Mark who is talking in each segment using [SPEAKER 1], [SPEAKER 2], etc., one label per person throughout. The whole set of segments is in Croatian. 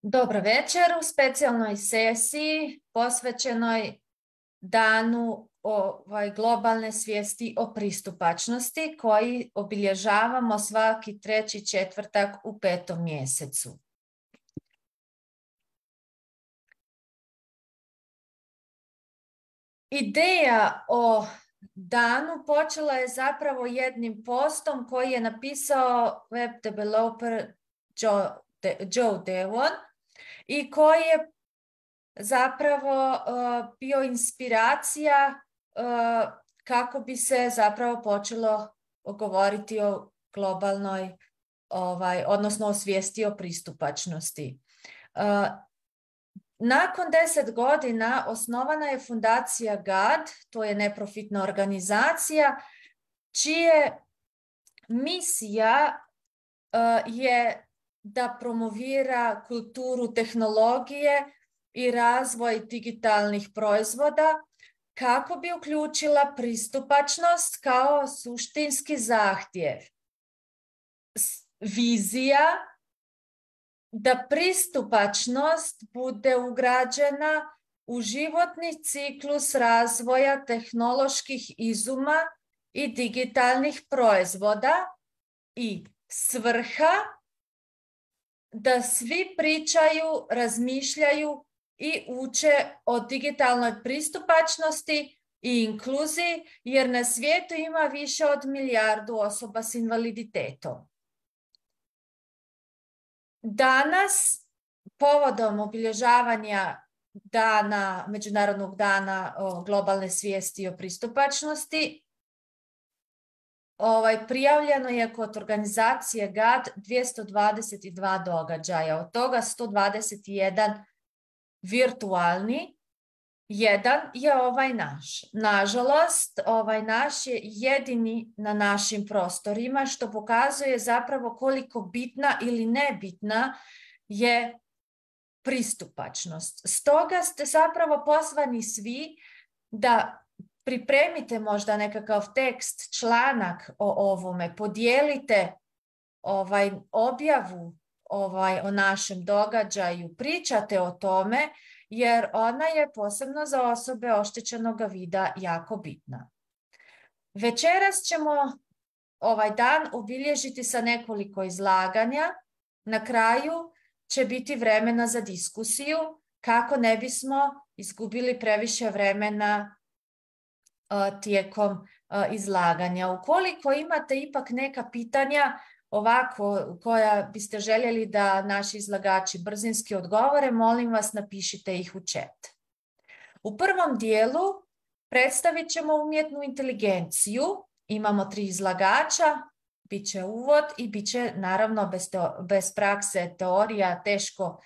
[SPEAKER 1] Dobro večer u specijalnoj sesiji posvećenoj danu globalne svijesti o pristupačnosti koji obilježavamo svaki treći četvrtak u 5. mjesecu. Ideja o danu počela je zapravo jednim postom koji je napisao web developer Joe Devon i koji je zapravo bio inspiracija kako bi se zapravo počelo govoriti o globalnoj, odnosno o svijesti o pristupačnosti. Nakon 10 godina osnovana je fundacija GAD, to je neprofitna organizacija, čije misija je da promovira kulturu tehnologije i razvoj digitalnih proizvoda kako bi uključila pristupačnost kao suštinski zahtjev. Vizija da pristupačnost bude ugrađena u životni ciklus razvoja tehnoloških izuma i digitalnih proizvoda i svrha da svi pričaju, razmišljaju i uče o digitalnoj pristupačnosti i inkluziji, jer na svijetu ima više od 1 milijardu osoba s invaliditetom. Danas, povodom obilježavanja Međunarodnog dana globalne svijesti o pristupačnosti, prijavljeno je kod organizacije GAD 222 događaja, od toga 121 virtualni, jedan je ovaj naš. Nažalost, ovaj naš je jedini na našim prostorima, što pokazuje zapravo koliko bitna ili nebitna je pristupačnost. Stoga ste zapravo pozvani svi da pripremite možda nekakav tekst, članak o ovome, podijelite objavu o našem događaju, pričate o tome, jer ona je posebno za osobe oštećenog vida jako bitna. Večeras ćemo ovaj dan obilježiti sa nekoliko izlaganja. Na kraju će biti vremena za diskusiju kako ne bismo izgubili previše vremena tijekom izlaganja. Ukoliko imate ipak neka pitanja ovako koja biste željeli da naši izlagači brzinski odgovore, molim vas napišite ih u chat. U prvom dijelu predstavit ćemo umjetnu inteligenciju. Imamo 3 izlagača, bit će uvod i bit će naravno bez prakse teorija teško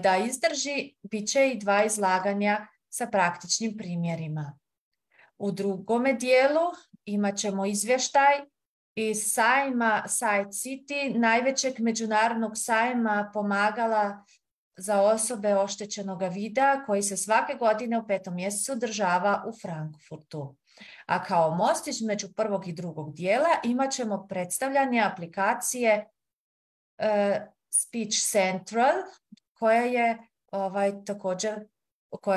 [SPEAKER 1] da izdrži, bit će i 2 izlaganja sa praktičnim primjerima. U drugome dijelu imat ćemo izvještaj iz sajma Site City, najvećeg međunarodnog sajma pomagala za osobe oštećenog vida koji se svake godine u 5. mjesecu održava u Frankfurtu. A kao most između prvog i drugog dijela imat ćemo predstavljanje aplikacije Speech Central koja je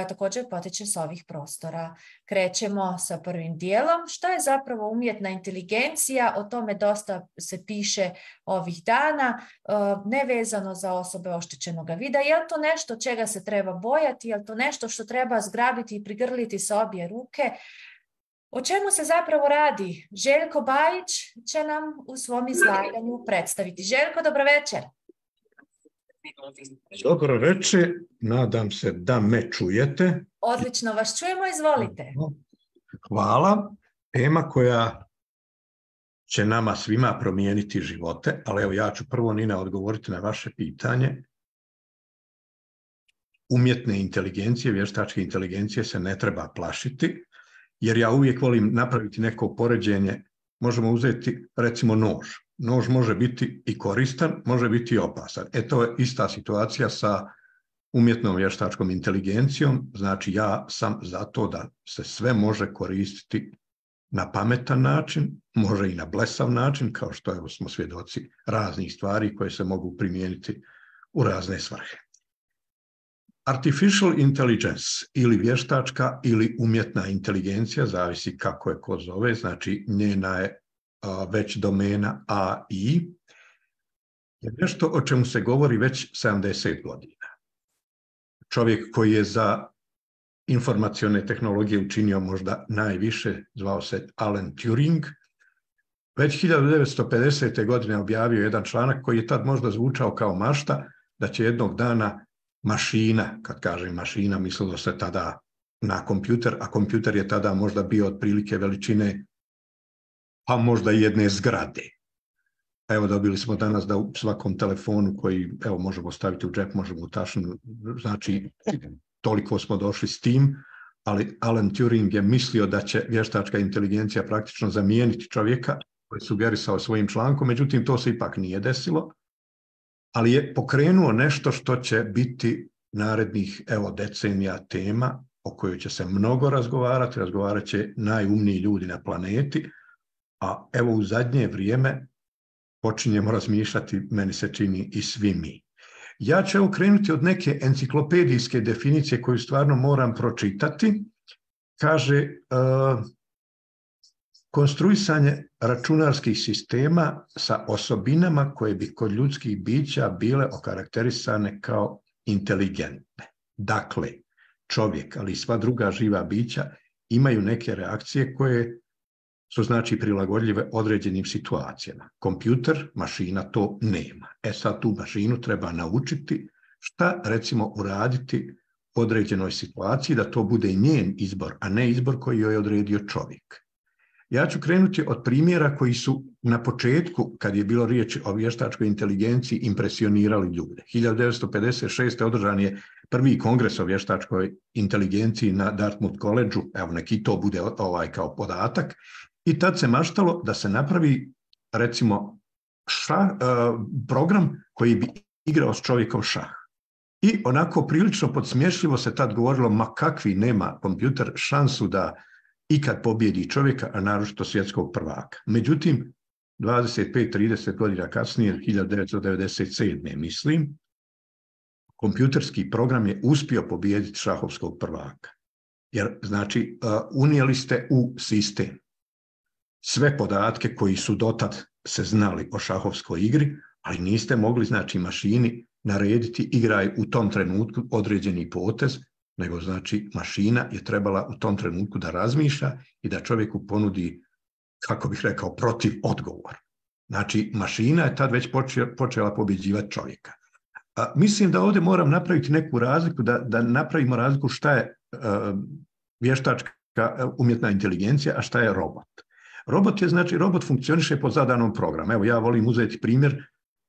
[SPEAKER 1] također potiče s ovih prostora. Krećemo sa prvim dijelom. Što je zapravo umjetna inteligencija? O tome dosta se piše ovih dana, nevezano za osobe oštećenog vida. Je li to nešto čega se treba bojati? Je li to nešto što treba zgrabiti i prigrliti sa obje ruke? O čemu se zapravo radi? Željko Bajić će nam u svom izlaganju predstaviti. Željko, dobro večer.
[SPEAKER 2] Dobro večer, nadam se da me čujete.
[SPEAKER 1] Odlično vas čujemo, izvolite.
[SPEAKER 2] Hvala. Tema koja će nama svima promijeniti živote, ali evo ja ću prvo, Nina, odgovoriti na vaše pitanje. Umjetne inteligencije, vještačke inteligencije se ne treba plašiti, jer ja uvijek volim napraviti neko poređenje. Možemo uzeti recimo nož. Nož može biti i koristan, može biti i opasan. To je ista situacija sa umjetnom vještačkom inteligencijom. Znači ja sam za to da se sve može koristiti na pametan način, može i na blesav način, kao što smo svjedoci raznih stvari koje se mogu primijeniti u razne svrhe. Artificial intelligence ili vještačka ili umjetna inteligencija, zavisi kako je ko zove, znači njena je već domena AI, je nešto o čemu se govori već 70 godina. Čovjek koji je za informacione tehnologije učinio možda najviše, zvao se Alan Turing, već 1950. godine objavio jedan članak koji je tad možda zvučao kao mašta, da će jednog dana mašina, kad kažem mašina, mislilo se tada na kompjuter, a kompjuter je tada možda bio otprilike veličine, pa možda i jedne zgrade. Evo, dobili smo danas da u svakom telefonu koji, evo, možemo staviti u džep, možemo u tašnu, znači toliko smo došli s tim, ali Alan Turing je mislio da će vještačka inteligencija praktično zamijeniti čovjeka, koji je sugerisao svojim člankom, međutim to se ipak nije desilo, ali je pokrenuo nešto što će biti narednih, evo, decenija tema o kojoj će se mnogo razgovarati, razgovarat će najumniji ljudi na planeti, a evo u zadnje vrijeme počinjemo razmišljati, meni se čini, i svi mi. Ja ću krenuti od neke enciklopedijske definicije koju stvarno moram pročitati. Kaže, konstruisanje računarskih sistema sa osobinama koje bi kod ljudskih bića bile okarakterisane kao inteligentne. Dakle, čovjek, ali i sva druga živa bića imaju neke reakcije koje su znači prilagodljive određenim situacijama. Kompjuter, mašina to nema. Sad tu mašinu treba naučiti šta recimo uraditi u određenoj situaciji da to bude njen izbor, a ne izbor koji joj je odredio čovjek. Ja ću krenuti od primjera koji su na početku, kad je bilo riječ o vještačkoj inteligenciji, impresionirali ljude. 1956. održan je prvi kongres o vještačkoj inteligenciji na Dartmouth College-u, evo neki to bude kao podatak, i tad se maštalo da se napravi recimo program koji bi igrao s čovjekom šah. I onako prilično podsmješljivo se tad govorilo, ma kakvi nema kompjuter šansu da ikad pobjedi čovjeka, a naročito svjetskog prvaka. Međutim, 25-30 godina kasnije, 1997. mislim, kompjuterski program je uspio pobijediti šahovskog prvaka. Jer, znači, unijeli ste u sistem sve podatke koji su dotad se znali o šahovskoj igri, ali niste mogli, znači, mašini narediti igraj u tom trenutku određeni potez, nego, znači, mašina je trebala u tom trenutku da razmišlja i da čovjeku ponudi, kako bih rekao, protiv odgovor. Znači, mašina je tad već počela pobjeđivati čovjeka. Mislim da ovdje moram napraviti neku razliku, da napravimo razliku šta je vještačka umjetna inteligencija, a šta je robot. Robot je, znači, robot funkcioniše po zadanom programu. Evo, ja volim uzeti primjer,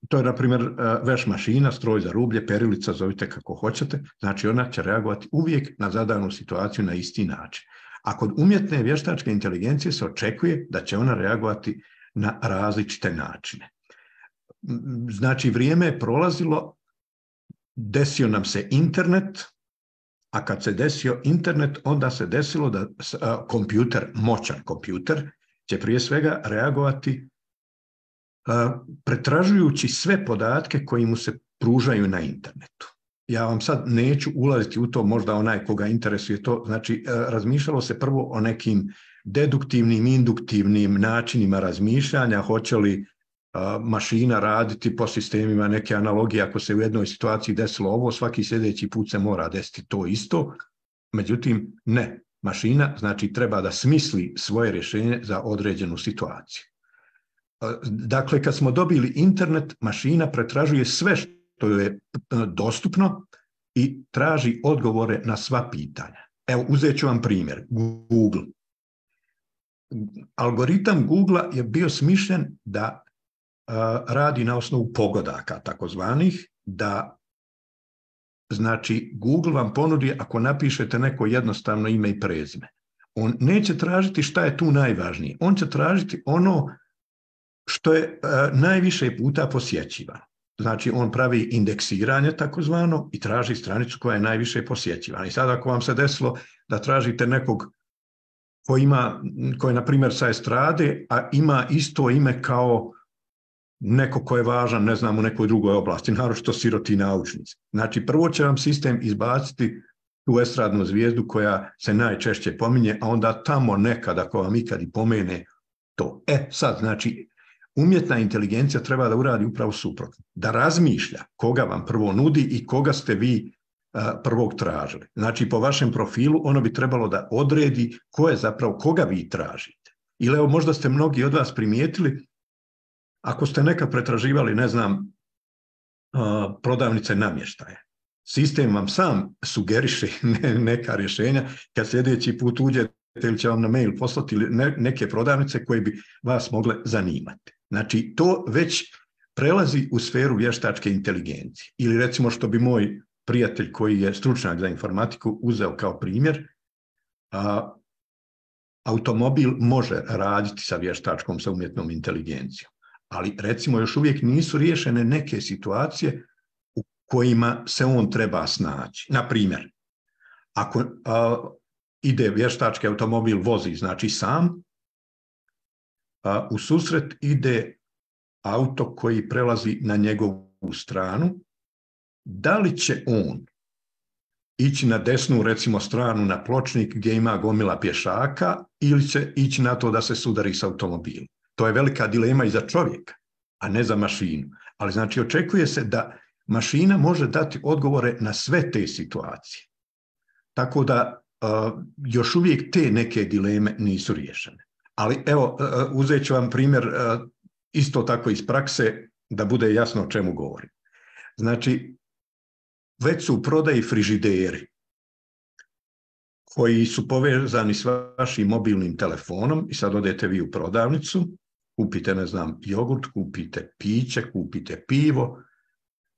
[SPEAKER 2] to je, na primjer, veš mašina, stroj za rublje, perilica, zovite kako hoćete, znači ona će reagovati uvijek na zadanu situaciju na isti način. A kod umjetne vještačke inteligencije se očekuje da će ona reagovati na različite načine. Znači, vrijeme je prolazilo, desio nam se internet, a kad se desio internet, onda se desilo da kompjuter, moćan kompjuter, će prije svega reagovati pretražujući sve podatke koji mu se pružaju na internetu. Ja vam sad neću ulaziti u to, možda onaj koga interesuje to, znači razmišljalo se prvo o nekim deduktivnim, induktivnim načinima razmišljanja, hoće li mašina raditi po sistemima neke analogije, ako se u jednoj situaciji desilo ovo, svaki sljedeći put se mora desiti to isto, međutim ne, mašina znači treba da smisli svoje rješenje za određenu situaciju. Dakle, kad smo dobili internet, mašina pretražuje sve što je dostupno i traži odgovore na sva pitanja. Evo, uzet ću vam primjer, Google. Algoritam Google je bio smišljen da radi na osnovu pogodaka, takozvanih, da znači Google vam ponudi ako napišete neko jednostavno ime i prezime. On neće tražiti šta je tu najvažnije. On će tražiti ono što je najviše puta posjećivano. Znači, on pravi indeksiranje takozvano i traži stranicu koja je najviše posjećivana. I sad ako vam se desilo da tražite nekog koji je, na primjer, sa estrade, a ima isto ime kao neko ko je važan, ne znam, u nekoj drugoj oblasti, naročito siroti naučnici. Znači, prvo će vam sistem izbaciti tu estradnu zvijezdu koja se najčešće pominje, a onda tamo nekad, ako vam ikad i pomene to. Sad, znači, umjetna inteligencija treba da uradi upravo suprotno. Da razmišlja koga vam prvo nudi i koga ste vi prvog tražili. Znači, po vašem profilu ono bi trebalo da odredi ko je zapravo, koga vi tražite. Ili evo, možda ste mnogi od vas primijetili, ako ste nekad pretraživali, ne znam, prodavnice namještaja, sistem vam sam sugeriše neka rješenja, kad sljedeći put uđete ili će vam na mail poslati neke prodavnice koje bi vas mogle zanimati. Znači, to već prelazi u sferu vještačke inteligencije. Ili recimo što bi moj prijatelj koji je stručnjak za informatiku uzeo kao primjer, automobil može raditi sa vještačkom, sa umjetnom inteligencijom. Ali recimo još uvijek nisu riješene neke situacije u kojima se on treba snaći. Na primjer, ako ide vještački automobil, vozi znači sam, u susret ide auto koji prelazi na njegovu stranu, da li će on ići na desnu, recimo, stranu na pločnik gdje ima gomila pješaka ili će ići na to da se sudari s automobilom. To je velika dilema i za čovjeka, a ne za mašinu. Ali znači očekuje se da mašina može dati odgovore na sve te situacije. Tako da još uvijek te neke dileme nisu riješene. Ali evo, uzet ću vam primjer isto tako iz prakse da bude jasno o čemu govorim. Znači, već su u prodaji frižideri koji su povezani s vašim mobilnim telefonom i sad odete vi u prodavnicu, kupite, ne znam, jogurt, kupite piće, kupite pivo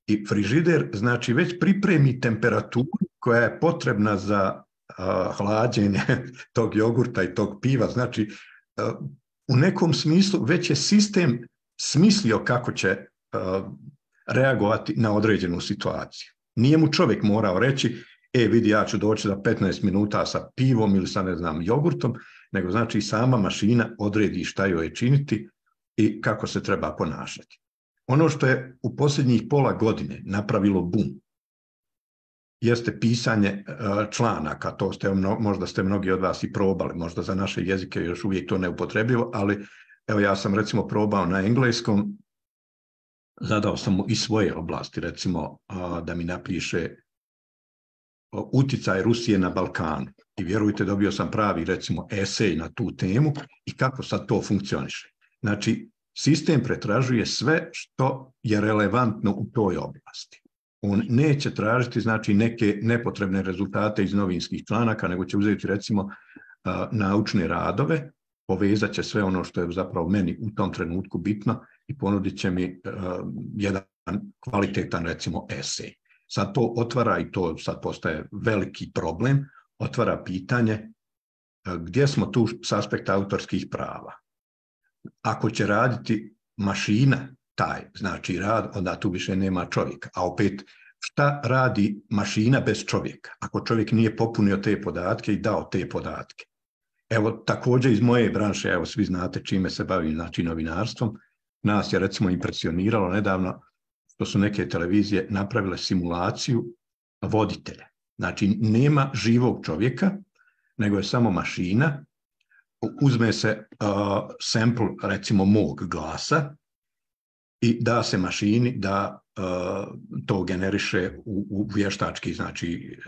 [SPEAKER 2] i frižider, znači već pripremi temperaturu koja je potrebna za hlađenje tog jogurta i tog piva. Znači, u nekom smislu već je sistem smislio kako će reagovati na određenu situaciju. Nije mu čovjek morao reći, vidi, ja ću doći za 15 minuta sa pivom ili sa, ne znam, jogurtom, nego znači sama mašina odredi šta joj je činiti i kako se treba ponašati. Ono što je u posljednjih pola godine napravilo bum, jeste pisanje članaka. To možda ste mnogi od vas i probali, možda za naše jezike još uvijek to neupotrebljivo, ali evo ja sam recimo probao na engleskom, zadao sam mu i svoje oblasti, recimo da mi napiše utjecaj Rusije na Balkanu. I vjerujte, dobio sam pravi, recimo, esej na tu temu i kako sad to funkcioniše. Znači, sistem pretražuje sve što je relevantno u toj oblasti. On neće tražiti, znači, neke nepotrebne rezultate iz novinskih članaka, nego će uzeti, recimo, naučne radove, povezat će sve ono što je zapravo meni u tom trenutku bitno i ponudit će mi jedan kvalitetan, recimo, esej. Sad to otvara, i to sad postaje veliki problem, otvara pitanje gdje smo tu s aspekta autorskih prava. Ako će raditi mašina taj, znači rad, onda tu više nema čovjeka. A opet, šta radi mašina bez čovjeka? Ako čovjek nije popunio te podatke i dao te podatke. Evo, također iz moje branše, evo, svi znate čime se bavim, znači novinarstvom. Nas je, recimo, impresioniralo nedavno što su neke televizije napravile simulaciju voditelja. Znači, nema živog čovjeka, nego je samo mašina. Uzme se sample, recimo, mog glasa i da se mašini da to generiše u vještački, znači,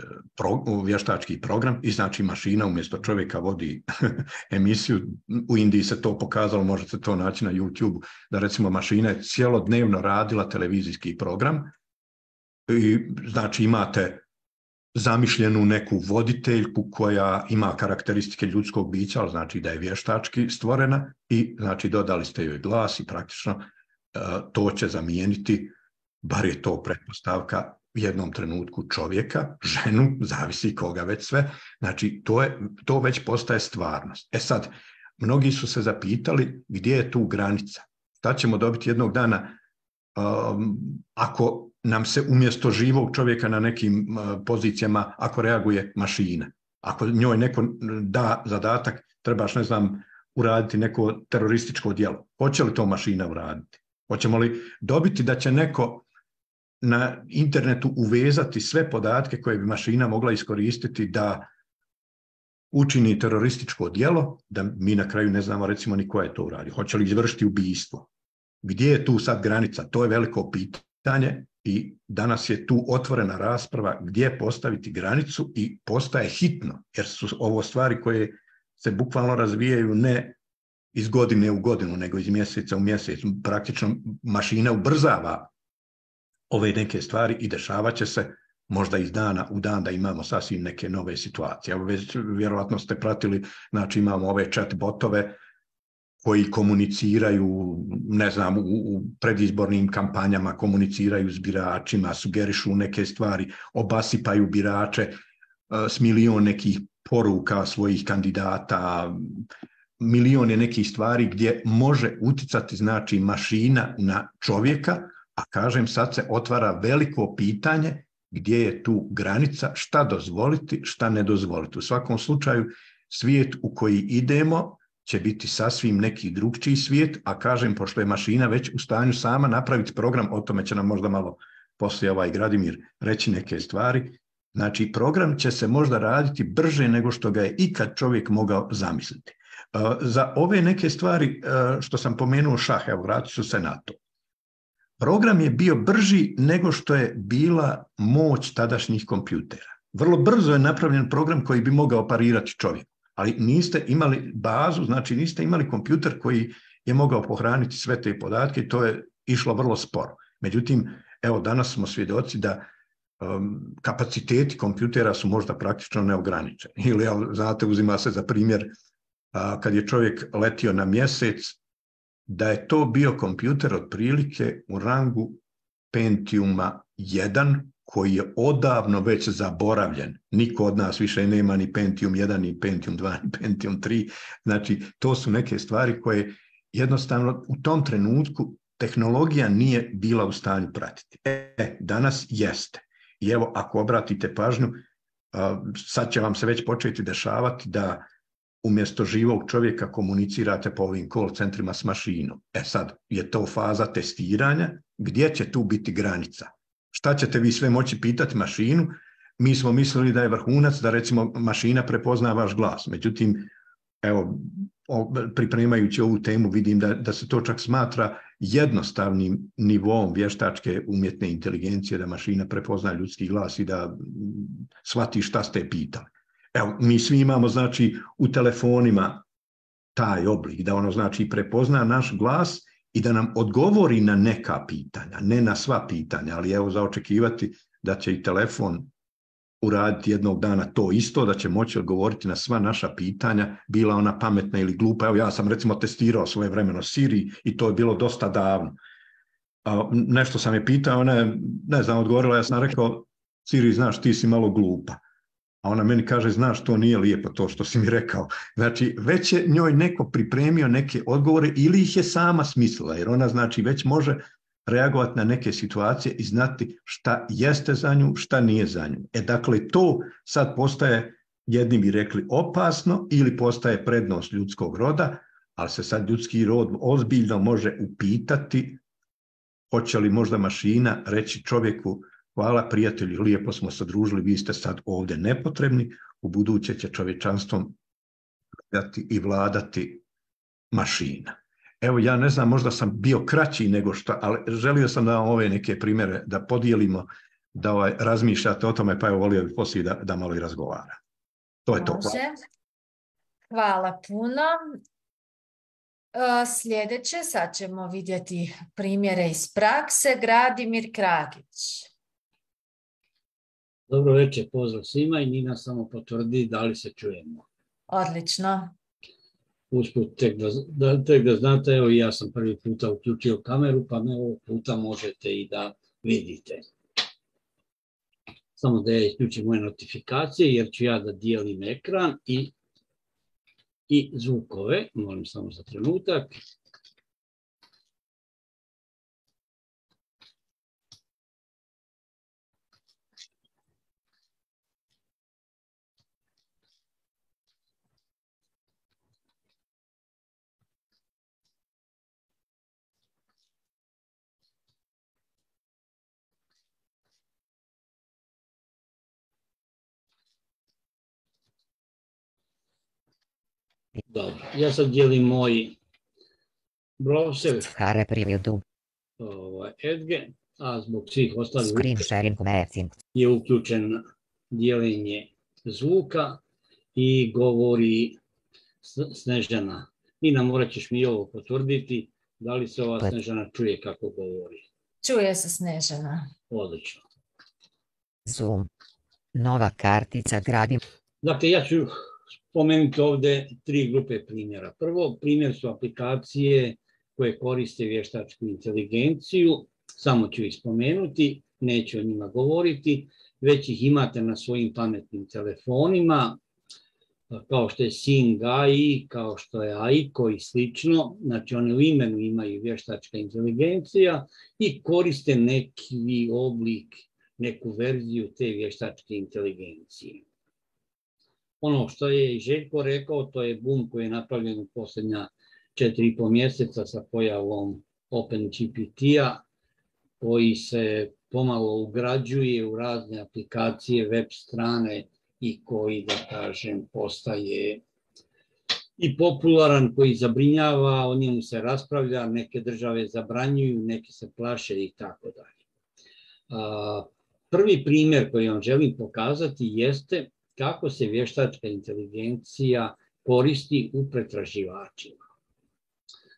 [SPEAKER 2] u vještački program i znači mašina umjesto čovjeka vodi emisiju. U Indiji se to pokazalo, možete to naći na YouTube, da recimo mašina je cijelodnevno radila televizijski program i znači imate zamišljenu neku voditeljku koja ima karakteristike ljudskog bića, ali znači da je vještački stvorena i znači dodali ste joj glas i praktično to će zamijeniti, bar je to pretpostavka, u jednom trenutku čovjeka, ženu, zavisi koga već sve, znači to već postaje stvarnost. Sad, mnogi su se zapitali gdje je tu granica. Šta ćemo dobiti jednog dana ako nam se umjesto živog čovjeka na nekim pozicijama, ako reaguje mašina. Ako njoj neko da zadatak, trebaš, ne znam, uraditi neko terorističko djelo. Hoće li to mašina uraditi? Hoćemo li dobiti da će neko na internetu uvezati sve podatke koje bi mašina mogla iskoristiti da učini terorističko djelo, da mi na kraju ne znamo recimo ni ko je to uradio. Hoće li izvršiti ubistvo? Gdje je tu sad granica? To je veliko pitanje i danas je tu otvorena rasprava gdje postaviti granicu i postaje hitno, jer su ovo stvari koje se bukvalno razvijaju ne iz godine u godinu, nego iz mjeseca u mjesec. Praktično mašina ubrzava ove neke stvari i dešavat će se možda iz dana u dan da imamo sasvim neke nove situacije. Evo, vjerovatno ste pratili, znači imamo ove chat botove koji komuniciraju, ne znam, u predizbornim kampanjama komuniciraju s biračima, sugerišu neke stvari, obasipaju birače s milion nekih poruka svojih kandidata, milion je nekih stvari gdje može uticati, znači, mašina na čovjeka, a kažem, sad se otvara veliko pitanje gdje je tu granica, šta dozvoliti, šta ne dozvoliti. U svakom slučaju, svijet u koji idemo će biti sasvim neki drugčiji svijet, a kažem, pošto je mašina već u stanju sama napraviti program, o tome će nam možda malo poslije Gradimir reći neke stvari, znači program će se možda raditi brže nego što ga je ikad čovjek mogao zamisliti. Za ove neke stvari što sam pomenuo šah, evo vratit ću se na to. Program je bio brži nego što je bila moć tadašnjih kompjutera. Vrlo brzo je napravljen program koji bi mogao parirati čovjeku, ali niste imali bazu, znači niste imali kompjuter koji je mogao pohraniti sve te podatke i to je išlo vrlo sporo. Međutim, evo danas smo svjedoci da kapaciteti kompjutera su možda praktično neograničeni. Ili, znate, uzima se za primjer kad je čovjek letio na mjesec, da je to bio kompjuter otprilike u rangu Pentiuma 1, koji je odavno već zaboravljen. Niko od nas više nema ni Pentium 1, ni Pentium 2, ni Pentium 3. Znači, to su neke stvari koje jednostavno u tom trenutku tehnologija nije bila u stanju pratiti. Danas jeste. I evo, ako obratite pažnju, sad će vam se već početi dešavati da umjesto živog čovjeka komunicirate po ovim call centrima s mašinom. Sad je to faza testiranja. Gdje će tu biti granica? Šta ćete vi sve moći pitati mašinu? Mi smo mislili da je vrhunac da recimo mašina prepozna vaš glas. Međutim, evo, pripremajući ovu temu vidim da se to čak smatra jednostavnim nivom vještačke umjetne inteligencije, da mašina prepozna ljudski glas i da shvati šta ste pitali. Evo, mi svi imamo, znači, u telefonima taj oblik, da ono, znači, prepozna naš glas i da nam odgovori na neka pitanja, ne na sva pitanja, ali evo za očekivati da će i telefon uraditi jednog dana to isto, da će moći odgovoriti na sva naša pitanja, bila ona pametna ili glupa. Evo, ja sam recimo testirao svojevremeno Siri i to je bilo dosta davno. Nešto sam je pitao, ona je, ne znam, odgovorila, ja sam rekao, Siri, znaš, ti si malo glupa. A ona meni kaže, znaš, to nije lijepo to što si mi rekao. Znači, već je njoj neko pripremio neke odgovore ili ih je sama smislila, jer ona, znači, već može reagovati na neke situacije i znati šta jeste za nju, šta nije za nju. Dakle, to sad postaje, jedni bi rekli, opasno ili postaje prednost ljudskog roda, ali se sad ljudski rod ozbiljno može upitati hoće li možda mašina reći čovjeku, hvala prijatelji, lijepo smo se družili, vi ste sad ovdje nepotrebni, u buduće će čovječanstvom i vladati mašina. Evo, ja ne znam, možda sam bio kraći nego što, ali želio sam da vam ove neke primjere da podijelimo, da razmišljate o tome, pa evo volio bih poslije da malo i razgovara. To je to.
[SPEAKER 1] Hvala puno. Sljedeće, sad ćemo vidjeti primjere iz prakse. Gradimir Kragić.
[SPEAKER 3] Dobro večer, pozdrav svima i Nina samo potvrdi da li se čujemo.
[SPEAKER 1] Odlično.
[SPEAKER 3] Usput, tek da znate, evo ja sam prvi puta uključio kameru, pa me ovog puta možete i da vidite. Samo da ja isključim moje notifikacije, jer ću ja da dijelim ekran i zvukove. Molim samo za trenutak. Dobro, ja sad dijelim moj browser
[SPEAKER 4] Share preview.
[SPEAKER 3] Edge, a zbog svih ostalih
[SPEAKER 4] Screen sharing messing.
[SPEAKER 3] je uključen dijeljenje zvuka i govori Snežana. Nina, morat ćeš mi ovo potvrditi, da li se ova Snežana čuje kako govori.
[SPEAKER 1] Čuje se Snežana.
[SPEAKER 3] Odlično.
[SPEAKER 4] Zoom. Nova kartica gradim.
[SPEAKER 3] Dakle, ja ću spomenuti ovdje 3 grupe primjera. Prvo, primjer su aplikacije koje koriste vještačku inteligenciju. Samo ću ih spomenuti, neću o njima govoriti, već ih imate na svojim pametnim telefonima, kao što je Sing AI, kao što je Aiko i slično. Znači, one u imenu imaju vještačka inteligencija i koriste neki oblik, neku verziju te vještačke inteligencije. Ono što je i Željko rekao, to je boom koji je napravljen u posljednja 4,5 mjeseca sa pojavom OpenGPT-a, koji se pomalo ugrađuje u razne aplikacije, web strane i koji, da kažem, postaje i popularan, koji zabrinjava, o njemu se raspravlja, neke države zabranjuju, neke se plaše i tako dalje. Prvi primjer koji vam želim pokazati jeste kako se vještačka inteligencija koristi u pretraživačima.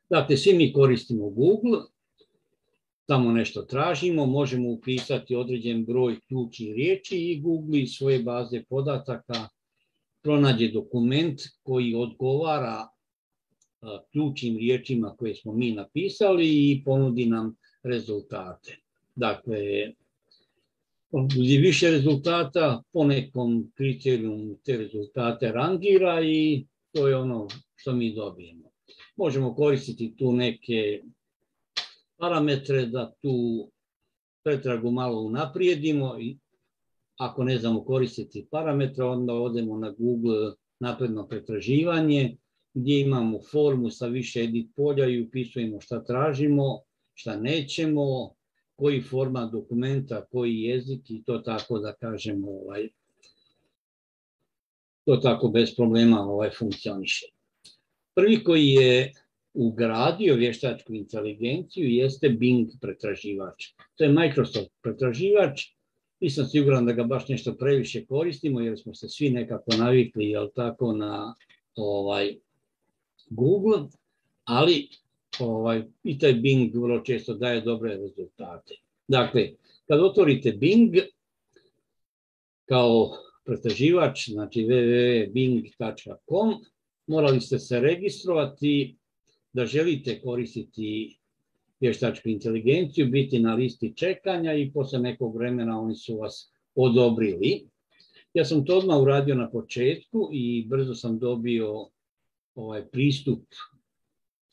[SPEAKER 3] Dakle, svi mi koristimo Google, tamo nešto tražimo, možemo upisati određen broj ključnih riječi i Google iz svoje baze podataka pronađe dokument koji odgovara ključnim riječima koje smo mi napisali i ponudi nam rezultate. Dakle, više rezultata, po nekom kriterijumu te rezultate rangira i to je ono što mi dobijemo. Možemo koristiti tu neke parametre da tu pretragu malo unaprijedimo. Ako ne znamo koristiti parametre, onda odemo na Google napredno pretraživanje, gdje imamo formu sa više edit polja i upisujemo šta tražimo, šta nećemo, koji format dokumenta, koji jezik i to tako da kažemo, to tako bez problema funkcioniše. Prvi koji je ugradio vještačku inteligenciju jeste Bing pretraživač. To je Microsoft pretraživač. Nisam siguran da ga baš nešto previše koristimo jer smo se svi nekako navikli, jel tako, na Google, ali i taj Bing vrlo često daje dobre rezultate. Dakle, kad otvorite Bing kao pretraživač, znači www.bing.com, morali ste se registrovati da želite koristiti vještačku inteligenciju, biti na listi čekanja i posle nekog vremena oni su vas odobrili. Ja sam to odmah uradio na početku i brzo sam dobio pristup,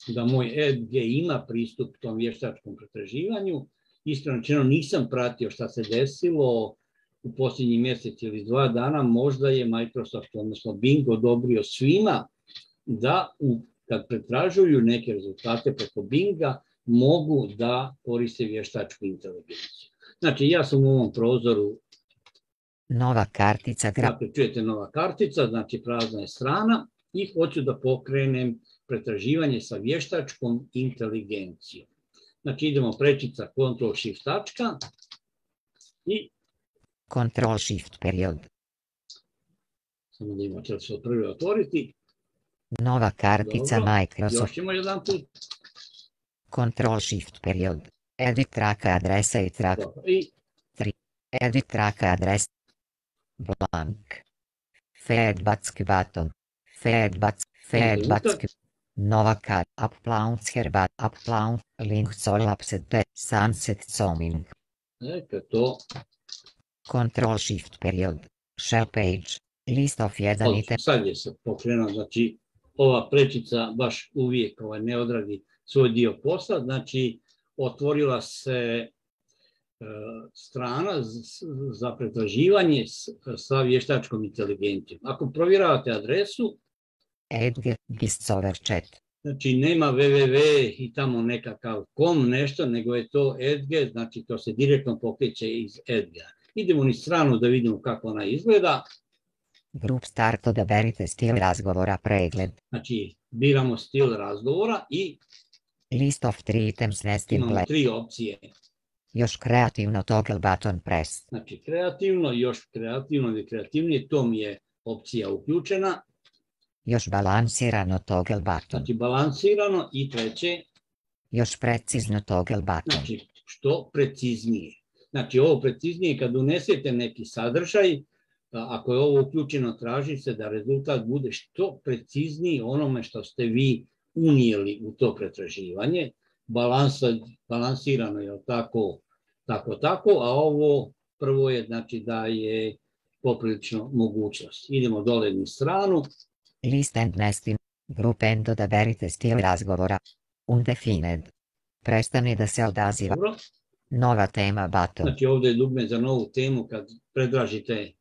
[SPEAKER 3] da moj Edge ima pristup tom vještačkom pretraživanju. Iskreno rečeno nisam pratio šta se desilo u posljednjih mjesec ili 2 dana, možda je Microsoft, odnosno Bing, odobrio svima da kad pretražuju neke rezultate preko Binga mogu da koriste vještačku inteligenciju. Znači, ja sam u ovom prozoru.
[SPEAKER 4] Nova kartica.
[SPEAKER 3] Dakle, čujete nova kartica, znači prazna je strana i hoću da pokrenem pretraživanje sa vještačkom inteligencijom. Znači, idemo prečica Ctrl-Shift tačka i
[SPEAKER 4] Ctrl-Shift period.
[SPEAKER 3] Samo da imamo će se prvi otvoriti.
[SPEAKER 4] Nova kartica. Dobro. Microsoft.
[SPEAKER 3] Još ćemo jedan put.
[SPEAKER 4] Ctrl-Shift period. Edit traka adresa i trak. 3. Edit traka adresa. Blank. Feedback button. Feedback. Nova kart. Uploads herbat. Upload. Link collapsed. Sunset zooming.
[SPEAKER 3] To.
[SPEAKER 4] Ctrl-Shift period. Shell page. List of 1 item.
[SPEAKER 3] Sad je se pokrenuo, znači ova prečica baš uvijek ne odradi svoj dio posla, znači otvorila se strana za pretraživanje sa vještačkom inteligencijom. Ako provjeravate adresu,
[SPEAKER 4] Edge, Discover chat.
[SPEAKER 3] Znači nema www i tamo nekakav com nešto, nego je to Edge, znači to se direktno pokreće iz Edge. Idemo ni stranu da vidimo kako ona izgleda.
[SPEAKER 4] Grup start, odaberite stil razgovora, pregled.
[SPEAKER 3] Znači, biramo stil razgovora i
[SPEAKER 4] List of 3 items, nestim
[SPEAKER 3] imamo
[SPEAKER 4] play.
[SPEAKER 3] 3 opcije.
[SPEAKER 4] Još kreativno, toggle button press.
[SPEAKER 3] Znači, kreativno, još kreativno ili kreativnije, to mi je opcija uključena.
[SPEAKER 4] Još balansirano, toggle button.
[SPEAKER 3] Znači, balansirano i treće.
[SPEAKER 4] Još precizno, toggle button.
[SPEAKER 3] Znači, što preciznije. Znači, ovo preciznije kad unesete neki sadržaj, ako je ovo uključeno, traži se da rezultat bude što precizniji onome što ste vi unijeli u to pretraživanje. Balansirano je tako, a ovo prvo je, znači, da je poprilično mogućnost. Idemo dole na stranu.
[SPEAKER 4] List and nesting. Grup end, odaberite stil razgovora. Undefined. Prestani da se odaziva.
[SPEAKER 3] Dobro.
[SPEAKER 4] Nova tema button.
[SPEAKER 3] Znači, ovdje je dugme za novu temu. Kad pretražite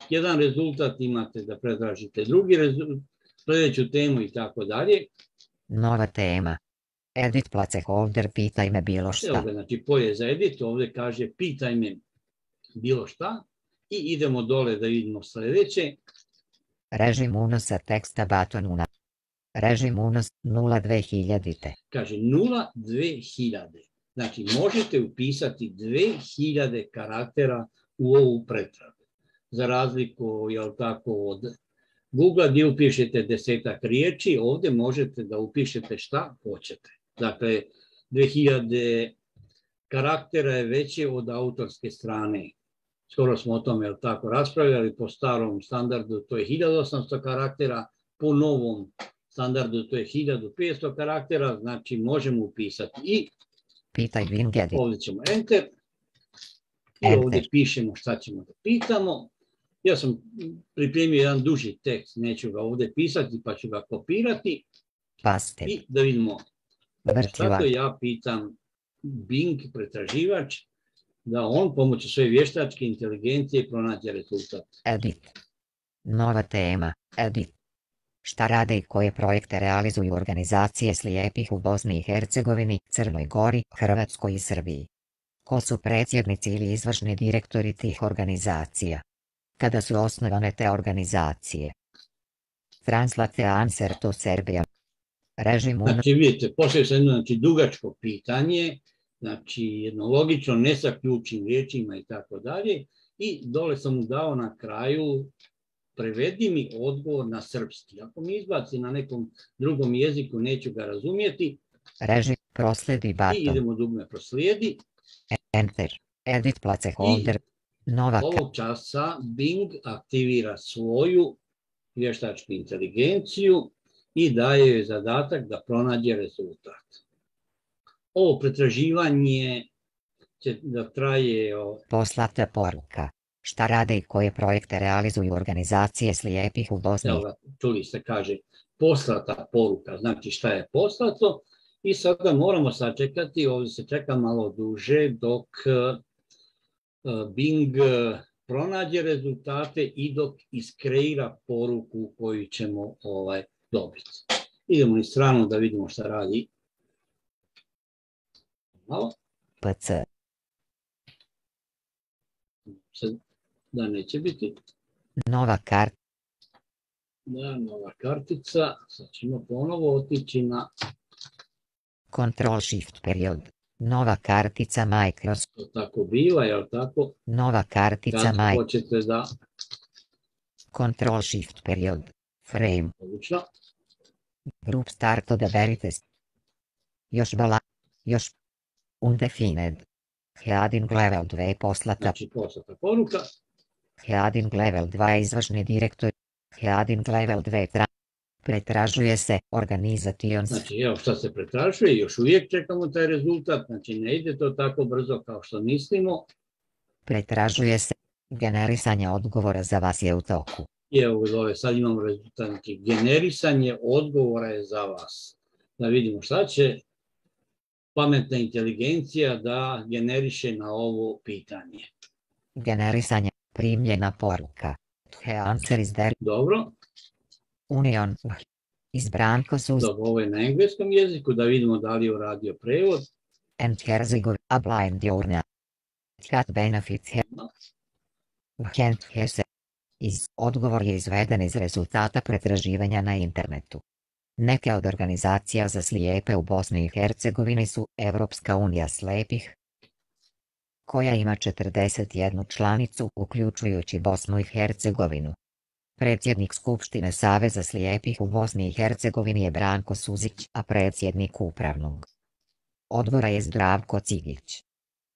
[SPEAKER 3] jedan rezultat, imate da pretražite drugi rezultat, sljedeću temu i tako dalje.
[SPEAKER 4] Nova tema. Edit placeholder, pitaj me bilo šta.
[SPEAKER 3] Ovdje, znači, polje za edit, ovdje kaže pitaj me bilo šta i idemo dole da vidimo sljedeće.
[SPEAKER 4] Režim unosa teksta button una. Režim unos 0.2000.
[SPEAKER 3] Kaže 0.2000. Znači, možete upisati 2000 karaktera u ovu pretragu. Za razliku, jel tako, od Google gdje upišete 10-ak riječi, ovdje možete da upišete šta hoćete. Dakle, 2000 karaktera je veće od autorske strane. Skoro smo o tome, jel tako, raspravljali. Po starom standardu to je 1800 karaktera, po novom standardu to je 1500 karaktera, znači možemo upisati i
[SPEAKER 4] pitaj Wingedit.
[SPEAKER 3] Ovdje ćemo enter i ovdje pišemo šta ćemo da pitamo. Ja sam pripremio jedan duži tekst, neću ga ovdje pisati pa ću ga kopirati.
[SPEAKER 4] Paste.
[SPEAKER 3] I da vidimo šta to ja pitam Bing pretraživač da on pomoću svoje vještačke inteligencije pronađe rezultat.
[SPEAKER 4] Edit. Nova tema. Edit. Šta rade i koje projekte realizuju organizacije slijepih u Bosni i Hercegovini, Crnoj Gori, Hrvatskoj i Srbiji? Ko su predsjednici ili izvršni direktori tih organizacija? Kada su osnovane te organizacije? Translate answer to Serbia. Režim unos...
[SPEAKER 3] Znači vidite, poslije se jedno dugačko pitanje, znači jedno logično, ne sa ključnim riječima i tako dalje, i dole sam mu dao na kraju prevedi mi odgovor na srpski. Ako mi izbaci na nekom drugom jeziku, neću ga razumjeti.
[SPEAKER 4] Režim proslijedi button.
[SPEAKER 3] I idemo dugme proslijedi.
[SPEAKER 4] Enter. Edit placeholder. Nova.
[SPEAKER 3] Ovog časa Bing aktivira svoju vještačku inteligenciju i daje joj zadatak da pronađe rezultat. Ovo pretraživanje će da traje...
[SPEAKER 4] Poslata poruka. Šta rade i koje projekte realizuju organizacije slijepih u Bosni?
[SPEAKER 3] Evo, čuli se, kaže, poslata poruka, znači šta je poslato, i sada moramo sačekati, ovdje se čeka malo duže dok Bing pronađe rezultate i dok iskreira poruku koju ćemo dobiti. Idemo na stranu da vidimo šta radi. Malo.
[SPEAKER 4] PC.
[SPEAKER 3] Da neće biti.
[SPEAKER 4] Nova karta.
[SPEAKER 3] Da, nova kartica. Sad ćemo ponovo otići na...
[SPEAKER 4] Control Shift period. Nova kartica Microsoft.
[SPEAKER 3] To tako biva, jel tako?
[SPEAKER 4] Nova kartica
[SPEAKER 3] Microsoft.
[SPEAKER 4] Kad
[SPEAKER 3] hoćete da...
[SPEAKER 4] Control Shift period. Frame.
[SPEAKER 3] Odlično.
[SPEAKER 4] Group start, odaberite. Još undefined. Heading level 2 poslata.
[SPEAKER 3] Znači poslata poruka.
[SPEAKER 4] Heading level 2 izvršni direktor. Heading level 2 pretražuje se organizations.
[SPEAKER 3] Znači evo šta se pretražuje, još uvijek čekamo taj rezultat, znači ne ide to tako brzo kao što mislimo.
[SPEAKER 4] Pretražuje se, generisanje odgovora za vas je u toku.
[SPEAKER 3] I evo dole sad imamo rezultat, znači generisanje odgovora je za vas. Da vidimo šta će pametna inteligencija da generiše na ovo pitanje.
[SPEAKER 4] Generisanje, primljena poruka. The answer is there.
[SPEAKER 3] Dobro.
[SPEAKER 4] Union. Izbranko su...
[SPEAKER 3] Dobro, ovo je na engleskom jeziku, da vidimo da li je uradio prevod.
[SPEAKER 4] And Herzegovina, a blind journal. Cat benefits here. Kent Hesse. Odgovor je izveden iz rezultata pretraživanja na internetu. Neke od organizacija za slijepe u Bosni i Hercegovini su Evropska unija slepih, koja ima 41 članicu, uključujući Bosnu i Hercegovinu. Predsjednik Skupštine Saveza slijepih u Bosni i Hercegovini je Branko Suzić, a predsjednik upravnog odbora je Zdravko Cigić.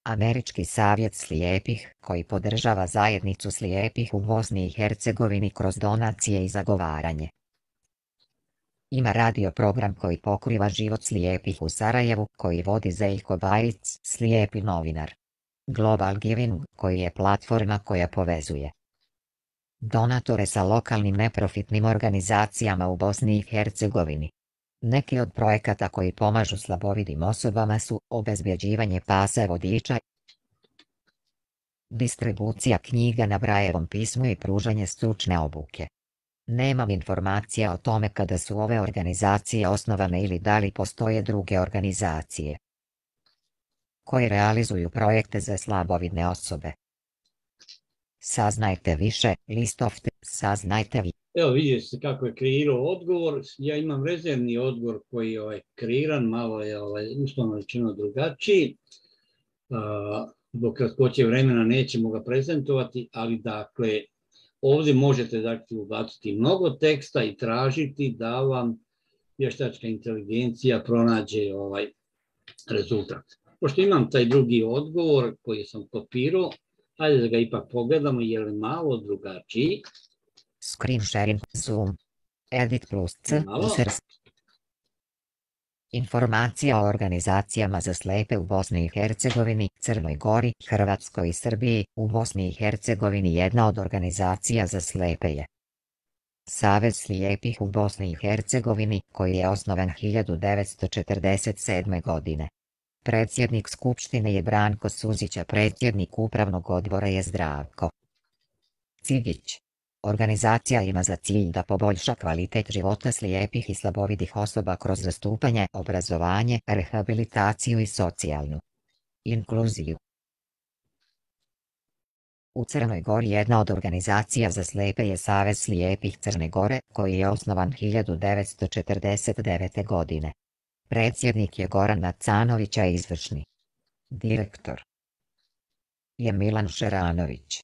[SPEAKER 4] Američki savjet slijepih, koji podržava zajednicu slijepih u Bosni i Hercegovini kroz donacije i zagovaranje. Ima radio program koji pokriva život slijepih u Sarajevu, koji vodi Zeljko Bajic, slijepi novinar. Global Giving, koji je platforma koja povezuje donatore sa lokalnim neprofitnim organizacijama u Bosni i Hercegovini. Neki od projekata koji pomažu slabovidim osobama su obezbjeđivanje pasa vodiča, distribucija knjiga na Brajevom pismu i pružanje stručne obuke. Nemam informacija o tome kada su ove organizacije osnovane ili da li postoje druge organizacije koje realizuju projekte za slabovidne osobe. Saznajte više, saznajte vi.
[SPEAKER 3] Evo vidjeli ste kako je kreirao odgovor. Ja imam rezervni odgovor koji je kreiran, malo je uslovno rečeno drugačiji. Zbog kratkoće vremena nećemo ga prezentovati, ali dakle, ovdje možete ubaciti mnogo teksta i tražiti da vam vještačka inteligencija pronađe rezultat. Pošto imam taj drugi odgovor koji sam kopirao, ajde da ga ipak pogledamo, je li malo drugačiji.
[SPEAKER 4] Screen sharing, Zoom, edit plus C, informacija o organizacijama za slijepe u Bosni i Hercegovini, Crnoj Gori, Hrvatskoj i Srbiji. U Bosni i Hercegovini jedna od organizacija za slijepe je Savez slijepih u Bosni i Hercegovini, koji je osnovan 1947. godine. Predsjednik Skupštine je Branko Suzić, a predsjednik upravnog odbora je Zdravko Cigić. Organizacija ima za cilj da poboljša kvalitet života slijepih i slabovidih osoba kroz zastupanje, obrazovanje, rehabilitaciju i socijalnu inkluziju. U Crnoj Gori jedna od organizacija za slijepe je Savez slijepih Crne Gore, koji je osnovan 1949. godine. Predsjednik je Goran Macanović, a izvršni direktor je Milan Šeranović.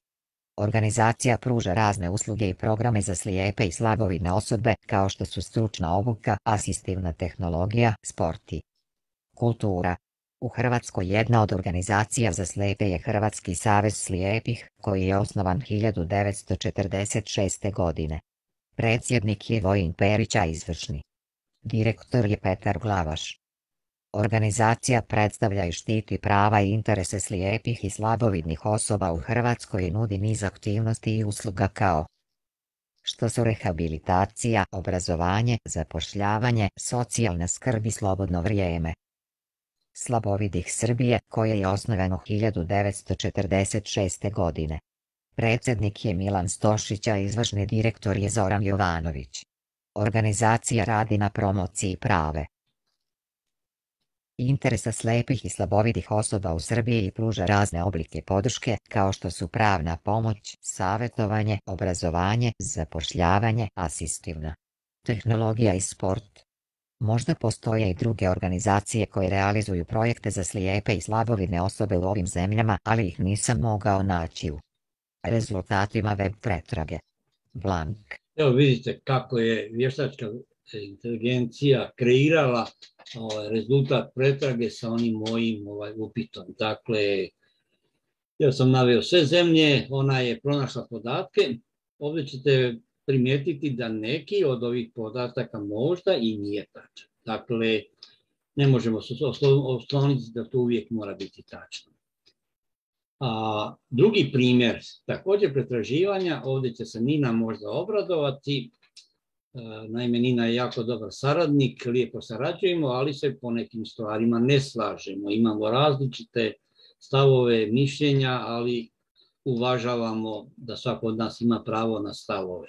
[SPEAKER 4] Organizacija pruža razne usluge i programe za slijepe i slabovidne osobe, kao što su stručna obuka, asistivna tehnologija, sport i kultura. U Hrvatskoj jedna od organizacija za slijepe je Hrvatski savez slijepih, koji je osnovan 1946. godine. Predsjednik je Vojin Perić, a izvršni direktor je Petar Glavaš. Organizacija predstavlja i štiti prava i interese slijepih i slabovidnih osoba u Hrvatskoj i nudi niz aktivnosti i usluga kao što su rehabilitacija, obrazovanje, zapošljavanje, socijalna skrb i slobodno vrijeme. Slabovidih Srbije, koje je osnovano 1946. godine. Predsjednik je Milan Stošić, a izvršni direktor je Zoran Jovanović. Organizacija radi na promociji prave interesa slijepih i slabovidih osoba u Srbiji i pruža razne oblike podrške, kao što su pravna pomoć, savjetovanje, obrazovanje, zapošljavanje, asistivna tehnologija i sport. Možda postoje i druge organizacije koje realizuju projekte za slijepe i slabovidne osobe u ovim zemljama, ali ih nisam mogao naći u rezultatima web pretrage. Blank.
[SPEAKER 3] Evo vidite kako je vještačka inteligencija kreirala rezultat pretrage sa onim mojim upitom. Dakle, ja sam naveo sve zemlje, ona je pronašla podatke. Ovdje ćete primijetiti da neki od ovih podataka možda i nije tačan. Dakle, ne možemo se osloniti da to uvijek mora biti tačno. Drugi primjer, također pretraživanja, ovdje će se Nina možda obradovati. Naime, Nina je jako dobar saradnik, lijepo sarađujemo, ali se po nekim stvarima ne slažemo. Imamo različite stavove, mišljenja, ali uvažavamo da svako od nas ima pravo na stavove.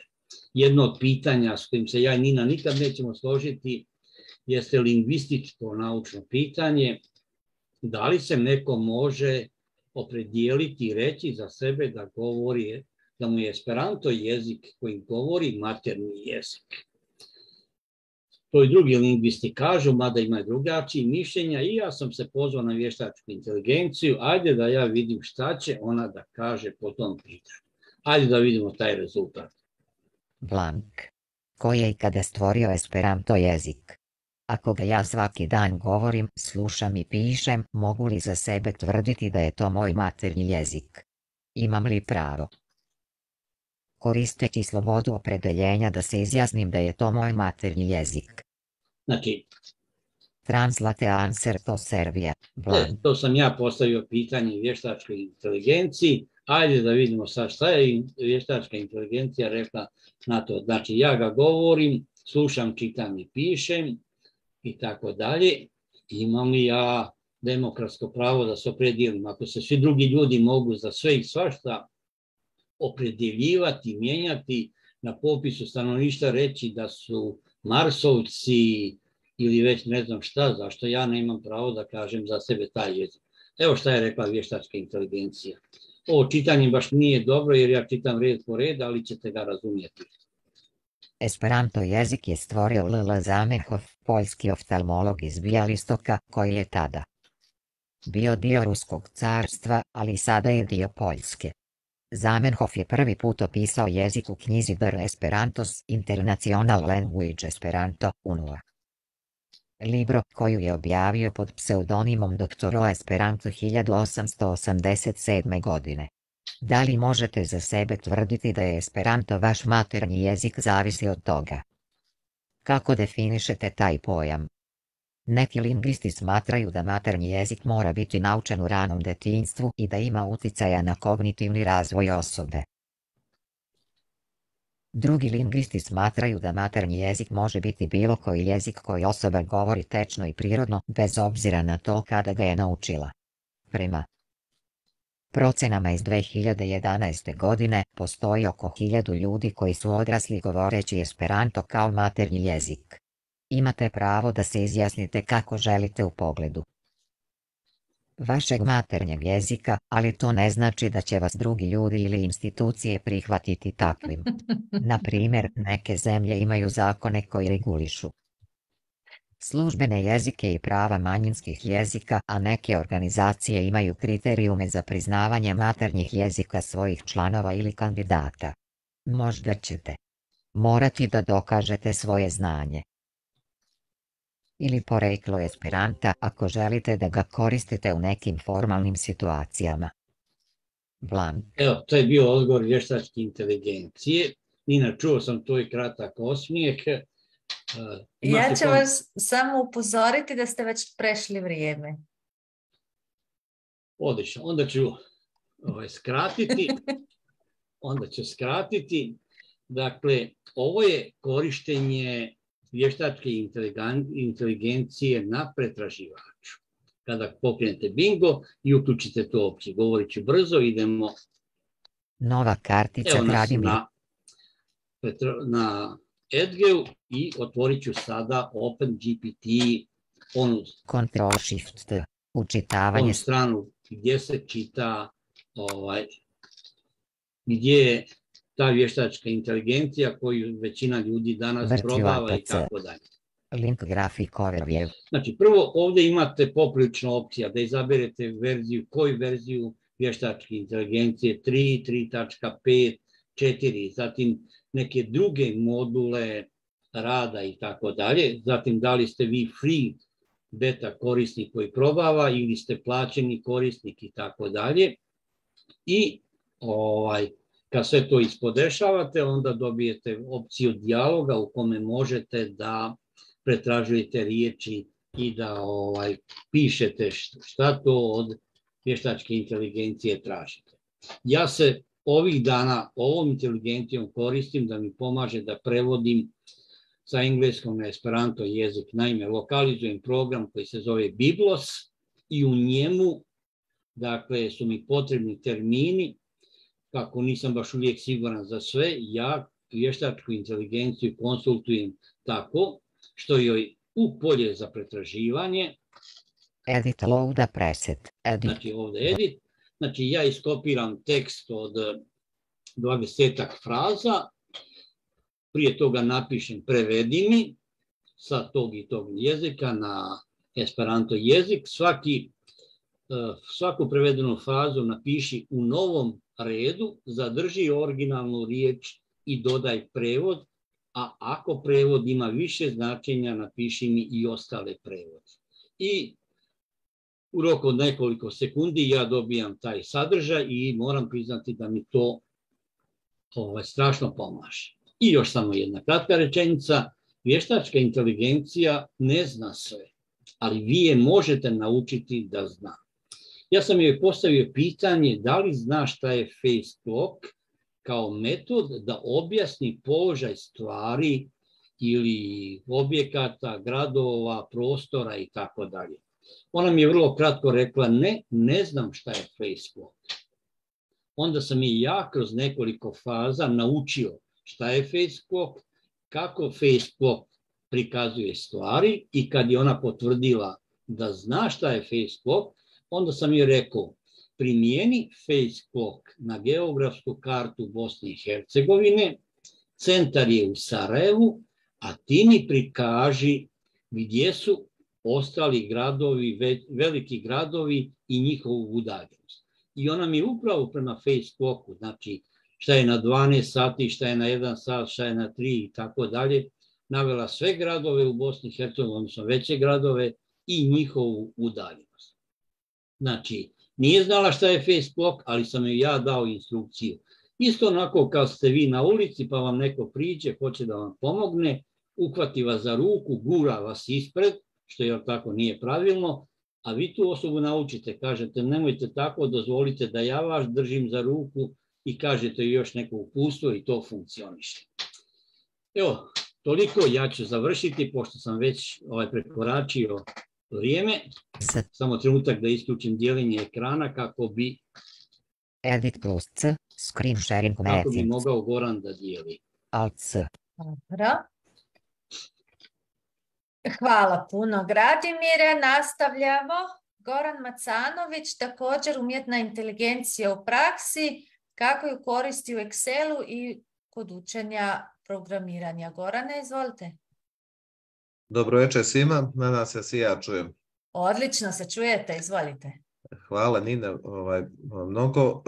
[SPEAKER 3] Jedno od pitanja s kojim se ja i Nina nikad nećemo složiti jeste lingvističko naučno pitanje. Da li se neko može opredijeliti i reći za sebe da govori da mu je Esperanto jezik koji govori maternji jezik. To i drugi lingvisti kažu, mada imaju drugačiji mišljenja, i ja sam se pozvao na vještačku inteligenciju, ajde da ja vidim šta će ona da kaže po tom pitanju. Ajde da vidimo taj rezultat.
[SPEAKER 4] Blank. Ko je ikada stvorio Esperanto jezik? Ako ga ja svaki dan govorim, slušam i pišem, mogu li za sebe tvrditi da je to moj maternji jezik? Imam li pravo? Koristeći slobodu opredeljenja da se izjasnim da je to moj maternji jezik.
[SPEAKER 3] Znači,
[SPEAKER 4] Translate answer to Serbia. Blank.
[SPEAKER 3] to sam ja postavio pitanje vještačkoj inteligenciji. Ajde da vidimo sad šta je vještačka inteligencija rekla na to. Znači, ja ga govorim, slušam, čitam i pišem i tako dalje. Imam li ja demokratsko pravo da se opredijelim? Ako se svi drugi ljudi mogu za sve i svašta opredeljivati, mijenjati, na popisu stanovništva reći da su Marsovci ili već ne znam šta, zašto ja nemam pravo da kažem za sebe taj jezik. Evo šta je rekla vještačka inteligencija. Ovo čitanje baš nije dobro jer ja čitam red po red, ali ćete ga razumjeti.
[SPEAKER 4] Esperanto jezik je stvorio L.L. Zamenhof, poljski oftalmolog iz Bijalistoka, koji je tada bio dio Ruskog carstva, ali sada je dio Poljske. Zamenhof je prvi put opisao jezik u knjizi Der Esperantos International Language Esperanto, Unua. Libro, koju je objavio pod pseudonimom Doktoro Esperanto 1887. godine. Da li možete za sebe tvrditi da je Esperanto vaš maternji jezik zavisi od toga? Kako definišete taj pojam? Neki lingvisti smatraju da maternji jezik mora biti naučen u ranom detinjstvu i da ima uticaja na kognitivni razvoj osobe. Drugi lingvisti smatraju da maternji jezik može biti bilo koji jezik koji osoba govori tečno i prirodno, bez obzira na to kada ga je naučila. Prema procenama iz 2011. godine, postoji oko 1000 ljudi koji su odrasli govoreći Esperanto kao maternji jezik. Imate pravo da se izjasnite kako želite u pogledu vašeg maternjeg jezika, ali to ne znači da će vas drugi ljudi ili institucije prihvatiti takvim. Na primjer, neke zemlje imaju zakone koji regulišu službene jezike i prava manjinskih jezika, a neke organizacije imaju kriterijume za priznavanje maternjih jezika svojih članova ili kandidata. Možda ćete morati da dokažete svoje znanje ili poreklo Esperanta ako želite da ga koristite u nekim formalnim situacijama. Blank.
[SPEAKER 3] Evo, to je bio odgovor vještačke inteligencije. Nina, čuo sam tvoj kratak osmijeh.
[SPEAKER 1] Ja ću vas samo upozoriti da ste već prešli vrijeme.
[SPEAKER 3] Odlično, onda ću skratiti. Dakle, ovo je korištenje vještačke inteligencije na pretraživaču. Kada pokrenete bingo i uključite to opciju. Govorit ću brzo, idemo.
[SPEAKER 4] Nova kartica.
[SPEAKER 3] Evo nas na Edgeu i otvorit ću sada OpenGPT,
[SPEAKER 4] Ctrl+Shift, učitavanje.
[SPEAKER 3] onu stranu gdje se čita, gdje je ta vještačka inteligencija koju većina ljudi danas probava i tako dalje.
[SPEAKER 4] Link grafik overview.
[SPEAKER 3] Znači, prvo ovdje imate poprilično opcija da izaberete verziju, koju verziju vještačke inteligencije, 3, 3.5, 4, zatim neke druge module rada i tako dalje. Zatim, da li ste vi free beta korisnik koji probava ili ste plaćeni korisnik i tako dalje. I kad sve to ispodešavate, onda dobijete opciju dijaloga u kome možete da pretražujete riječi i da pišete šta to od vještačke inteligencije tražite. Ja se ovih dana ovom inteligencijom koristim da mi pomaže da prevodim sa engleskog na Esperanto jezik. Naime, lokalizujem program koji se zove Biblos i u njemu, dakle, su mi potrebni termini. Kako nisam baš uvijek siguran za sve, ja vještačku inteligenciju konsultujem tako što joj u polje za pretraživanje.
[SPEAKER 4] Edit load preset.
[SPEAKER 3] Znači ovdje edit. Znači ja iskopiram tekst od 20-ak fraza, prije toga napišem prevedi mi sa tog i tog jezika na Esperanto jezik, svaku prevedenu frazu napiši u novom redu, zadrži originalnu riječ i dodaj prevod, a ako prevod ima više značenja, napiši mi i ostale prevode. I u roku od nekoliko sekundi ja dobijam taj sadržaj i moram priznati da mi to strašno pomaže. I još samo jedna kratka rečenica. Vještačka inteligencija ne zna sve, ali vi je možete naučiti da zna. Ja sam joj postavio pitanje da li zna šta je face clock kao metod da objasni položaj stvari ili objekata, gradova, prostora i tako dalje. Ona mi je vrlo kratko rekla ne znam šta je face clock. Onda sam i ja kroz nekoliko faza naučio šta je face clock, kako face clock prikazuje stvari i kad je ona potvrdila da zna šta je face clock, onda sam joj rekao primijeni face clock na geografsku kartu Bosne i Hercegovine, centar je u Sarajevu, a ti mi prikaži gdje su ostali gradovi, veliki gradovi i njihovu udaljenost. I ona mi upravo prema face clocku, znači šta je na 12 sati, šta je na 1 sat, šta je na 3 i tako dalje, navela sve gradove u Bosni i Hercegovini, odnosno veće gradove i njihovu udaljenost. Znači, nije znala šta je face clock, ali sam joj ja dao instrukciju. Isto onako kao ste vi na ulici pa vam neko priđe, hoće da vam pomogne, uhvati vas za ruku, gura vas ispred, što je tako nije pravilno, a vi tu osobu naučite, kažete nemojte tako, dozvolite da ja vas držim za ruku i kažete još neko uputstvo i to funkcioniše. Evo, toliko, ja ću završiti, pošto sam već prekoračio vrijeme. Samo trenutak da isključim dijeljenje ekrana kako bi
[SPEAKER 4] Edit plus C, screen sharing
[SPEAKER 3] kako bi mogao Goran da dijeli.
[SPEAKER 4] Alt C.
[SPEAKER 1] Dobro. Hvala puno, Gradimire. Nastavljamo. Goran Macanović, također umjetna inteligencija u praksi, kako ju koristi u Excelu i kod učenja programiranja. Gorane, izvolite.
[SPEAKER 5] Dobro večer svima, nadam se da se ja čujem.
[SPEAKER 1] Odlično se čujete, izvolite.
[SPEAKER 5] Hvala Nina mnogo.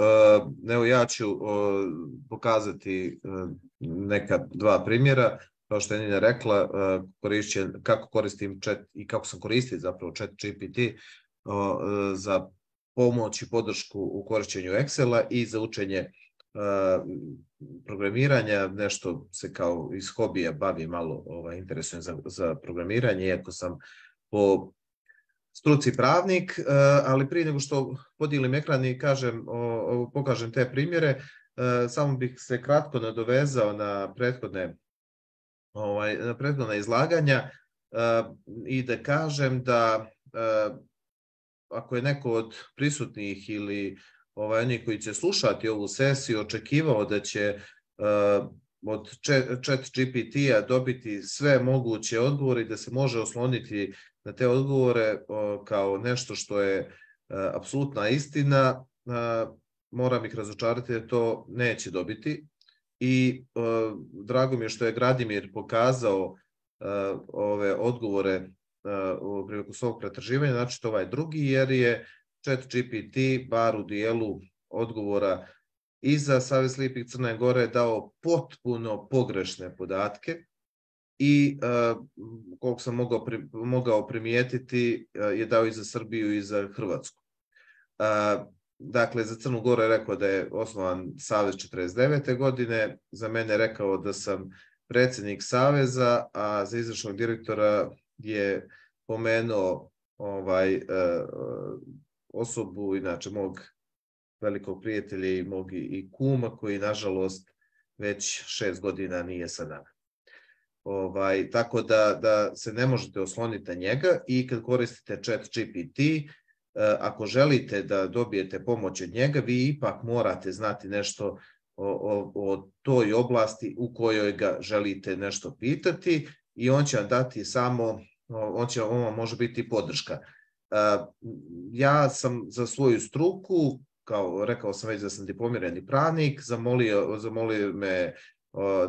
[SPEAKER 5] Evo ja ću pokazati neka dva primjera. Kao što je Nina rekla, kako koristim chat i kako sam koristio zapravo ChatGPT za pomoć i podršku u korišćenju Excela i za učenje programiranja. Nešto se kao iz hobija bavim, malo interesujem za programiranje, iako sam po struci pravnik, ali prije nego što podijelim ekran i pokažem te primjere, samo bih se kratko nadovezao na prethodna izlaganja i da kažem da ako je neko od prisutnih ili oni koji će slušati ovu sesiju očekivao da će od ChatGPT-a dobiti sve moguće odgovore i da se može osloniti na te odgovore kao nešto što je apsolutna istina, moram ih razočarati da to neće dobiti. I drago mi je što je Gradimir pokazao ove odgovore prilikom svog pretraživanja, znači to ovaj drugi, jer je ChatGPT bar u dijelu odgovora i za Savez slijepih Crne Gore dao potpuno pogrešne podatke i koliko sam mogao primijetiti je dao i za Srbiju i za Hrvatsku. Dakle, za Crnu Goru je rekao da je osnovan Savez 49. godine, za mene je rekao da sam predsjednik Saveza, a za izvršnog direktora je pomenuo osobu, inače mog velikog prijatelja i mog i kuma, koji nažalost već 6 godina nije sa nama. Tako da se ne možete osloniti na njega i kad koristite ChatGPT, ako želite da dobijete pomoć od njega, vi ipak morate znati nešto o toj oblasti u kojoj ga želite nešto pitati i on će vam dati samo, on vam može biti podrška. Ja sam za svoju struku kao rekao sam već da sam diplomirani pravnik, zamolio me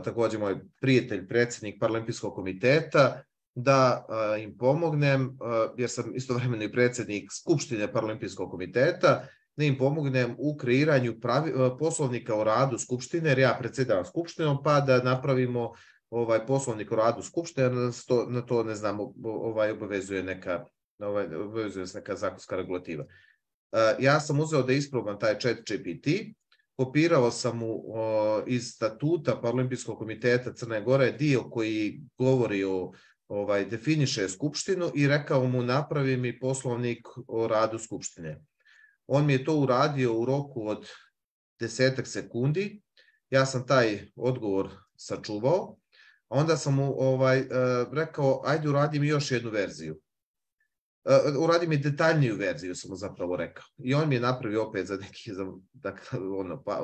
[SPEAKER 5] također moj prijatelj, predsjednik Paraolimpijskog komiteta, da im pomognem, jer sam istovremeno i predsjednik Skupštine Paraolimpijskog komiteta, da im pomognem u kreiranju poslovnika o radu Skupštine, jer ja predsjedavam Skupštinom, pa da napravimo poslovnik o radu Skupštine, na to ne znam, obavezuje se neka zakonska regulativa. Ja sam uzeo da isprobam taj ChatGPT, kopirao sam mu iz statuta Paraolimpijskog komiteta Crne Gore dio koji govori definiše Skupštinu i rekao mu napravi mi poslovnik o radu Skupštine. On mi je to uradio u roku od 10 sekundi. Ja sam taj odgovor sačuvao. Onda sam mu rekao, ajde uradi mi još jednu verziju. Uradi mi detaljniju verziju, sam mu zapravo rekao. I on mi je napravio opet za neki,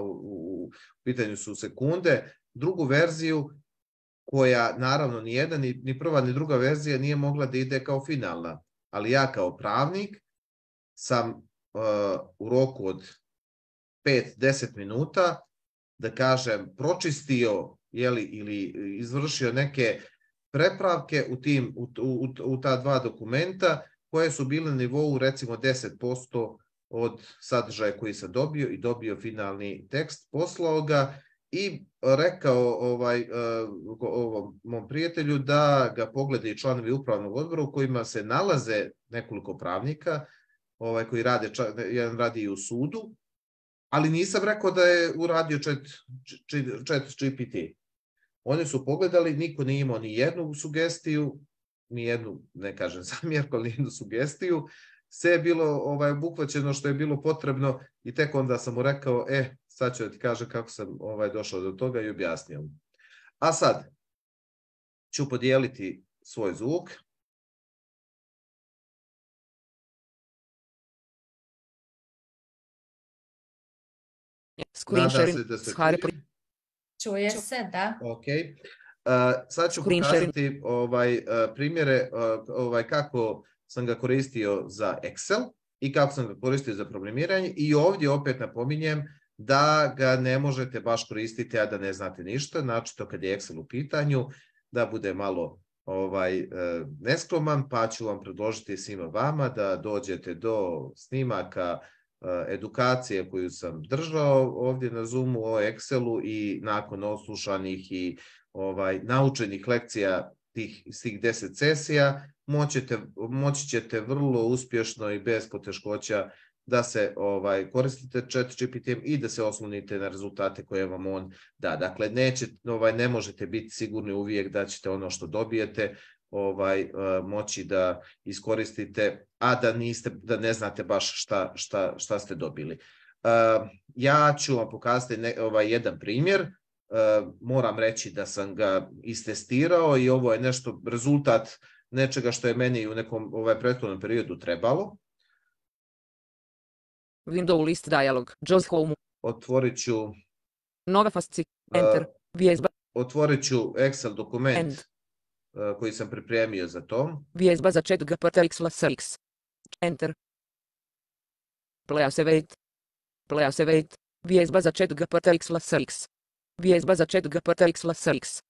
[SPEAKER 5] u pitanju su sekunde, drugu verziju koja naravno ni prva ni druga verzija nije mogla da ide kao finalna. Ali ja kao pravnik sam u roku od 5-10 minuta, da kažem, pročistio ili izvršio neke prepravke u ta dva dokumenta koje su bile na nivou recimo 10% od sadržaja koji sam dobio i dobio finalni tekst, poslao ga i rekao ovom mom prijatelju da ga pogleda i članovi upravnog odbora u kojima se nalaze nekoliko pravnika koji rade, jedan radi i u sudu, ali nisam rekao da je uradio ChatGPT. Oni su pogledali, niko nije imao ni jednu sugestiju, ni jednu, ne kažem zamjerku, ali ni jednu sugestiju. Sve je bilo obuhvaćeno što je bilo potrebno i tek onda sam mu rekao, sad ću da ti kažem kako sam došao do toga i objasnio. A sad ću podijeliti svoj zvuk.
[SPEAKER 6] Screen sharing.
[SPEAKER 1] Čuje se, da.
[SPEAKER 5] Ok. Sad ću pokazati primjere kako sam ga koristio za Excel i kako sam ga koristio za programiranje i ovdje opet napominjem da ga ne možete baš koristiti, a da ne znate ništa, znači to kad je Excel u pitanju, da bude malo neskroman, pa ću vam predložiti svima vama da dođete do snimaka edukacije koju sam držao ovdje na Zoomu o Excelu i nakon odslušanih i naučenih lekcija tih 10 sesija moći ćete vrlo uspješno i bez poteškoća da se koristite ChatGPT-em i da se oslonite na rezultate koje vam on da. Dakle, ne možete biti sigurni uvijek da ćete ono što dobijete moći da iskoristite, a da ne znate baš šta ste dobili. Ja ću vam pokazati jedan primjer. Moram reći da sam ga istestirao i ovo je rezultat nečega što je meni u nekom prethodnom periodu trebalo.
[SPEAKER 6] Window list dialog. JAWS home.
[SPEAKER 5] Otvorit ću
[SPEAKER 6] nova fasci. Enter. Vjezba.
[SPEAKER 5] Otvorit ću Excel dokument koji sam pripremio za to.
[SPEAKER 6] Vjezba za chat GPT-X. Enter. Play wait. Vjezba za chat GPT-X. Vjezba za chat GPT-X.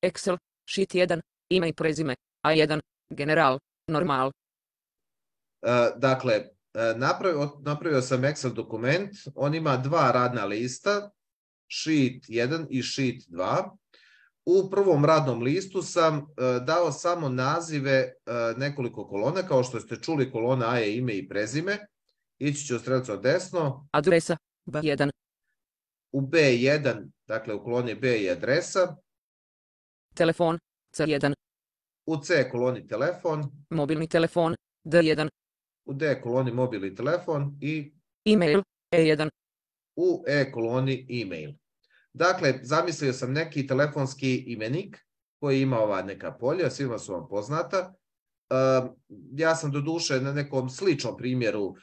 [SPEAKER 6] Excel. Sheet 1. Ime i prezime. A1. General. Normal.
[SPEAKER 5] Dakle, napravio sam Excel dokument. On ima dva radna lista. Sheet 1 i Sheet 2. U prvom radnom listu sam dao samo nazive nekoliko kolona, kao što ste čuli, kolona A je ime i prezime. Ići ću strelicom desno.
[SPEAKER 6] Adresa B1.
[SPEAKER 5] U B1, dakle u koloni B je adresa.
[SPEAKER 6] Telefon C1.
[SPEAKER 5] U C koloni telefon.
[SPEAKER 6] Mobilni telefon D1.
[SPEAKER 5] U D koloni mobilni telefon i
[SPEAKER 6] e-mail E1.
[SPEAKER 5] U E koloni e-mail. Dakle, zamislio sam neki telefonski imenik koji ima ova neka polja, svima su vam poznata. Ja sam doduše na nekom sličnom primjeru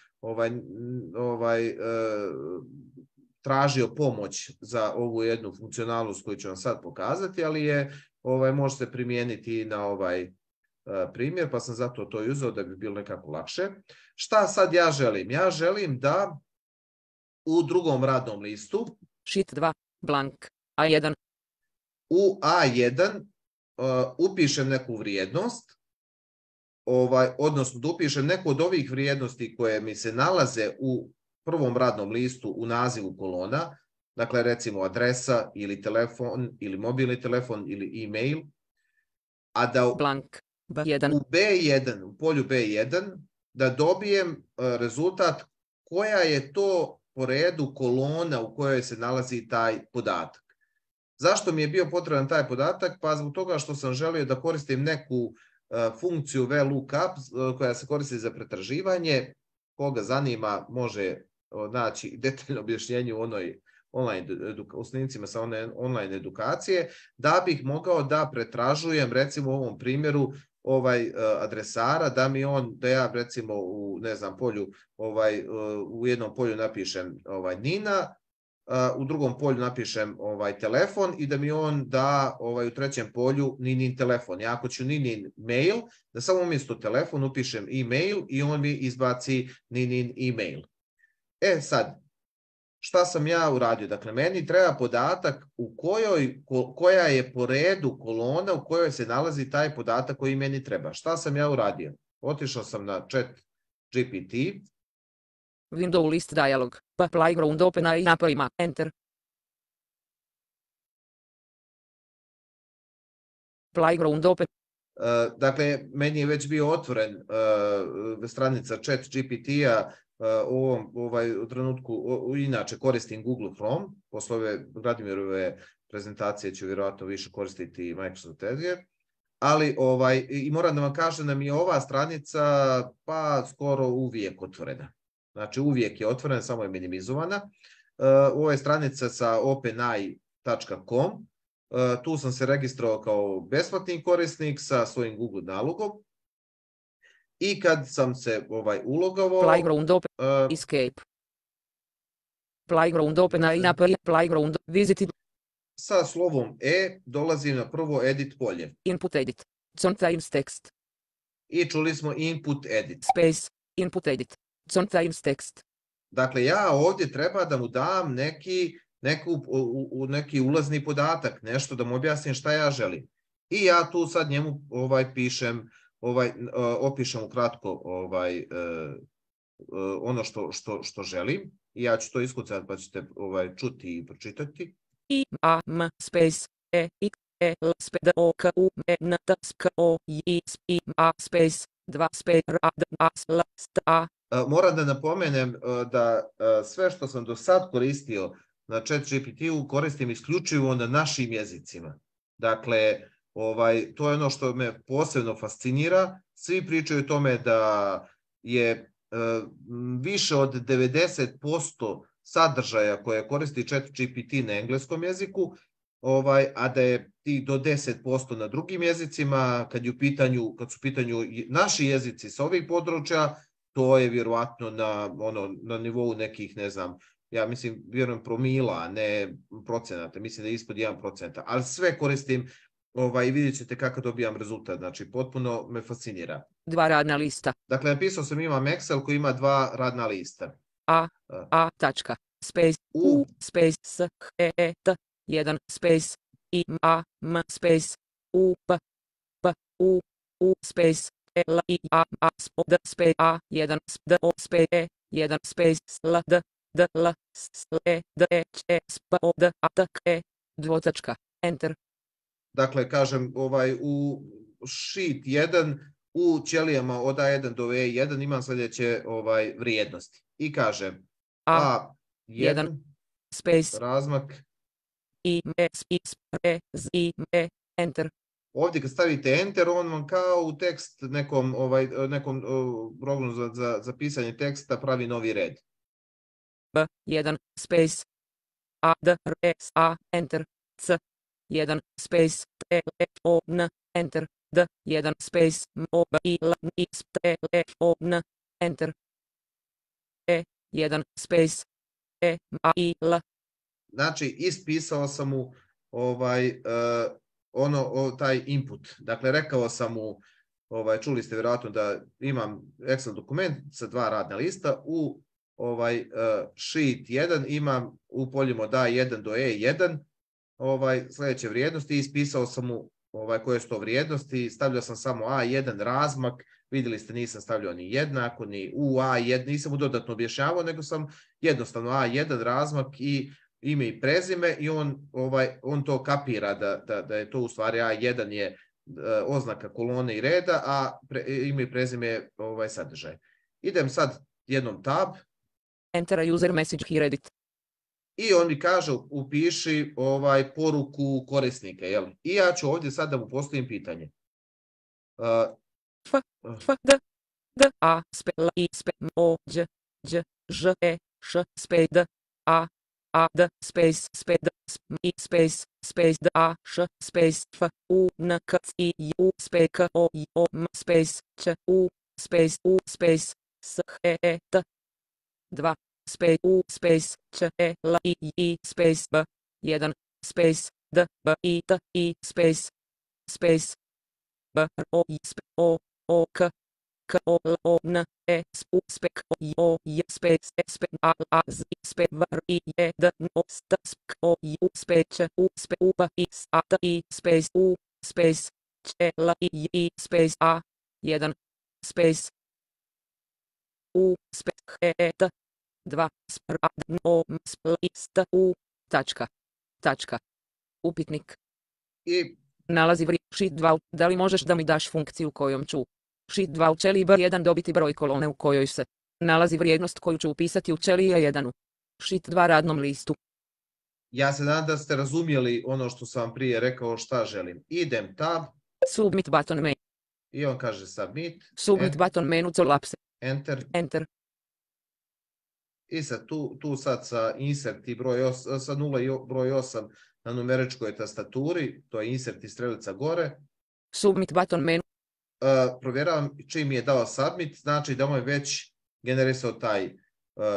[SPEAKER 5] tražio pomoć za ovu jednu funkcionalnost koju ću vam sad pokazati, ali je može se primijeniti na ovaj primjer, pa sam zato to uzeo da bi bilo nekako lakše. Šta sad ja želim? Ja želim da u drugom radnom listu.
[SPEAKER 6] Sheet 2, blank, A1.
[SPEAKER 5] U A1 upišem neku vrijednost, odnosno da upišem neku od ovih vrijednosti koje mi se nalaze u prvom radnom listu u nazivu kolona, dakle recimo adresa ili telefon ili mobilni telefon ili e-mail, a da
[SPEAKER 6] blank, B1.
[SPEAKER 5] u B1, u polju B1, da dobijem rezultat koja je to po redu kolona u kojoj se nalazi taj podatak. Zašto mi je bio potreban taj podatak? Pa zbog toga što sam želio da koristim neku funkciju VLOOKUP koja se koristi za pretraživanje. Koga zanima može naći detaljno objašnjenje u snimcima sa online edukacije, da bih mogao da pretražujem recimo u ovom primjeru adresara, da ja recimo u polju, u jednom polju napišem Nina, u drugom polju napišem telefon i da mi on da u trećem polju Ninin telefon. Ja ako ću Ninin mail, da samo umjesto telefon upišem e-mail i on mi izbaci Ninin e-mail. Sad, šta sam ja uradio? Dakle, meni treba podatak koja je po redu kolona u kojoj se nalazi taj podatak koji meni treba. Šta sam ja uradio? Otišao sam na ChatGPT.
[SPEAKER 6] Window list dialog. Playground open i napravima. Enter. Playground open.
[SPEAKER 5] Dakle, meni je već bio otvoren stranica ChatGPT-a. U trenutku, inače koristim Google Chrome, posle ove Vladimirove prezentacije ću vjerojatno više koristiti Microsoft Edge, ali i moram da vam kažem da mi je ova stranica pa skoro uvijek otvorena. Znači uvijek je otvorena, samo je minimizovana. Ovo je stranica sa openai.com, tu sam se registrovao kao besplatni korisnik sa svojim Google nalogom. I kad sam se ulogovao...
[SPEAKER 6] Playground open, escape. Playground open i napravi, playground, visited.
[SPEAKER 5] Sa slovom E dolazim na prvo edit polje.
[SPEAKER 6] Input edit, sometimes text.
[SPEAKER 5] I čuli smo input edit.
[SPEAKER 6] Space, input edit, sometimes text.
[SPEAKER 5] Dakle, ja ovdje treba da mu dam neki ulazni podatak, nešto da mu objasnim šta ja želim. I ja tu sad njemu pišem, opišem ukratko ono što želim i ja ću to iskucati pa ćete čuti i pročitati.
[SPEAKER 6] I A M space E X E L space O K U M N T S K O I S I A space 2 space R A D A S L S T A.
[SPEAKER 5] Moram da napomenem da sve što sam do sad koristio na ChatGPT-u koristim isključivo na našim jezicima. Dakle, to je ono što me posebno fascinira. Svi pričaju o tome da je više od 90% sadržaja koje koristi ChatGPT na engleskom jeziku, a da je do 10% na drugim jezicima. Kad su u pitanju naši jezici sa ovih područja, to je vjerovatno na nivou nekih, ne znam, ja mislim, vjerujem promila, a ne procenata, mislim da je ispod 1%, ali sve koristim i vidjet ćete kako dobijam rezultat, znači potpuno me fascinira.
[SPEAKER 6] 2 radna lista.
[SPEAKER 5] Dakle, napisao sam imam Excel koji ima 2 radna lista.
[SPEAKER 6] A tačka, space, U, space, S, E, E, T, 1, space, I, A, M, space, U, P, P, U, space, L, I, A, A, D, space, A, 1, D, O, space, E, 1, space, L, D, D, L, S, E, D, E, Č, S, P, O, D, A, T, E, 2 tačka, enter.
[SPEAKER 5] Dakle, kažem, u sheet 1, u ćelijama od A1 do E1 imam sljedeće vrijednosti. I kažem A1,
[SPEAKER 6] space,
[SPEAKER 5] razmak,
[SPEAKER 6] I, S, I, E, Z, I, E, enter.
[SPEAKER 5] Ovdje kad stavite enter, on vam kao u tekst nekom programu za pisanje teksta pravi novi red.
[SPEAKER 6] B1, space, A, D, R, S, A, enter, C, 1, space, T, F, O, N, enter, D, 1, space, M, O, B, I, L, I, S, T, F, O, N, enter, E, 1, space, E, M, A, I, L.
[SPEAKER 5] Znači, ispisao sam mu taj input. Dakle, rekao sam mu, čuli ste vjerojatno da imam Excel dokument sa 2 radna lista, u sheet 1, imam u poljima od A1 do E1 sljedeće vrijednosti i ispisao sam mu koje su to vrijednosti, stavljao sam samo A1 razmak, vidjeli ste nisam stavljao ni jednako, ni u A1, nisam mu dodatno objašnjavao, nego sam jednostavno A1 razmak i ime i prezime i on to kapira da je to u stvari A1 je oznaka kolone i reda, a ime i prezime je sadržaj. Idem sad jednom tab.
[SPEAKER 6] Enter a user message here edit.
[SPEAKER 5] I on mi kaže upiši poruku korisnika. Jel? I ja ću ovdje sad da mu postavim pitanje.
[SPEAKER 6] D A sp L I sp O Đ Đ Ž E Š sp D A D space D I space D A Š space F U N K I U space K O I O M space Ć U space S H E T 2 space U space Č E L I space B 1 space D B I T I space B R O I O K K O L O N E S U spek O I O J space S P A A Z I spe V R I E D N O S T spek O I U space U spe U B I S A T I space U space Č E L I space A 1 space U space H E T 2 spr A D N O M spl I S T U tačka. Upitnik.
[SPEAKER 5] I
[SPEAKER 6] nalazi sheet 2. Da li možeš da mi daš funkciju kojom ću sheet 2 u ćeliji B1 dobiti broj kolone u kojoj se nalazi vrijednost koju ću upisati u ćeliji A1 u sheet 2 radnom listu.
[SPEAKER 5] Ja se nadam da ste razumjeli ono što sam vam prije rekao šta želim. Idem tab.
[SPEAKER 6] Submit button menu.
[SPEAKER 5] I on kaže submit.
[SPEAKER 6] Submit button menu collapse.
[SPEAKER 5] Enter. I sad tu sad sa insert i broj sa 0 i broj 8 na numeričkoj tastaturi, to je insert i strelica gore.
[SPEAKER 6] Submit button menu.
[SPEAKER 5] Provjeravam čim mi je dao submit, znači da mu je već generisao taj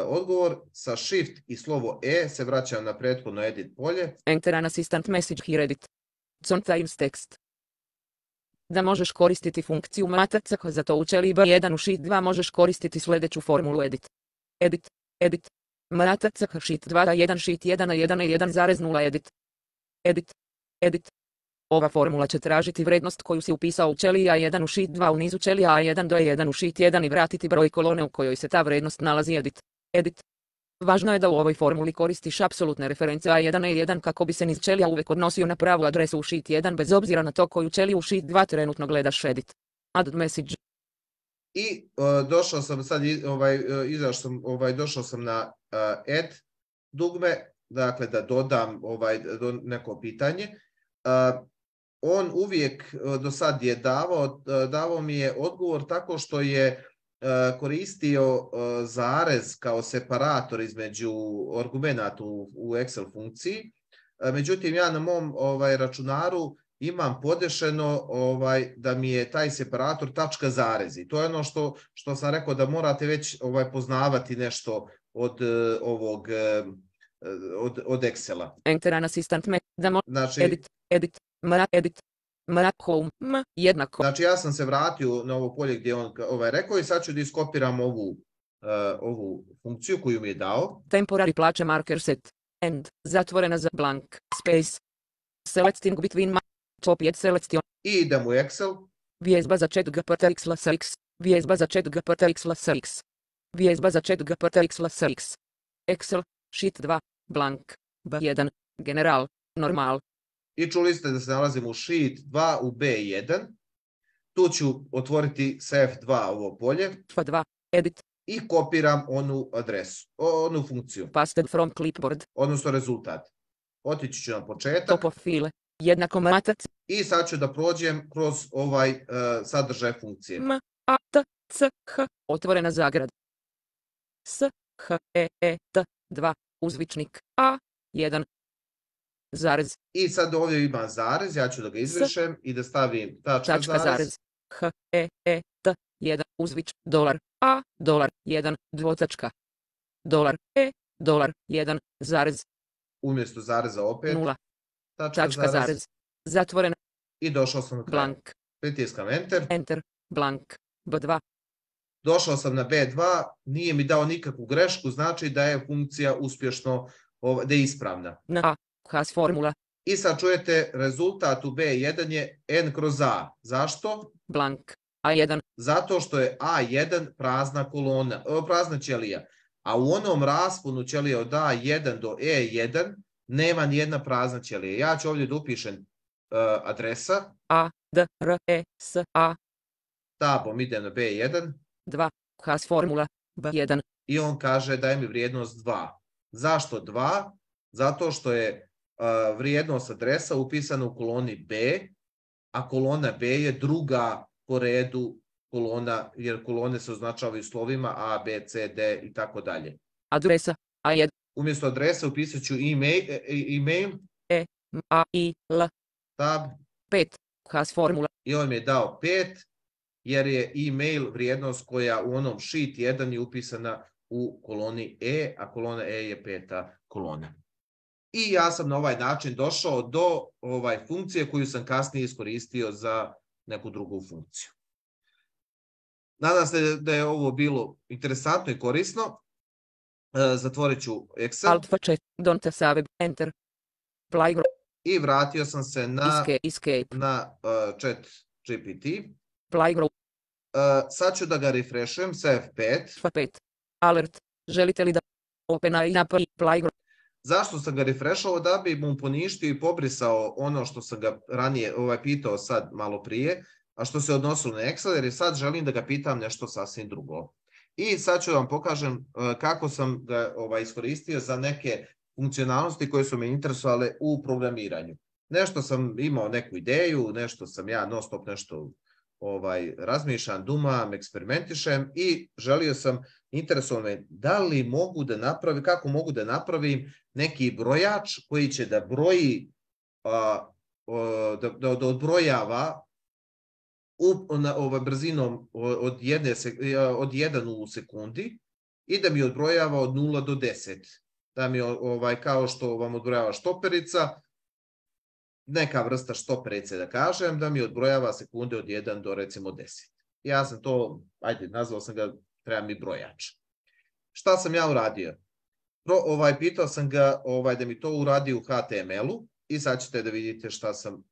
[SPEAKER 5] odgovor. Sa shift i slovo E se vraćam na prethodno edit polje.
[SPEAKER 6] Enter an assistant message here edit. Sometimes text. Da možeš koristiti funkciju matac, za to u ćeliji B1 u sheet 2 možeš koristiti sljedeću formulu edit. Edit. Matac sheet 2 A1 sheet 1 A1 A1,0 edit. Ova formula će tražiti vrijednost koju si upisao u ćeliji A1 u sheet 2 u nizu ćelija A1 do A1 u sheet 1 i vratiti broj kolone u kojoj se ta vrijednost nalazi edit. Važno je da u ovoj formuli koristiš apsolutne reference A1 A1 kako bi se niz ćelija uvijek odnosio na pravu adresu u sheet 1 bez obzira na to koju ćeliju u sheet 2 trenutno gledaš edit. Add message.
[SPEAKER 5] I došao sam sad, došao sam na add dugme, dakle da dodam neko pitanje. On uvijek do sad je davao mi je odgovor tako što je koristio zarez kao separator između argumenata u Excel funkciji. Međutim, ja na mom računaru imam podešeno da mi je taj separator tačka zarezi. To je ono što sam rekao da morate već poznavati nešto od ovog od Excela.
[SPEAKER 6] Enter an assistant
[SPEAKER 5] znači,
[SPEAKER 6] edit home jednako.
[SPEAKER 5] Znači ja sam se vratio na ovo polje gdje on rekao i sad ću da iskopiram ovu funkciju koju mi je dao.
[SPEAKER 6] Temporary plaće marker set end zatvorena za blank space selecting between top 1 selection.
[SPEAKER 5] I idem u Excel.
[SPEAKER 6] Vjezba za chat GPT vjezba za chat GPT vjezba za chat GPT Excel sheet 2 blank B1 general normal.
[SPEAKER 5] I čuli ste da se nalazim u sheet 2 u B1. Tu ću otvoriti sa F2 ovo polje.
[SPEAKER 6] F2 edit.
[SPEAKER 5] I kopiram onu adresu, onu funkciju.
[SPEAKER 6] Pasted from clipboard.
[SPEAKER 5] Odnosno rezultat. Otići ću na početak.
[SPEAKER 6] Top of file. Jednako matac.
[SPEAKER 5] I sad ću da prođem kroz ovaj sadržaj funkcije.
[SPEAKER 6] M, A, T, C, H, otvorena zagrada. S, H, E, T, 2, uzvičnik, A, 1, zarez.
[SPEAKER 5] I sad ovdje ima zarez, ja ću da ga izbrišem i da stavim tačka zarez.
[SPEAKER 6] H, E, T, 1, uzvič, dolar, A, dolar, 1, dvotačka. Dolar, E, dolar, 1, zarez.
[SPEAKER 5] Umjesto zareza opet.
[SPEAKER 6] 0. Tačka zarez. Zatvorena.
[SPEAKER 5] I došao sam na kraj.
[SPEAKER 6] Blank.
[SPEAKER 5] Pritiskam Enter.
[SPEAKER 6] Enter. Blank. B2.
[SPEAKER 5] došao sam na B2, nije mi dao nikakvu grešku, znači da je funkcija uspješno, da je ispravna.
[SPEAKER 6] Na A, has formula,
[SPEAKER 5] I sad čujete, rezultat u B1 je n kroz A. Zašto?
[SPEAKER 6] blank, A1,
[SPEAKER 5] Zato što je A1 prazna ćelija. A u onom rasponu ćelije od A1 do E1 nema nijedna prazna ćelija. Ja ću ovdje da upišem adresa.
[SPEAKER 6] A, D, R, E, S, A,
[SPEAKER 5] Tabom idem na B1
[SPEAKER 6] 2, has formula, B1,
[SPEAKER 5] i on kaže daj mi vrijednost 2. Zašto 2? Zato što je vrijednost adresa upisana u koloni B, a kolona B je druga po redu kolona, jer kolone se označavaju slovima A, B, C, D i tako dalje.
[SPEAKER 6] adresa, A1,
[SPEAKER 5] Umjesto adrese upisat ću email,
[SPEAKER 6] A, I, L,
[SPEAKER 5] tab,
[SPEAKER 6] 5, has formula,
[SPEAKER 5] i on mi je dao 5, jer je email vrijednost koja u onom sheet 1 je upisana u koloni E, a kolona E je 5. kolona. I ja sam na ovaj način došao do funkcije koju sam kasnije iskoristio za neku drugu funkciju. Nadam se da je ovo bilo interesantno i korisno. Zatvorit ću Excel.
[SPEAKER 6] Alt F4, don't save, enter, Plygro,
[SPEAKER 5] I vratio sam se na
[SPEAKER 6] escape,
[SPEAKER 5] chat GPT.
[SPEAKER 6] Plygro,
[SPEAKER 5] Sad ću da ga refreshujem sa F5.
[SPEAKER 6] F5, alert, želite li da OpenAI napravi Plygro,
[SPEAKER 5] Zašto sam ga refreshao? Da bi mu poništio i pobrisao ono što sam ga ranije pitao sad malo prije, a što se odnosilo na Excel, jer sad želim da ga pitam nešto sasvim drugo. I sad ću vam pokažem kako sam ga iskoristio za neke funkcionalnosti koje su me interesovale u programiranju. Nešto sam imao neku ideju, nešto sam ja non stop nešto razmišljam, dumam, eksperimentišem i želio sam, interesovalo me da li mogu da napravim, kako mogu da napravim neki brojač koji će da broji, da odbrojava brzinom od 1 u sekundi i da mi odbrojava od 0 do 10. Da mi kao što vam odbrojava štoperica, neka vrsta štoperice da kažem, da mi odbrojava sekunde od 1 do recimo 10. Ja sam to, nazvao sam ga, treba mi brojač. Šta sam ja uradio? Pitao sam ga da mi to uradi u HTML-u i sad ćete da vidite šta sam,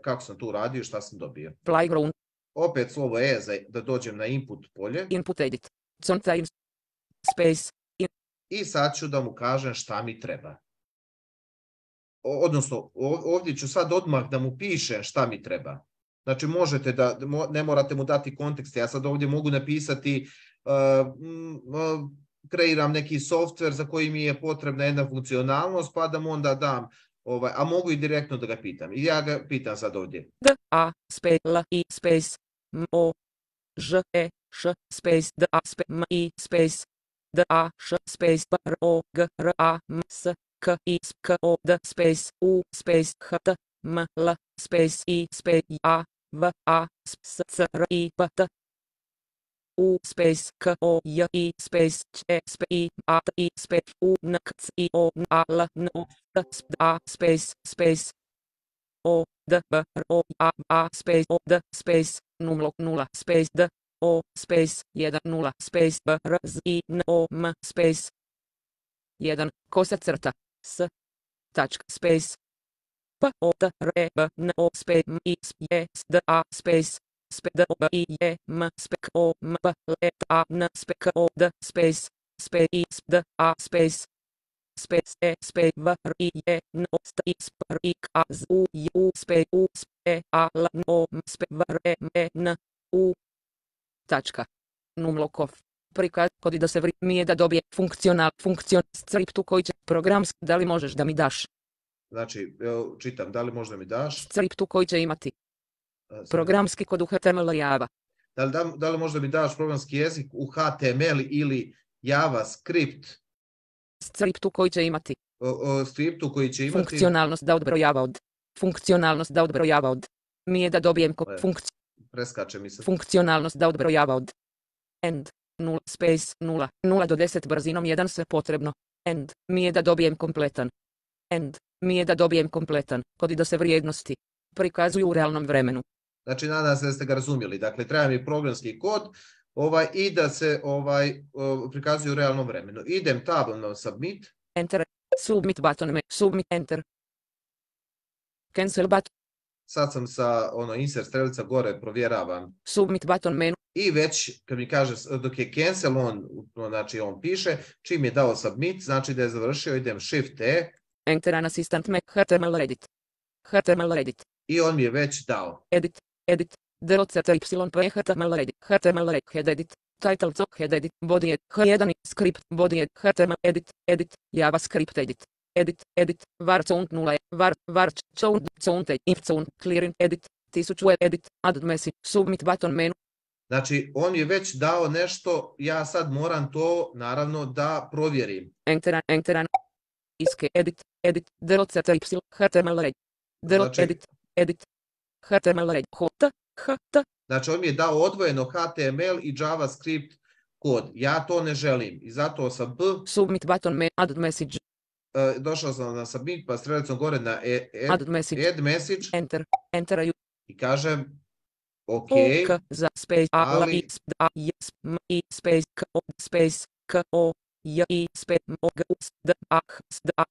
[SPEAKER 5] kako sam to uradio i šta sam dobio.
[SPEAKER 6] Playground,
[SPEAKER 5] Opet slovo E da dođem na input polje.
[SPEAKER 6] input edit, sometimes, space,
[SPEAKER 5] I sad ću da mu kažem šta mi treba. Odnosno, ovdje ću sad odmah da mu pišem šta mi treba. Znači, možete da, ne morate mu dati kontekst. Ja sad ovdje mogu napisati, kreiram neki softver za koji mi je potrebna jedna funkcionalnost, pa da mu onda dam, a mogu i direktno da ga pitam. I ja ga pitam sad ovdje.
[SPEAKER 6] D, A, space, L, I, space, M, O, Ž, E, Š, space, D, A, space, M, I, space, D, A, Š, space, P, R, O, G, R, A, M, S, K, I, K, O, D, space, U, space, H, T, M, L, space, I, space, A, V, A, S, C, R, I, P, T, U, space, K, O, J, I, space, Č, E, space, I, A, T, I, space, U, N, K, C, I, O, N, A, L, N, O, T, A, space, space, O, D, B, R, O, A, space, O, D, space, 0, space, D, O, space, 1, 0, space, B, R, Z, I, N, O, M, space, 1, kosa crta, S, tačka, space, P, O, T, R, E, B, N, O, space, M, I, S, D, A, space, D, O, B, I, E, M, space, O, M, P, L, E, T, A, N, space, O, D, space, space, I, D, A, space, space, E, space, V, R, I, E, N, O, S, I, S, R, I, K, A, Z, U, I, U, space, U, E, A, L, N, O, M, space, V, R, E, M, E, N, U, tačka, numlokov, prikaz, kod da se mi je da dobije funkcional scriptu koji će programski, da li možeš da mi daš?
[SPEAKER 5] Znači, čitam, da li možda mi daš?
[SPEAKER 6] Scriptu koji će imati programski kod u HTML Java.
[SPEAKER 5] Da li možda mi daš programski jezik u HTML ili JavaScript?
[SPEAKER 6] Scriptu koji će imati.
[SPEAKER 5] Scriptu koji će imati.
[SPEAKER 6] Funkcionalnost da odbrojava od. Funkcionalnost da odbrojava od. Mi je da dobijem funkciju.
[SPEAKER 5] Preskače mi se.
[SPEAKER 6] Funkcionalnost da odbrojava od. End. 0, space, 0, 0 do 10 brzinom 1 sve potrebno. End. Mi je da dobijem kompletan. End. Mi je da dobijem kompletan. Kod da se vrijednosti prikazuju u realnom vremenu.
[SPEAKER 5] Znači, nadam se da ste ga razumjeli. Dakle, treba mi programski kod I da se prikazuju u realnom vremenu. Idem tabom na submit.
[SPEAKER 6] Enter. Submit button. Submit enter. Cancel button.
[SPEAKER 5] Sad sam sa insert strelica gore, provjeravam.
[SPEAKER 6] Submit button menu.
[SPEAKER 5] I već, kad mi kaže, dok je cancel, znači on piše, čim je dao submit, znači da je završio, idem shift E.
[SPEAKER 6] Enter an assistant Mac HTML edit. HTML edit.
[SPEAKER 5] I on mi je već dao.
[SPEAKER 6] Edit. DOCTYP HTML edit. HTML head edit. Title head edit. Body edit. H1 script. Body edit. HTML edit. JavaScript edit. Var count 0. Var count if count clearing edit. 1000 edit. Add message. Submit button menu.
[SPEAKER 5] Znači, on je već dao nešto, ja sad moram to, naravno, da provjerim.
[SPEAKER 6] Enter. Iske edit. DOCTY HTML edit. HTML HT.
[SPEAKER 5] Znači, on mi je dao odvojeno HTML i JavaScript kod. Ja to ne želim. I zato sam
[SPEAKER 6] Submit button add message.
[SPEAKER 5] Došao sam na submit, pa strelicom gore na add message.
[SPEAKER 6] Enter.
[SPEAKER 5] I kažem, ok.
[SPEAKER 6] Za space
[SPEAKER 5] ali
[SPEAKER 6] space ko i space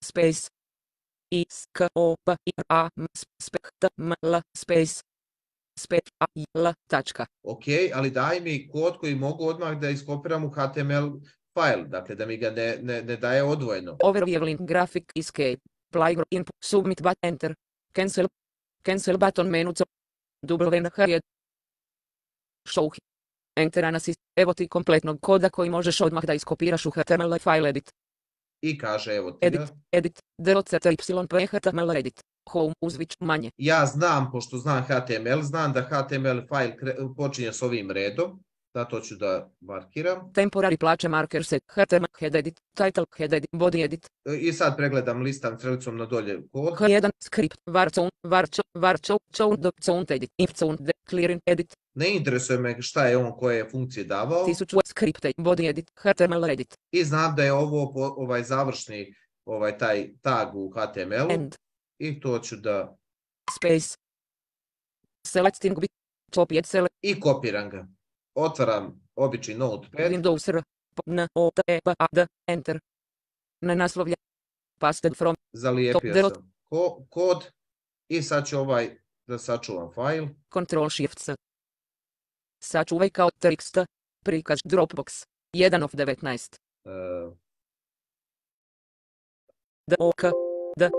[SPEAKER 6] space is ko p a space tačka.
[SPEAKER 5] Ok, ali daj mi kod koji mogu odmah da iskopiram u HTML file, dakle da mi ga ne daje odvojeno.
[SPEAKER 6] Overview link graphic escape playground input submit button enter cancel button menu WNH show enter assist. Evo ti kompletnog koda koji možeš odmah da iskopiraš u HTML file edit.
[SPEAKER 5] I kaže evo ti ga.
[SPEAKER 6] Edit DOCTYP HTML edit. Home uzvič manje.
[SPEAKER 5] Ja znam, pošto znam HTML, znam da HTML file počinje s ovim redom. Zato ću da markiram.
[SPEAKER 6] Temporary plaće marker set. HTML head edit. Title head edit. Body edit.
[SPEAKER 5] I sad pregledam listam strelicom na dolje kod.
[SPEAKER 6] H1 script. Count edit. If count clearing edit.
[SPEAKER 5] Ne interesuje me šta je on koje funkcije davao.
[SPEAKER 6] 1000 script body edit. HTML edit.
[SPEAKER 5] I znam da je ovo završni taj tag u HTML-u.
[SPEAKER 6] End.
[SPEAKER 5] I to ću da...
[SPEAKER 6] Space. Selecting bit. Copied select.
[SPEAKER 5] I kopiram ga. Otvaram obični notepad.
[SPEAKER 6] Windows R. N O T E P A D. Enter. Na naslovlje. Pasted from.
[SPEAKER 5] Zalijepio sam kod. I sad ću da sačuvam file.
[SPEAKER 6] Control Shift S. Sačuvaj kao TXT. Prikaz Dropbox. 1 of 19. D O K D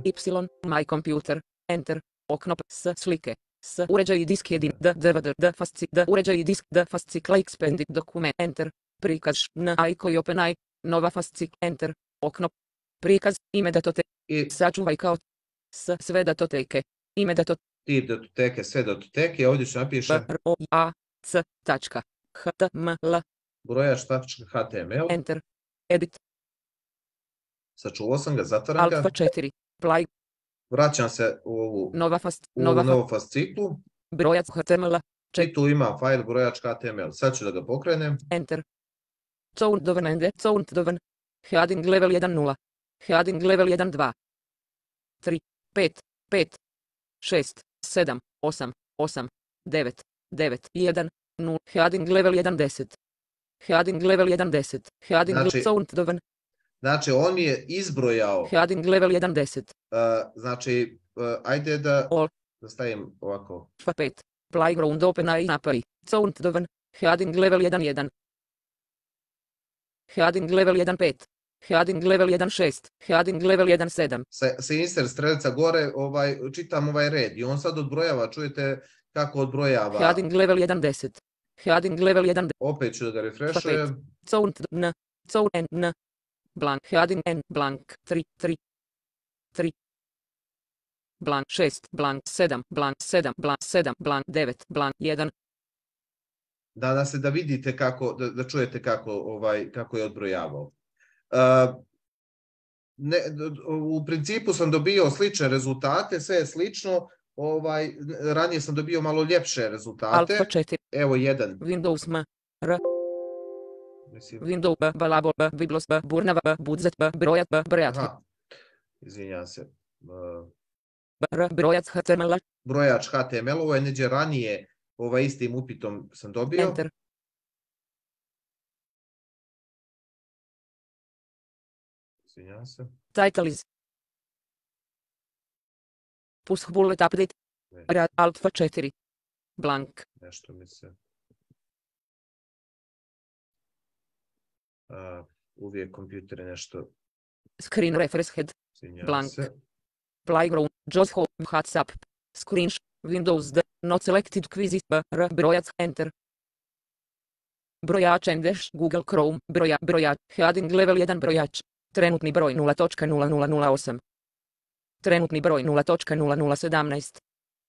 [SPEAKER 6] Y My Computer. Enter. Okno S slike. S uređaj disk jedin DVD D uređaj disk D fascikla expanded dokument enter prikaz N i open I nova fascik enter okno prikaz ime datoteke sačuvaj kao sve datoteke ime
[SPEAKER 5] tip datoteke sve datoteke ovdje ću napišem
[SPEAKER 6] html
[SPEAKER 5] brojač.html
[SPEAKER 6] enter edit
[SPEAKER 5] sačuvao sam ga, zatvaram ga
[SPEAKER 6] alfa 4 play.
[SPEAKER 5] Vraćam se u ovu novu fasciklu.
[SPEAKER 6] Brojac HTML.
[SPEAKER 5] I tu imam file brojač.html. Sad ću da ga pokrenem.
[SPEAKER 6] Enter. Countdown. Heading level 1.0. Heading level 1.2. 3, 5, 6, 7, 8, 9, 1, 0. Heading level 1.10. Heading level 1.10. Heading countdown.
[SPEAKER 5] Znači, on je izbrojao...
[SPEAKER 6] Heading level 1.10.
[SPEAKER 5] Znači, ajde da stavim ovako.
[SPEAKER 6] 5. Playground open i napari. Countdown. Heading level 1.1. Heading level 1.5. Heading level 1.6. Heading level 1.7.
[SPEAKER 5] Sa insert strelica gore čitam ovaj red i on sad odbrojava. Čujete kako odbrojava.
[SPEAKER 6] Heading level 1.10. Heading level 1.
[SPEAKER 5] Opet ću da ga refreshujem.
[SPEAKER 6] Countdown. Blank heading n blank 3 blank 6 blank 7 blank 7 blank 7 blank 9 blank 1.
[SPEAKER 5] Da se da vidite kako, da čujete kako je odbrojavao. U principu sam dobio slične rezultate, sve je slično. Ranije sam dobio malo ljepše rezultate.
[SPEAKER 6] Alfa 4.
[SPEAKER 5] Evo jedan.
[SPEAKER 6] Windows M R Windows B, Balabo B, Biblos B, Burnava B, Budzet B, Brojat B, Brojat.
[SPEAKER 5] Izvinjam se.
[SPEAKER 6] Brojac HTML.
[SPEAKER 5] Brojač HTML, ovo je neđe ranije istim upitom sam dobio.
[SPEAKER 6] Enter.
[SPEAKER 5] Izvinjavam se.
[SPEAKER 6] Title is Push bullet update.
[SPEAKER 5] Ne,
[SPEAKER 6] Alfa 4. Blank.
[SPEAKER 5] nešto mi se... uvijek kompjuter je nešto...
[SPEAKER 6] Screen refresh head.
[SPEAKER 5] Izvinjavam
[SPEAKER 6] Blank.
[SPEAKER 5] se.
[SPEAKER 6] Playground. Just home. WhatsApp. Screenshot. Windows D. Not selected quizzes. Brojac. Enter. Brojač Endesh. Google Chrome. Brojač. Heading level 1 brojač. Trenutni broj 0.0008. Trenutni broj 0.0017.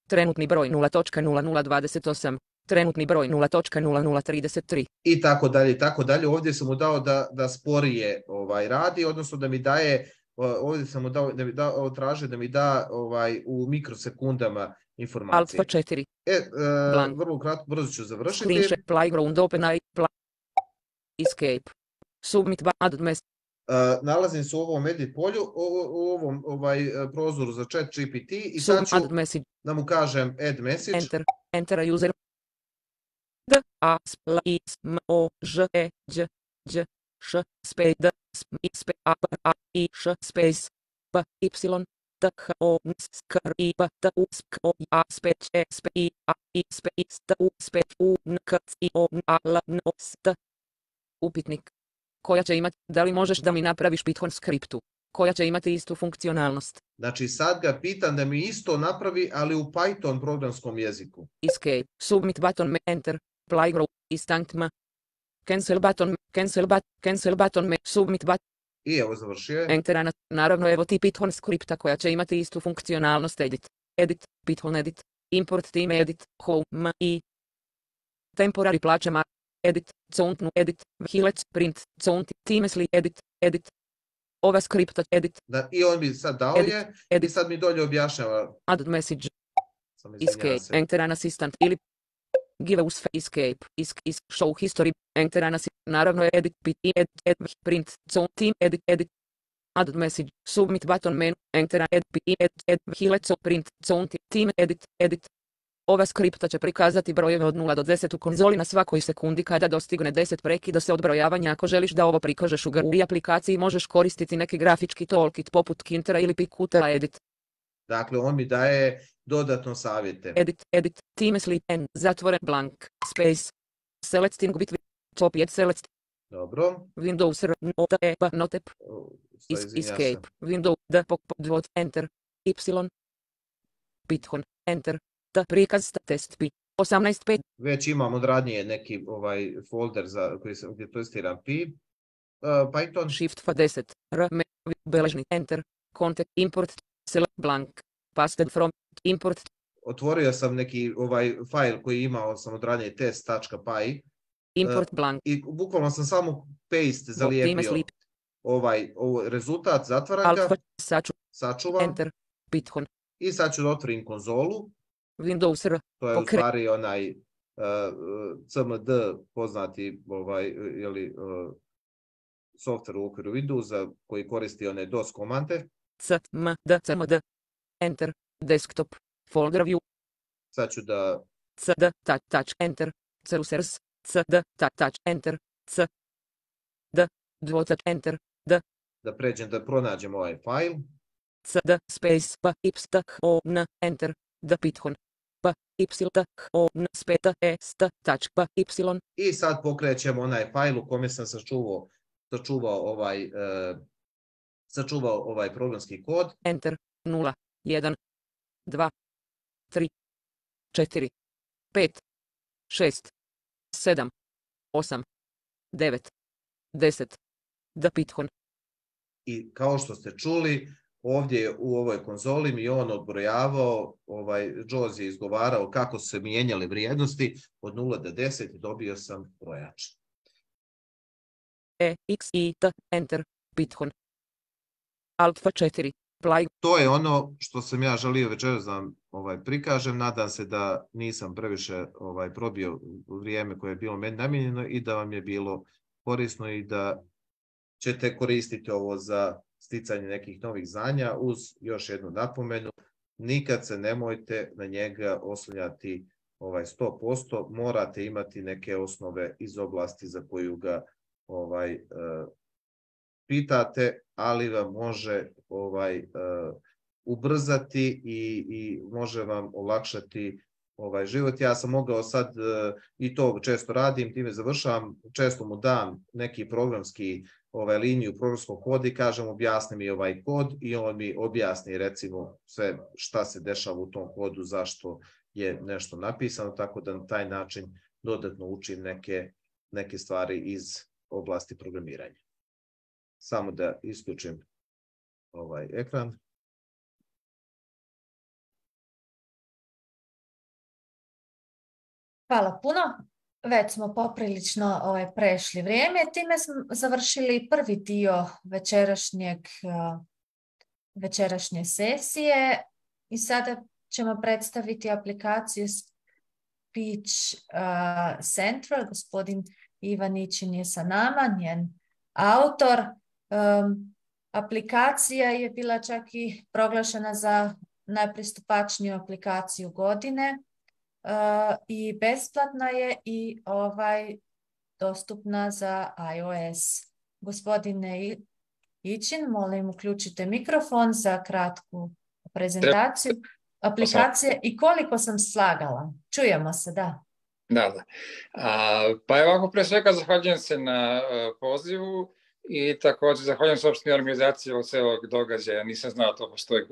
[SPEAKER 6] Trenutni broj 0.0028. Trenutni broj 0.0033.
[SPEAKER 5] I tako dalje, i tako dalje. Ovdje sam mu dao da sporije radi, odnosno da mi daje, ovdje sam mu dao, traže da mi da u mikrosekundama informacije.
[SPEAKER 6] Alfa 4.
[SPEAKER 5] Vrlo kratko, brzo ću završiti.
[SPEAKER 6] Screenshot, playground, open escape. Submit add message.
[SPEAKER 5] Nalazim se u ovom edit polju, u ovom prozoru za chat GPT i sad ću da mu kažem add message.
[SPEAKER 6] Enter user. D A S L I S M O Ž E Đ Đ Š space D space A A I Š space P Y T H O N S K R I P T U S K O A space E space I A I space T U space U N K I O N A L N O S T. Upitnik. Koja će imati, da li možeš da mi napraviš Python skriptu, koja će imati istu funkcionalnost.
[SPEAKER 5] Znači sad ga pitam da mi isto napravi, ali u Python programskom jeziku.
[SPEAKER 6] Escape, submit button, enter, playground, instant m, cancel button, submit button.
[SPEAKER 5] I evo završio.
[SPEAKER 6] Enter, naravno evo ti Python skripta koja će imati istu funkcionalnost edit, Python edit, import time edit, home i temporary plaćama. Edit, count edit, hilec, print, count, timesli, edit. Ova skripta, edit.
[SPEAKER 5] I on mi sad dao je, i sad mi dolje objašnjava.
[SPEAKER 6] Add message. Escape, enter an assistant, ili give us escape, show history, enter an assistant, naravno edit, print, count, team, edit. Add message, submit button menu, enter an edit, hilec, print, count, team, edit. Ova skripta će prikazati brojeve od 0 do 10 u konzoli na svakoj sekundi kada dostigne 10 prekida se odbrojavanja. Ako želiš da ovo prikažeš u GUI aplikaciji možeš koristiti neki grafički toolkit poput Kintera ili Picutera edit.
[SPEAKER 5] Dakle, on mi daje dodatno savjete.
[SPEAKER 6] Edit, time sleep n, zatvoren blank, space, selecting between, top yet select.
[SPEAKER 5] Dobro.
[SPEAKER 6] Windows r, not e, not ep, escape, Windows d, dvot, enter, y, Python, enter. Prikaz test pi 18.5.
[SPEAKER 5] Već imam od ranije neki folder gdje testiram pi. Python.
[SPEAKER 6] Shift F10. Beležni enter. Content import. Select blank. Pasted from. Import.
[SPEAKER 5] Otvorio sam neki file koji imao sam od ranije test.py.
[SPEAKER 6] Import blank.
[SPEAKER 5] I bukvalno sam samo paste zalijepio rezultat, zatvaram ga. Sačuvam.
[SPEAKER 6] Enter. Python.
[SPEAKER 5] I sad ću da otvorim konzolu.
[SPEAKER 6] Windows R.
[SPEAKER 5] To je u stvari onaj CMD poznati software u okviru Windowsa koji koristi one DOS komande.
[SPEAKER 6] CMD. Enter. Desktop. Folder view.
[SPEAKER 5] Sad ću da...
[SPEAKER 6] CD. Touch. Enter. Cerussers. CD. Touch. Enter. C. D. Dvocat. Enter. D.
[SPEAKER 5] Da pređem da pronađem ovaj file.
[SPEAKER 6] CD. Space. P. Y. O. N. Enter. Da Python. P. Y. O. N. Speta. E. St. Touch. P. Y.
[SPEAKER 5] I sad pokrećemo onaj file u kome sam sačuvao ovaj programski kod.
[SPEAKER 6] Enter. 0, 1, 2, 3, 4, 5, 6, 7, 8, 9, 10. Da Python.
[SPEAKER 5] I kao što ste čuli, ovdje u ovoj konzoli mi on odbrojavao, JAWS je izgovarao kako su se mijenjale vrijednosti od 0 do 10 i dobio sam brojač.
[SPEAKER 6] E, X, I, T, Enter, Python. Alfa 4, Play.
[SPEAKER 5] To je ono što sam ja želio večeras da vam prikažem. Nadam se da nisam previše probio vrijeme koje je bilo meni namijenjeno i da vam je bilo korisno i da ćete koristiti ovo za sticanje nekih novih znanja uz još jednu napomenu. Nikad se nemojte na njega oslanjati 100%, morate imati neke osnove iz oblasti za koju ga pitate, ali vam može ubrzati i može vam olakšati život. Ja sam mogao sad, i to često radim, time završavam, često mu dam neki programski liniju programskog koda i kažem objasni mi ovaj kod i on mi objasni recimo sve šta se dešava u tom kodu, zašto je nešto napisano, tako da na taj način dodatno učim neke stvari iz oblasti programiranja. Samo da isključim ovaj ekran.
[SPEAKER 1] Hvala puno. Već smo poprilično prešli vrijeme. Time smo završili prvi dio večerašnje sesije i sada ćemo predstaviti aplikaciju Speech Central. Gospodin Ivan Ićin je sa nama, njen autor. Aplikacija je bila čak i proglašena za najpristupačniju aplikaciju godine. I besplatna je i dostupna za iOS. Gospodine Ićin, molim uključite mikrofon za kratku prezentaciju aplikacije i koliko sam slagala. Čujemo se, da.
[SPEAKER 7] Da. Pa evo ovako, pre svega zahvaljujem se na pozivu i također zahvaljujem se opštini organizaciji ovog celog događaja. Nisam znao to postoji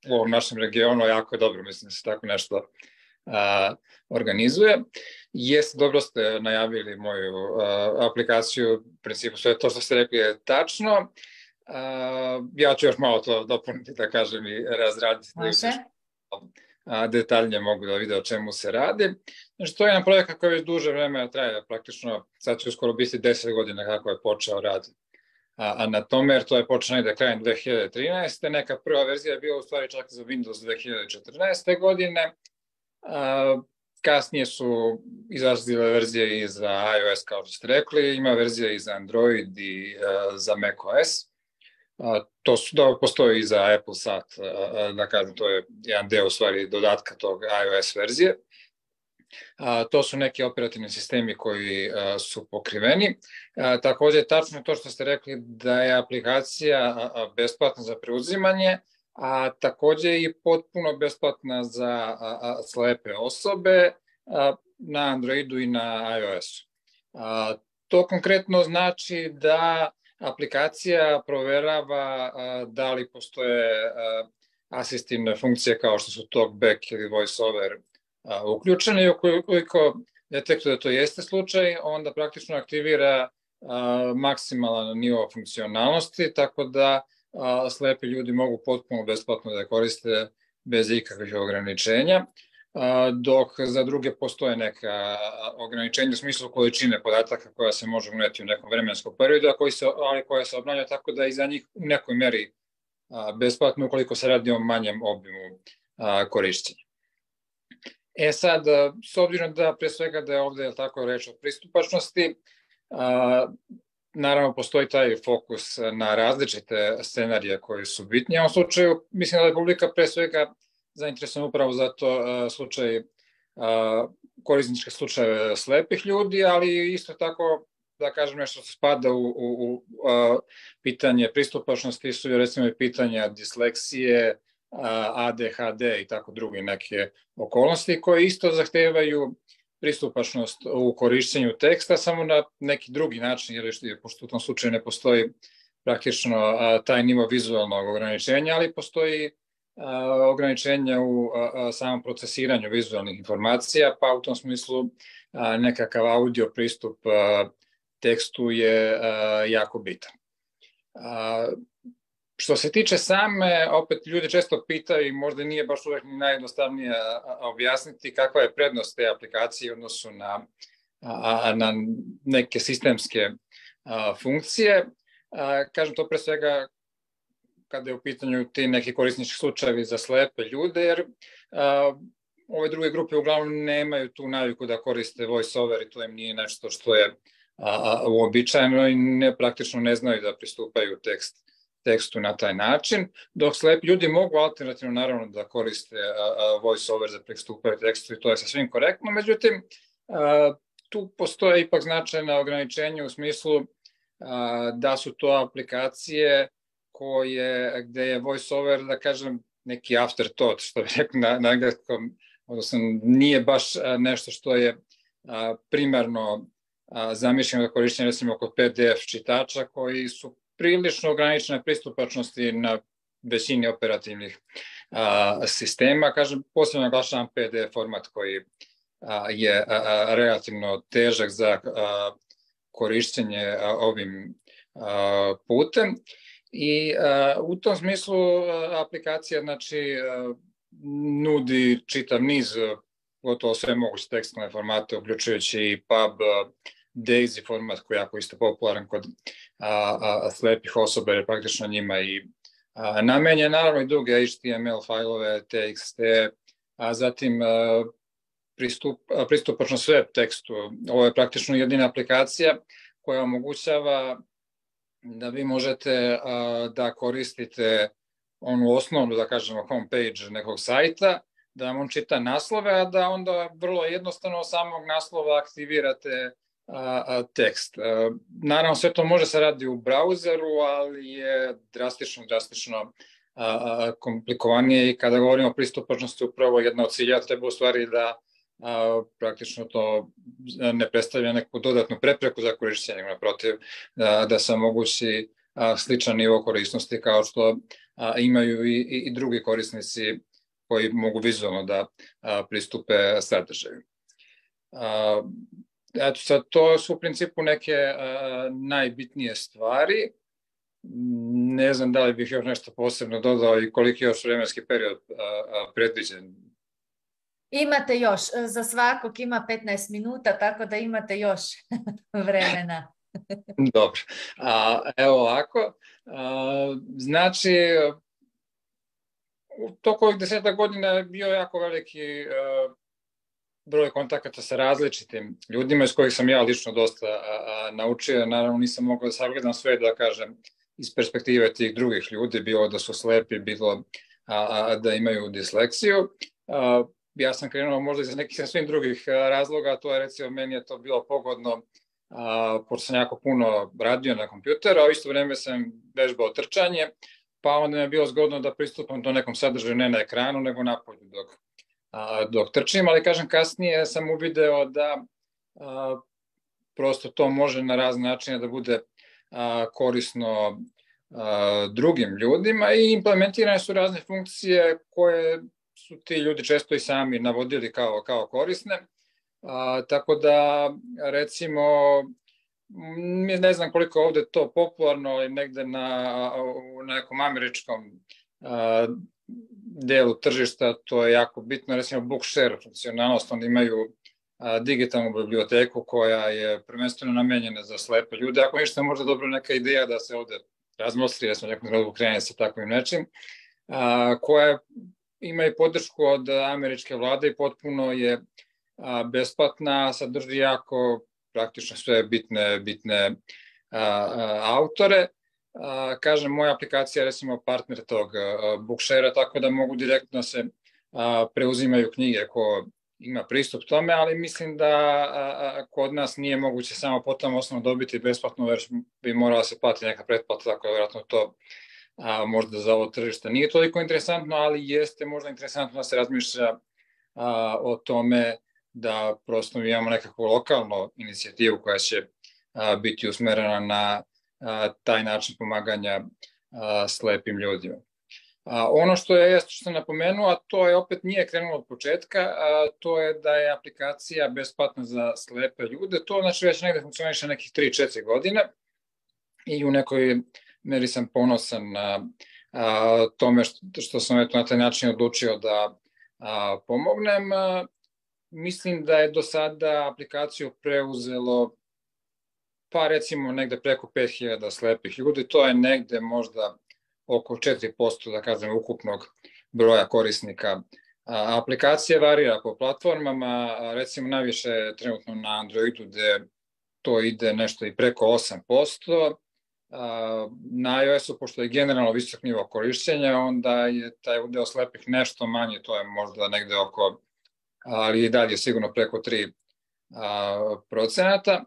[SPEAKER 7] u ovom našem regionu, jako je dobro, mislim da se tako nešto organizuje. Jeste, dobro ste najavili moju aplikaciju, u principu sve to što ste rekli je tačno. Ja ću još malo to dopuniti, da kažem, i razraditi. Detaljnije mogu da vide o čemu se radi. Znači, to je jedan projekat koji već duže vreme traje, praktično, sad će uskoro biti 10 godina kako je počeo rad na tome, jer to je počeo negde krajem 2013. Neka prva verzija je bila u stvari čak za Windows 2014. godine. Kasnije su izlazile verzije i za iOS, kao što ste rekli, ima verzija i za Android i za macOS. To postoji i za Apple Sat, da kažem, to je jedan deo u stvari dodatka tog iOS verzije. To su neki operativni sistemi koji su pokriveni. Također, tačno je to što ste rekli da je aplikacija besplatna za preuzimanje, a također i potpuno besplatna za slepe osobe na Androidu i na iOS-u. To konkretno znači da aplikacija proverava da li postoje asistivne funkcije kao što su TalkBack ili VoiceOver uključene i ukoliko detektuje da to jeste slučaj, onda praktično aktivira maksimalan nivo funkcionalnosti, tako da slepi ljudi mogu potpuno besplatno da koriste bez ikakvih ograničenja, dok za druge postoje neka ograničenja u smislu količine podataka koja se može uneti u nekom vremenskom periodu, ali koja se obnavlja tako da i za njih u nekoj meri besplatno ukoliko se radi o manjem obimu korišćenja. Sad, s obzirom da pre svega da je ovde tako reč o pristupačnosti, naravno postoji taj fokus na različite scenarije koji su bitni. U ovom slučaju mislim da je publika pre svega zainteresovana upravo za to slučaj, korisničke slučajeve slepih ljudi, ali isto tako da kažem nešto što spada u pitanje pristupačnosti su recimo i pitanja disleksije, ADHD i tako druge neke okolnosti koje isto zahtevaju pristupačnost u korišćenju teksta, samo na neki drugi način, jer pošto u tom slučaju ne postoji praktično taj nivo vizualnog ograničenja, ali postoji ograničenja u samom procesiranju vizualnih informacija, pa u tom smislu nekakav audio pristup tekstu je jako bitan. Što se tiče same, opet ljudi često pitaju i možda nije baš uvek ni najjednostavnije objasniti kakva je prednost te aplikacije u odnosu na neke sistemske funkcije. Kažem to pre svega kada je u pitanju ti neki korisnički slučajevi za slepe ljude, jer ove druge grupe uglavnom nemaju tu naviku da koriste VoiceOver i to im nije nešto što je uobičajeno i praktično ne znaju da pristupaju tekstu na taj način, dok slepi ljudi mogu alternativno naravno da koriste VoiceOver za pristupaju tekstu i to je sasvim korektno, međutim tu postoje ipak značajna ograničenja u smislu da su to aplikacije gde je voiceover, da kažem, neki afterthought, što bi rekao na engleskom, odnosno nije baš nešto što je primarno zamišljeno za korišćenje, recimo kod PDF čitača koji su prilično ograničene pristupačnosti na većini operativnih sistema. Kažem, posebno naglašavam PDF format koji je relativno težak za korišćenje ovim putem. I u tom smislu aplikacija znači nudi čitav niz gotovo sve moguće tekstilne formate, uključujući i PUB, DAISY format koji je jako isto popularan kod slepih osoba, jer praktično njima i namenjen, naravno i druge HTML fajlove, TXT, a zatim pristupačnost web tekstu. Ovo je praktično jedina aplikacija koja omogućava da vi možete da koristite onu osnovnu, da kažemo, homepage nekog sajta, da vam on čita naslove, a da onda vrlo jednostavno samog naslova aktivirate tekst. Naravno, sve to može se radi u brauzeru, ali je drastično komplikovanije i kada govorimo o pristupačnosti, upravo jedna od cilja treba u stvari da praktično to ne predstavlja neku dodatnu prepreku za korišćenje, naprotiv, da se omogući sličan nivo korisnosti kao što imaju i drugi korisnici koji mogu vizualno da pristupe sadržaju. Eto sad, to su u principu neke najbitnije stvari. Ne znam da li bih još nešto posebno dodao i koliki je još vremenski period predviđen.
[SPEAKER 1] Imate još, za svakog ima 15 minuta, tako da imate još vremena.
[SPEAKER 7] Dobro, evo ovako, znači u toku ovih 10 godina je bio jako veliki broj kontakata sa različitim ljudima iz kojih sam ja lično dosta naučio. Naravno nisam mogao da sagledam sve, da kažem, iz perspektive tih drugih ljudi, bilo da su slepi, bilo da imaju disleksiju. Ja sam krenuo možda iz nekih svim drugih razloga, to je recimo, meni je to bilo pogodno, pošto sam jako puno radio na kompjuteru, a u isto vreme sam vežbao trčanje, pa onda mi je bilo zgodno da pristupam do nekom sadržaju ne na ekranu, nego napolju dok trčim, ali kažem, kasnije sam uvideo da prosto to može na razne načine da bude korisno drugim ljudima i implementirane su razne funkcije koje su ti ljudi često i sami navodili kao korisne. Tako da, recimo, ne znam koliko je ovde to popularno, ali negde u nekom američkom delu tržišta to je jako bitno, recimo Bookshare funkcionalnost, oni imaju digitalnu biblioteku koja je prvenstveno namenjena za slepe ljude. Ako ništa, možda dobro neka ideja da se ovde razmostri, da smo nekom trenutku krenuli sa takvim nečim, koja ima i podršku od američke vlade i potpuno je besplatna, sadrži jako praktično sve bitne autore. Kažem, moja aplikacija je recimo partner tog Bookshare-a, tako da mogu direktno se preuzimaju knjige ko ima pristup tome, ali mislim da kod nas nije moguće samo po tom osnovu dobiti besplatno, jer bi morala se platiti neka pretplata, tako da vjerojatno to možda za ovo tržište nije toliko interesantno, ali jeste možda interesantno da se razmišlja o tome da prosto imamo nekakvu lokalnu inicijativu koja će biti usmerena na taj način pomaganja slepim ljudima. Ono što sam napomenuo, a to je opet nije krenulo od početka, to je da je aplikacija besplatna za slepe ljude. To znači već negde funkcioniše nekih 3-4 godine i u nekoj meri sam ponosan na tome što sam na taj način odlučio da pomognem. Mislim da je do sada aplikaciju preuzelo pa recimo negde preko 5000 slepih ljudi, to je negde možda oko 4%, da kažem, ukupnog broja korisnika. Aplikacija varira po platformama, recimo najviše trenutno na Androidu gde to ide nešto i preko 8%, na iOS-u, pošto je generalno visok nivo korišćenja, onda je taj udeo slepih nešto manje, to je možda negde oko, ali i dalje sigurno preko 3%.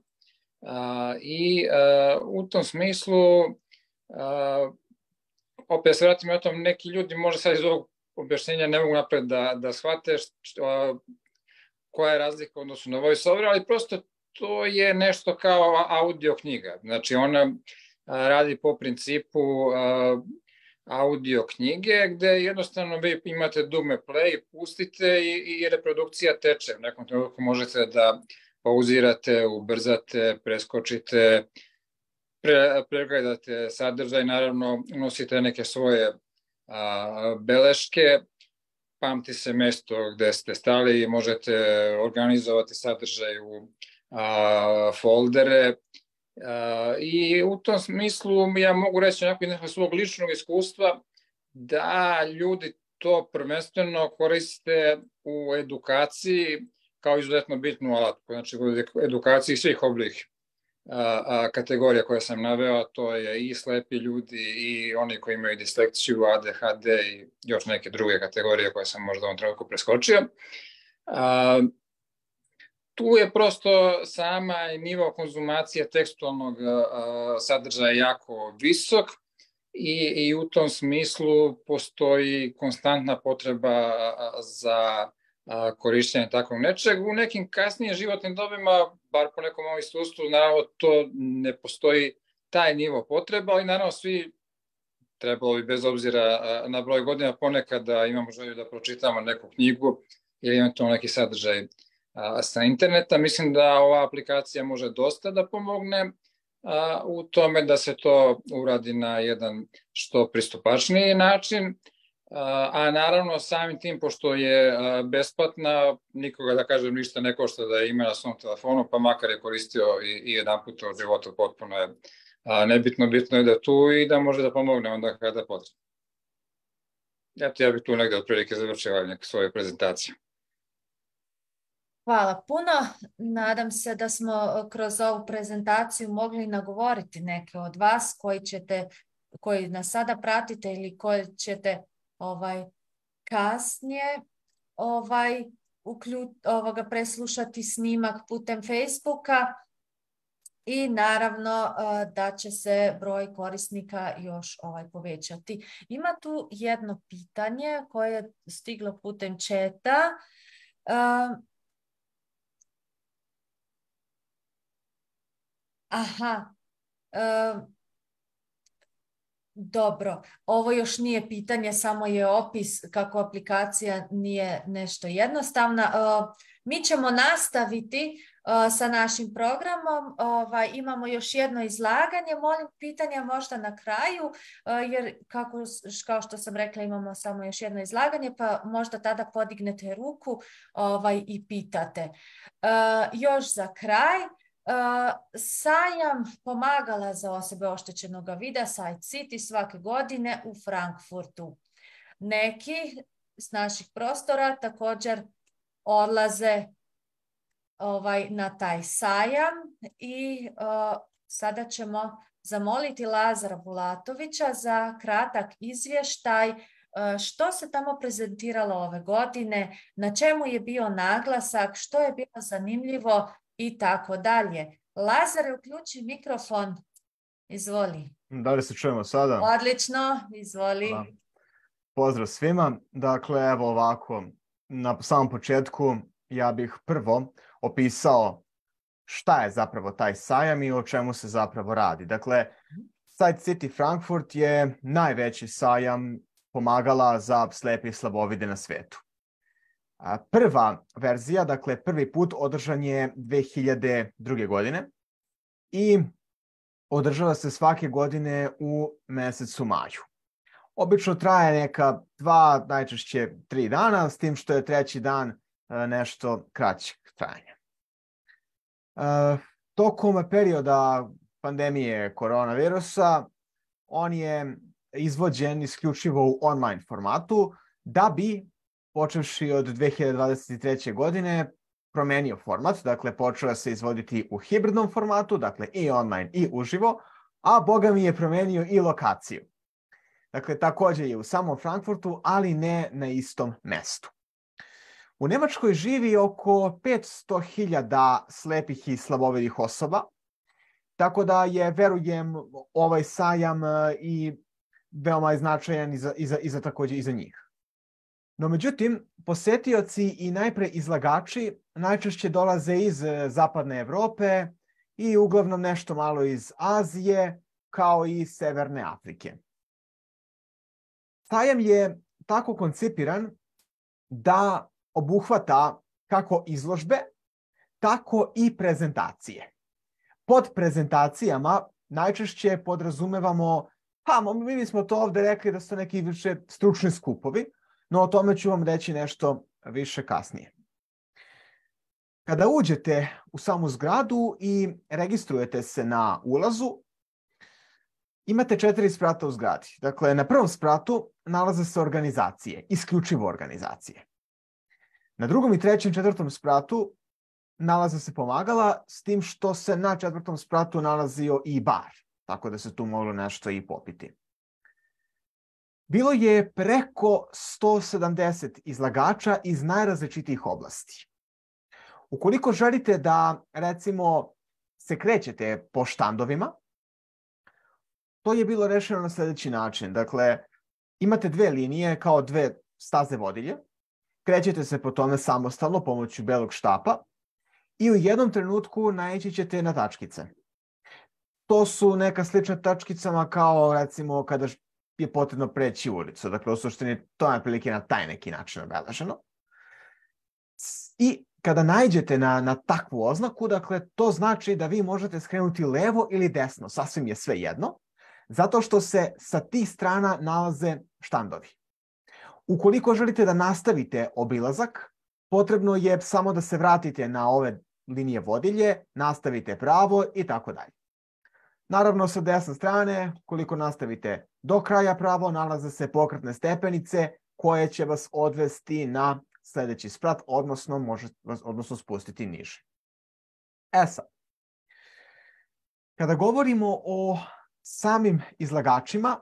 [SPEAKER 7] I u tom smislu, opet se vratim o tom, neki ljudi možda sad iz ovog objašnjenja ne mogu napred da shvate koja je razlika u odnosu na voice-over, ali prosto to je nešto kao audio knjiga. Znači ona radi po principu audio knjige, gde jednostavno vi imate dugme play, pustite i reprodukcija teče. U nekom trenutku možete da pauzirate, ubrzate, preskočite, pregledate sadržaj, naravno unosite neke svoje beleške, pamti se mesto gde ste stali i možete organizovati sadržaj u foldere. I u tom smislu ja mogu reći onako iz nekog svog ličnog iskustva da ljudi to prvenstveno koriste u edukaciji kao izuzetno bitnu alatku. Znači u edukaciji svih oblih kategorija koje sam naveo, to je i slepi ljudi i oni koji imaju disleksiju, ADHD i još neke druge kategorije koje sam možda u ovom trenutku preskočio. Tu je prosto sama nivo konzumacije tekstualnog sadržaja jako visok i u tom smislu postoji konstantna potreba za korišćenje takvog nečeg. U nekim kasnijim životnim dobima, bar po nekom ovom iskustvu, naravno to ne postoji taj nivo potreba, ali naravno svi trebalo bi bez obzira na broj godina ponekad da imamo želju da pročitamo neku knjigu ili eventualno neki sadržaj sa interneta. Mislim da ova aplikacija može dosta da pomogne u tome da se to uradi na jedan što pristupačniji način, a naravno samim tim, pošto je besplatna, nikoga da kažem ništa ne košta da ima na svom telefonu, pa makar je koristio i jedan put u životu, potpuno je nebitno, bitno je da tu i da može da pomogne onda kada potrebno. Eto, ja bih tu negde otprilike završio neku svoju prezentaciju.
[SPEAKER 1] Hvala puno. Nadam se da smo kroz ovu prezentaciju mogli nagovoriti neke od vas koji nas sada pratite ili koji ćete kasnije preslušati snimak putem Facebooka i naravno da će se broj korisnika još povećati. Ima tu jedno pitanje koje je stiglo putem četa. Dobro, ovo još nije pitanje, samo je opis kako aplikacija nije nešto jednostavna. Mi ćemo nastaviti sa našim programom. Imamo još jedno izlaganje. Molim pitanja možda na kraju, jer kao što sam rekla imamo samo još jedno izlaganje, pa možda tada podignete ruku i pitate. Još za kraj. Sajam pomagala za osobe oštećenog vida Sight City svake godine u Frankfurtu. Neki s naših prostora također odlaze na taj sajam i sada ćemo zamoliti Lazara Bulatovića za kratak izvještaj što se tamo prezentiralo ove godine, na čemu je bio naglasak, što je bilo zanimljivo i tako dalje. Lazare, uključi mikrofon. Izvoli.
[SPEAKER 8] Da li se čujemo sada?
[SPEAKER 1] Odlično, izvoli.
[SPEAKER 8] Hvala. Pozdrav svima. Dakle, evo ovako, na samom početku ja bih prvo opisao šta je zapravo taj sajam i o čemu se zapravo radi. Dakle, Sight City Frankfurt je najveći sajam pomagala za slepe i slabovide na svetu. Prva verzija, dakle prvi put održan je 2002. godine i održava se svake godine u mesecu maju. Obično traje neka 2, najčešće 3 dana, s tim što je treći dan nešto kraćeg trajanja. Tokom perioda pandemije koronavirusa on je izvođen isključivo u online formatu da bi počevši od 2023. godine promenio format, dakle počeo se izvoditi u hibridnom formatu, dakle i online i uživo, a Boga mi je promenio i lokaciju. Dakle, također je u samom Frankfurtu, ali ne na istom mestu. U Nemačkoj živi oko 500.000 slepih i slabovidih osoba Tako da je, verujem, ovaj sajam i veoma je značajan takođe i za njih. No međutim, posetioci i najpre izlagači najčešće dolaze iz zapadne Evrope i uglavnom nešto malo iz Azije, kao i Severne Afrike. Sajam je tako koncipiran da obuhvata kako izložbe, tako i prezentacije. Pod prezentacijama najčešće podrazumevamo, mi bismo to ovde rekli da su neki više stručni skupovi, no o tome ću vam reći nešto više kasnije. Kada uđete u samu zgradu i registrujete se na ulazu, imate 4 sprata u zgradi. Dakle, na prvom spratu nalaze se organizacije, isključivo organizacije. Na drugom i trećem, 4. spratu nalaze se pomagala, s tim što se na 4. spratu nalazio i bar, tako da se tu moglo nešto i popiti. Bilo je preko 170 izlagača iz najrazličitijih oblasti. Ukoliko želite da, recimo, se krećete po štandovima, to je bilo rešeno na sljedeći način. Dakle, imate 2 linije kao 2 staze vodilje, krećete se po tome samostalno pomoću belog štapa i u jednom trenutku naići ćete na tačkice. To su neka slična tačkicama kao, recimo, kada je potrebno preći ulicu. Dakle, u suštini to je prilike na taj neki način obeleženo. I kada naiđete na takvu oznaku, dakle, to znači da vi možete skrenuti levo ili desno, sasvim je sve jedno, zato što se sa tih strana nalaze štandovi. Ukoliko želite da nastavite obilazak, potrebno je samo da se vratite na ove linije vodilje, nastavite pravo i tako dalje. Naravno, sa desne strane, koliko nastavite do kraja pravo, nalaze se pokretne stepenice koje će vas odvesti na sljedeći sprat, odnosno spustiti niže. Sad, kada govorimo o samim izlagačima,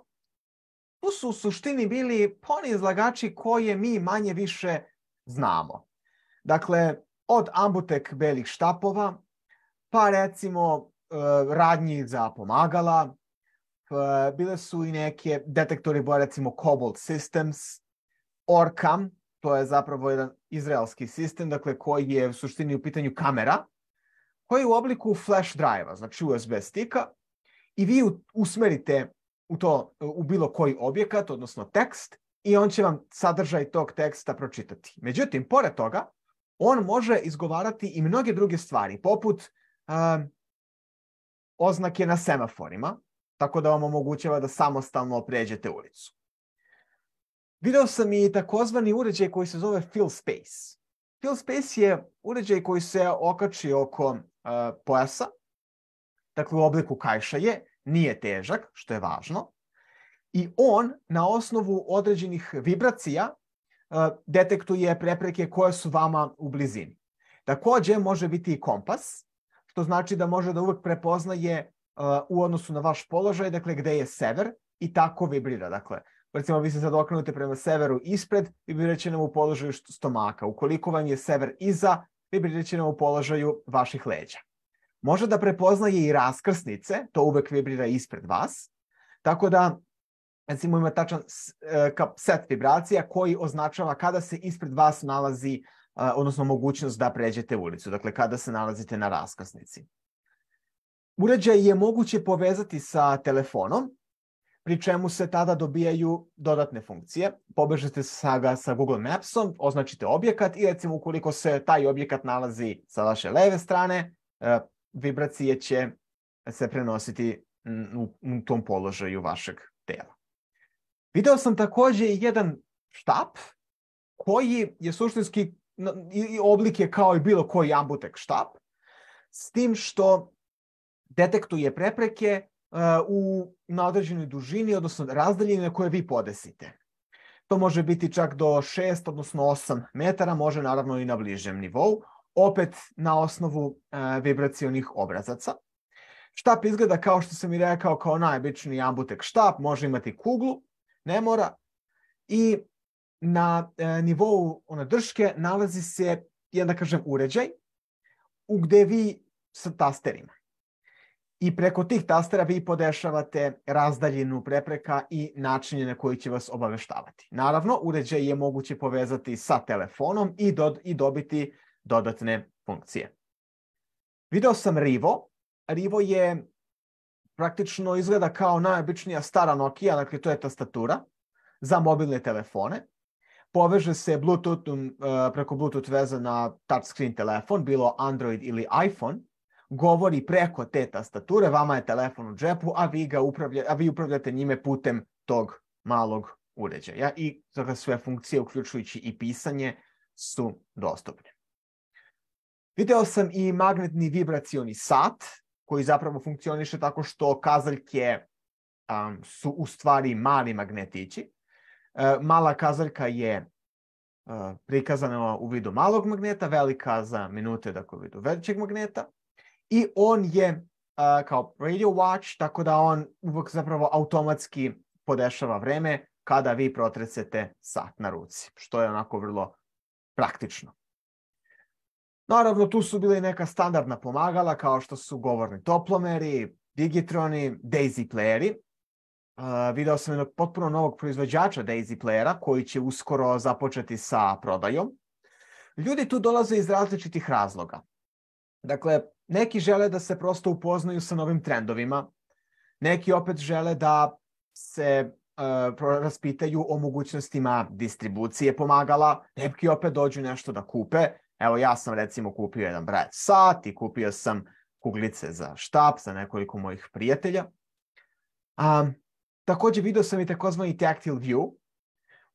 [SPEAKER 8] tu su u suštini bili oni izlagači koje mi manje više znamo. Dakle, od ambutek belih štapova, pa recimo radnji za pomagala, bile su i neke detektori boja, recimo Cobalt Systems, Orcam, to je zapravo jedan izraelski sistem, dakle, koji je u suštini u pitanju kamera, koji je u obliku flash drive-a, znači USB stika, i vi usmerite u bilo koji objekat, odnosno tekst, i on će vam sadržaj tog teksta pročitati. Međutim, pored toga, on može izgovarati i mnoge druge stvari, poput oznake na semaforima, tako da vam omogućava da samostalno pređete ulicu. Video sam i takozvani uređaj koji se zove Fill Space. Fill Space je uređaj koji se okači oko pojasa, dakle u obliku kaiša je, nije težak, što je važno, i on na osnovu određenih vibracija detektuje prepreke koje su vama u blizini. Takođe može biti i kompas, što znači da može da uvek prepoznaje u odnosu na vaš položaj, dakle gde je sever, i tako vibrira. Dakle, recimo vi se sad okrenute prema severu ispred, vibrirat će nam u položaju stomaka. Ukoliko vam je sever iza, vibrirat će nam u položaju vaših leđa. Može da prepoznaje i raskrsnice, to uvek vibrira ispred vas, tako da recimo ima tačan set vibracija koji označava kada se ispred vas nalazi, odnosno mogućnost da pređete ulicu, dakle kada se nalazite na raskrsnici. Uređaj je moguće povezati sa telefonom, pri čemu se tada dobijaju dodatne funkcije. Povežete ga sa Google Mapsom, označite objekat i recimo ukoliko se taj objekat nalazi sa vaše leve strane, vibracije će se prenositi u tom položaju vašeg tela. Video sam takođe jedan štap koji je suštinski oblik je kao i bilo koji ambutek štap, s tim što detektuje prepreke na određenoj dužini, odnosno razdaljine koje vi podesite. To može biti čak do 6, odnosno 8 metara, može naravno i na bližem nivou, opet na osnovu vibracionih obrazaca. Štap izgleda kao što sam i rekao kao najobičniji ambutek štap, može imati kuglu, ne mora, i na nivou drške nalazi se jedan, da kažem, uređaj gde vi sa tasterima. I preko tih tastera vi podešavate razdaljinu prepreka i načine na koji će vas obaveštavati. Naravno, uređaj je moguće povezati sa telefonom i dobiti dodatne funkcije. Video sam Rivo. Rivo je praktično izgleda kao najobičnija stara Nokia, dakle to je tastatura za mobilne telefone. Poveže se preko Bluetooth veze na touchscreen telefon, bilo Android ili iPhone. Govori preko te tastature, vama je telefon u džepu, a vi upravljate njime putem tog malog uređaja. I sve funkcije, uključujući i pisanje, su dostupne. Video sam i magnetni vibracioni sat, koji zapravo funkcioniše tako što kazaljke su u stvari mali magnetići. Mala kazaljka je prikazana u vidu malog magneta, velika za minute, dakle u vidu većeg magneta. I on je kao radio watch, tako da on uvek zapravo automatski podešava vreme kada vi protresete sat na ruci, što je onako vrlo praktično. Naravno, tu su bili neka standardna pomagala kao što su govorni toplomeri, digitroni, Daisy playeri. Video sam jednog potpuno novog proizvođača Daisy playera koji će uskoro započeti sa prodajom. Ljudi tu dolaze iz različitih razloga. Dakle, neki žele da se prosto upoznaju sa novim trendovima, neki opet žele da se raspitaju o mogućnostima distribucije pomagala, neki opet dođu nešto da kupe. Evo, ja sam recimo kupio jedan Braille sat i kupio sam kuglice za štap za nekoliko mojih prijatelja. Također video sam i takozvani tactile view.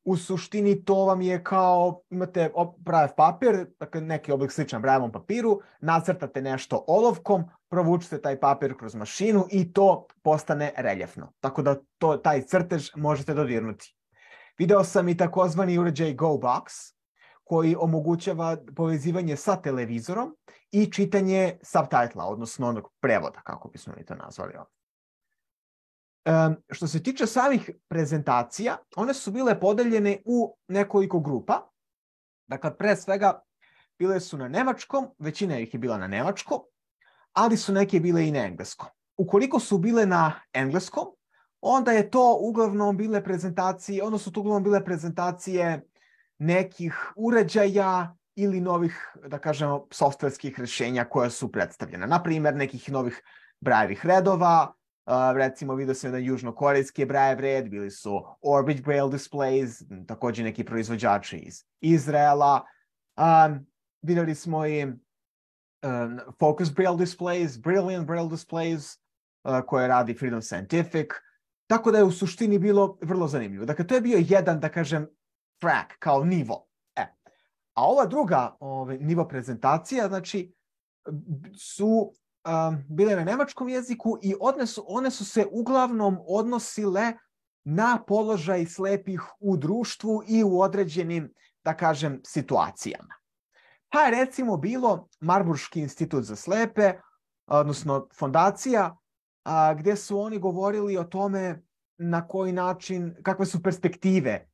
[SPEAKER 8] U suštini to vam je kao, imate Braille papir, dakle neki oblik sličan Braillevom papiru, nacrtate nešto olovkom, provučete taj papir kroz mašinu i to postane reljefno. Tako da taj crtež možete dodirnuti. Video sam i takozvani uređaj GoBox, koji omogućava povezivanje sa televizorom i čitanje subtitla, odnosno onog prevoda, kako bismo mi to nazvali ovdje. Što se tiče samih prezentacija, one su bile podeljene u nekoliko grupa. Dakle, pre svega, bile su na nemačkom, većina ih je bila na nemačkom, ali su neke bile i na engleskom. Ukoliko su bile na engleskom, onda je to uglavnom bile prezentacije, nekih uređaja ili novih, da kažemo, softverskih rješenja koja su predstavljena. Naprimjer, nekih novih Braillevih redova, recimo vidio sam jedan južnokorejski Braillev red, bili su Orbit Braille displays, također neki proizvođači iz Izraela. Vidjeli smo i Focus Braille displays, Brilliant Braille displays, koje radi Freedom Scientific. Tako da je u suštini bilo vrlo zanimljivo. Dakle, to je bio jedan, da kažem, track, kao nivo. A ova druga nivo prezentacija, znači, su bile na nemačkom jeziku i one su se uglavnom odnosile na položaj slepih u društvu i u određenim, da kažem, situacijama. Pa je recimo bilo Marburški institut za slepe, odnosno fondacija, gdje su oni govorili o tome na koji način, kakve su perspektive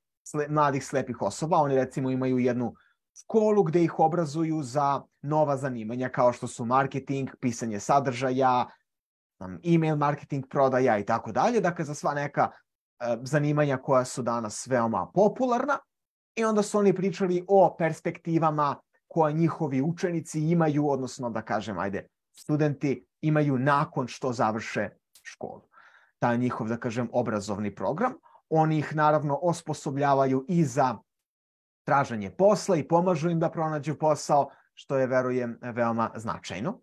[SPEAKER 8] mladih slepih osoba. Oni recimo imaju jednu školu gdje ih obrazuju za nova zanimanja kao što su marketing, pisanje sadržaja, email marketing, prodaja i tako dalje. Dakle, za sva neka zanimanja koja su danas veoma popularna. I onda su oni pričali o perspektivama koje njihovi učenici imaju, odnosno da kažem, studenti imaju nakon što završe školu. Taj njihov, da kažem, obrazovni program. Oni ih naravno osposobljavaju i za traženje posla i pomažu im da pronađu posao, što je, verujem, veoma značajno.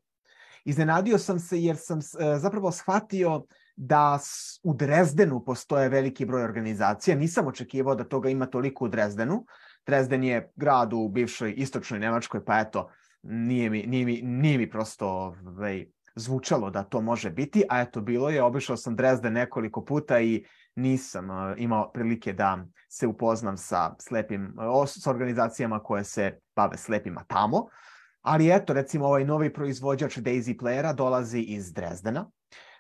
[SPEAKER 8] Iznenadio sam se jer sam zapravo shvatio da u Drezdenu postoje veliki broj organizacija. Nisam očekivao da toga ima toliko u Drezdenu. Drezden je grad u bivšoj istočnoj Nemačkoj, pa eto, nije mi prosto zvučalo da to može biti, a eto bilo je. Obišao sam Drezden nekoliko puta i nisam imao prilike da se upoznam sa organizacijama koje se bave slepima tamo. Ali eto, recimo ovaj novi proizvođač Daisy playera dolazi iz Drezdena.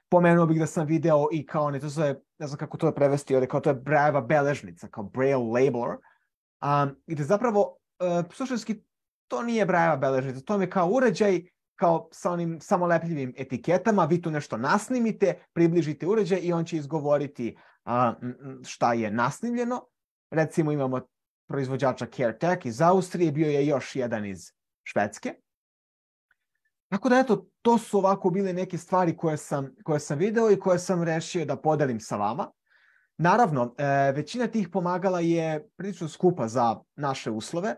[SPEAKER 8] Pomenuo bih da sam video i kao, ne znam kako to je prevesti, ali kao to je Brailleva beležnica, kao Braille labeler. Gde zapravo, suštinski, to nije Brailleva beležnica, to je kao uređaj kao sa onim samolepljivim etiketama, vi tu nešto nasnimite, približite uređaj i on će izgovoriti šta je nasnimljeno. Recimo imamo proizvođača CareTech iz Austrije, bio je još jedan iz Švedske. Tako da eto, to su ovako bile neke stvari koje sam video i koje sam rešio da podelim sa vama. Naravno, većina tih pomagala je prilično skupa za naše uslove.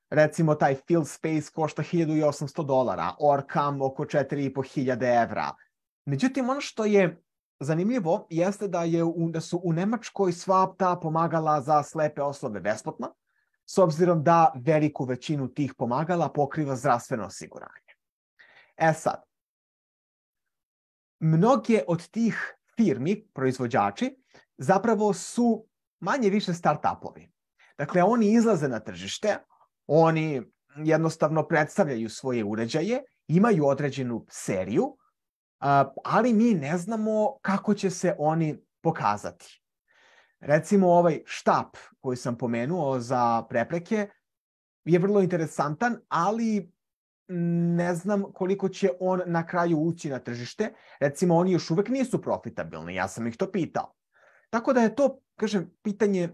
[SPEAKER 8] Recimo, taj Field Space košta $1.800, Orcam oko 4.500 evra. Međutim, ono što je zanimljivo jeste da su u Nemačkoj sva ta pomagala za slepe osobe besplatna, s obzirom da veliku većinu tih pomagala pokriva zdravstveno osiguranje. Sad, mnoge od tih firmi, proizvođači, zapravo su manje više start-upovi. Dakle, oni izlaze na tržište, oni jednostavno predstavljaju svoje uređaje, imaju određenu seriju, ali mi ne znamo kako će se oni pokazati. Recimo, ovaj štap koji sam pomenuo za prepreke je vrlo interesantan, ali ne znam koliko će on na kraju ući na tržište. Recimo, oni još uvek nisu profitabilni, ja sam ih to pitao. Tako da je to, kažem, pitanje,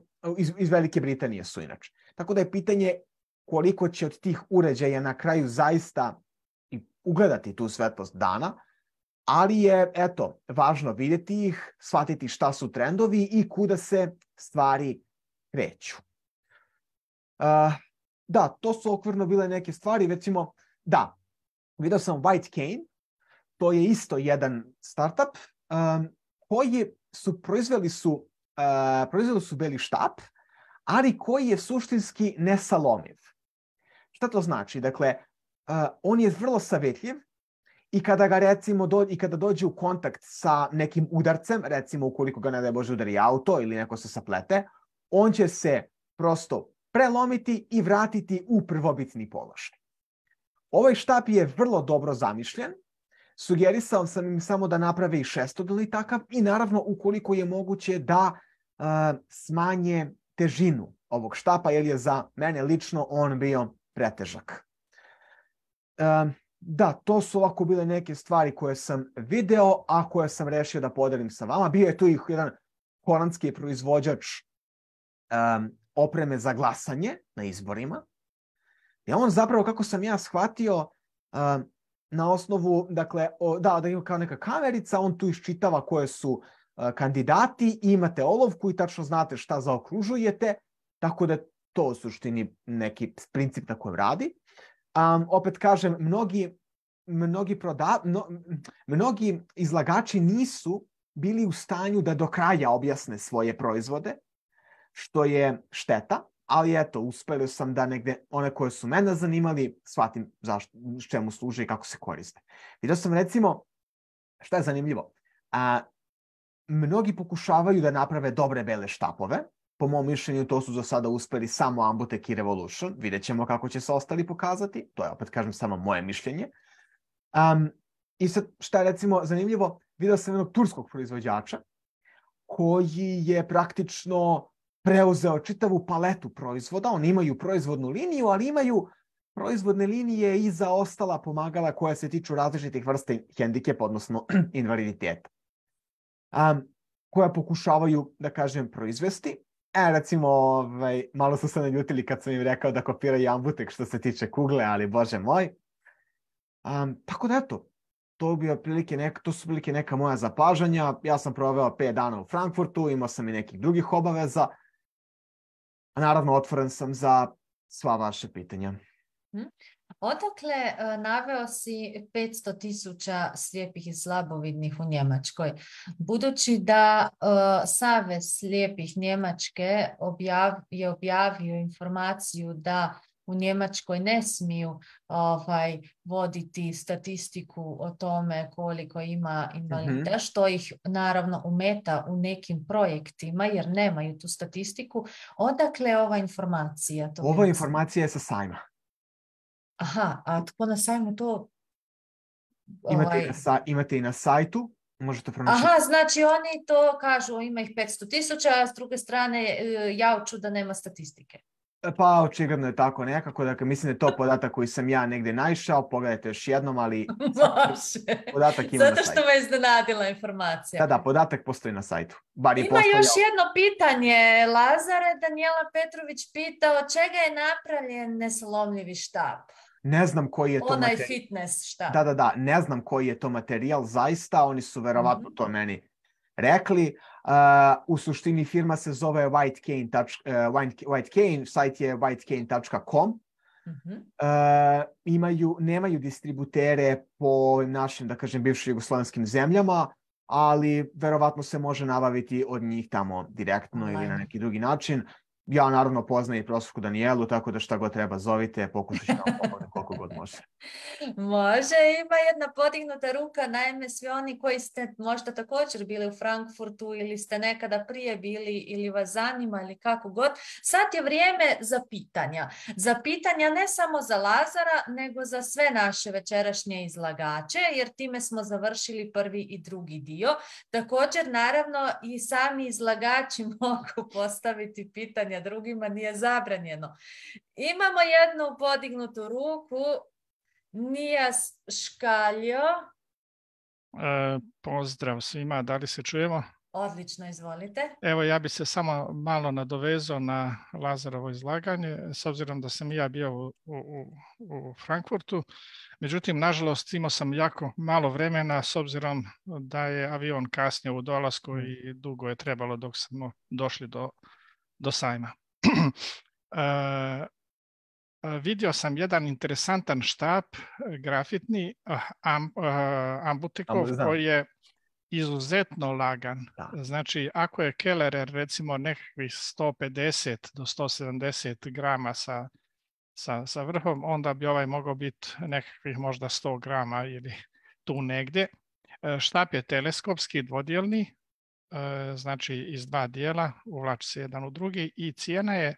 [SPEAKER 8] iz Velike Britanije su inače. Tako da je pitanje koliko će od tih uređaja na kraju zaista ugledati tu svetlost dana, ali je, eto, važno vidjeti ih, shvatiti šta su trendovi i kuda se stvari kreću. Da, to su okvirno bile neke stvari, recimo, da, vidio sam White Cane, to je isto jedan startup koji su proizveli su beli štap, ali koji je suštinski nesalomiv. Šta to znači? Dakle, on je vrlo savjetljiv i kada ga recimo kada dođe u kontakt sa nekim udarcem, recimo ukoliko ga ne daj Bože udari auto ili neko se saplete, on će se prosto prelomiti i vratiti u prvobitni položaj. Ovaj štap je vrlo dobro zamišljen. Sugerisao sam im samo da naprave i šestodolni takav i naravno ukoliko je moguće da smanje težinu ovog štapa, jer je za mene lično on bio pretežak. Da, to su ovako bile neke stvari koje sam video, a koje sam rešio da podelim sa vama. Bio je tu i jedan holandski proizvođač opreme za glasanje na izborima. I on zapravo, kako sam ja shvatio, na osnovu, dakle, da ima kao neka kamerica, on tu iščitava koje su kandidati, imate olovku i tačno znate šta zaokružujete, tako da to u suštini neki princip na kojem radi. Opet kažem, mnogi izlagači nisu bili u stanju da do kraja objasne svoje proizvode, što je šteta, ali eto, uspeli sam da negde one koje su mene zanimali, shvatim čemu služe i kako se koriste. Vidio sam recimo, šta je zanimljivo, mnogi pokušavaju da naprave dobre bele štapove. Po mom mišljenju to su za sada uspeli samo Ambutek i Revolution. Vidjet ćemo kako će se ostali pokazati. To je, opet kažem, samo moje mišljenje. I sad, šta je recimo zanimljivo, vidio sam jednog turskog proizvođača koji je praktično preuzeo čitavu paletu proizvoda. Oni imaju proizvodnu liniju, ali imaju proizvodne linije i za ostala pomagala koja se tiču različitih vrsta hendikepa, odnosno invaliditeta, koja pokušavaju, da kažem, proizvesti. Recimo, malo su se naljutili kad sam im rekao da kopiraju Ambutek što se tiče kugle, ali bože moj. Tako da eto, to su prilike neka moja zapažanja. Ja sam proveo 5 dana u Frankfurtu, imao sam i nekih drugih obaveza. A naravno, otvoren sam za sva vaše pitanja.
[SPEAKER 1] Odakle naveo si 500.000 slijepih i slabovidnih u Njemačkoj? Budući da Savez slijepih Njemačke je objavio informaciju da u Njemačkoj ne smiju voditi statistiku o tome koliko ima invalida, što ih naravno ometa u nekim projektima jer nemaju tu statistiku. Odakle je ova informacija?
[SPEAKER 8] Ova informacija je sa sajma.
[SPEAKER 1] Aha, a tko na sajmu to...
[SPEAKER 8] Imate i na sajtu, možete pronaći.
[SPEAKER 1] Aha, znači oni to kažu, ima ih 500.000, a s druge strane jauču da nema statistike.
[SPEAKER 8] Pa očigledno je tako nekako, dakle mislim da je to podatak koji sam ja negdje naišao, pogledajte još jednom, ali
[SPEAKER 1] Može.
[SPEAKER 8] podatak ima na
[SPEAKER 1] Zato što
[SPEAKER 8] sajtu.
[SPEAKER 1] me iznenadila informacija.
[SPEAKER 8] Da, podatak postoji na sajtu. Bar je
[SPEAKER 1] Ima
[SPEAKER 8] postojao.
[SPEAKER 1] još jedno pitanje, Lazare. Danijela Petrović pita od čega je napravljen nesalomljivi štap?
[SPEAKER 8] Ne znam koji je to
[SPEAKER 1] Onaj
[SPEAKER 8] materijal.
[SPEAKER 1] fitness štap.
[SPEAKER 8] Da, ne znam koji je to materijal, zaista, oni su verovatno to meni rekli. U suštini firma se zove White Cane, sajt je whitecane.com. Nemaju distributere po našim, da kažem, bivšim jugoslovenskim zemljama, ali verovatno se može nabaviti od njih tamo direktno ili na neki drugi način. Ja naravno poznajem i profesorku Danijelu, tako da šta god treba zovite, pokušat ću vam pomoći koliko god može.
[SPEAKER 1] Može, ima jedna podignuta ruka, naime svi oni koji ste možda također bili u Frankfurtu ili ste nekada prije bili ili vas zanima ili kako god, sad je vrijeme za pitanja. Za pitanja ne samo za Lazara, nego za sve naše večerašnje izlagače, jer time smo završili prvi i drugi dio. Također, naravno, i sami izlagači mogu postaviti pitanja drugima, nije zabranjeno. Imamo jednu podignutu ruku. Nijas Škaljo.
[SPEAKER 9] Pozdrav svima, da li se čujemo?
[SPEAKER 1] Odlično, izvolite.
[SPEAKER 9] Evo, ja bi se samo malo nadovezao na Lazarovo izlaganje, s obzirom da sam i ja bio u Frankfurtu. Međutim, nažalost, imao sam jako malo vremena, s obzirom da je avion kasnio u dolasku i dugo je trebalo dok smo došli do sajma. Vidio sam jedan interesantan štap grafitni Ambutekov koji je izuzetno lagan. Znači, ako je Kellerer recimo nekakvih 150 do 170 grama sa vrhom, onda bi ovaj mogao biti nekakvih možda 100 grama ili tu negdje. Štap je teleskopski, dvodjelni, znači iz dva dijela, uvlači se jedan u drugi i cijena je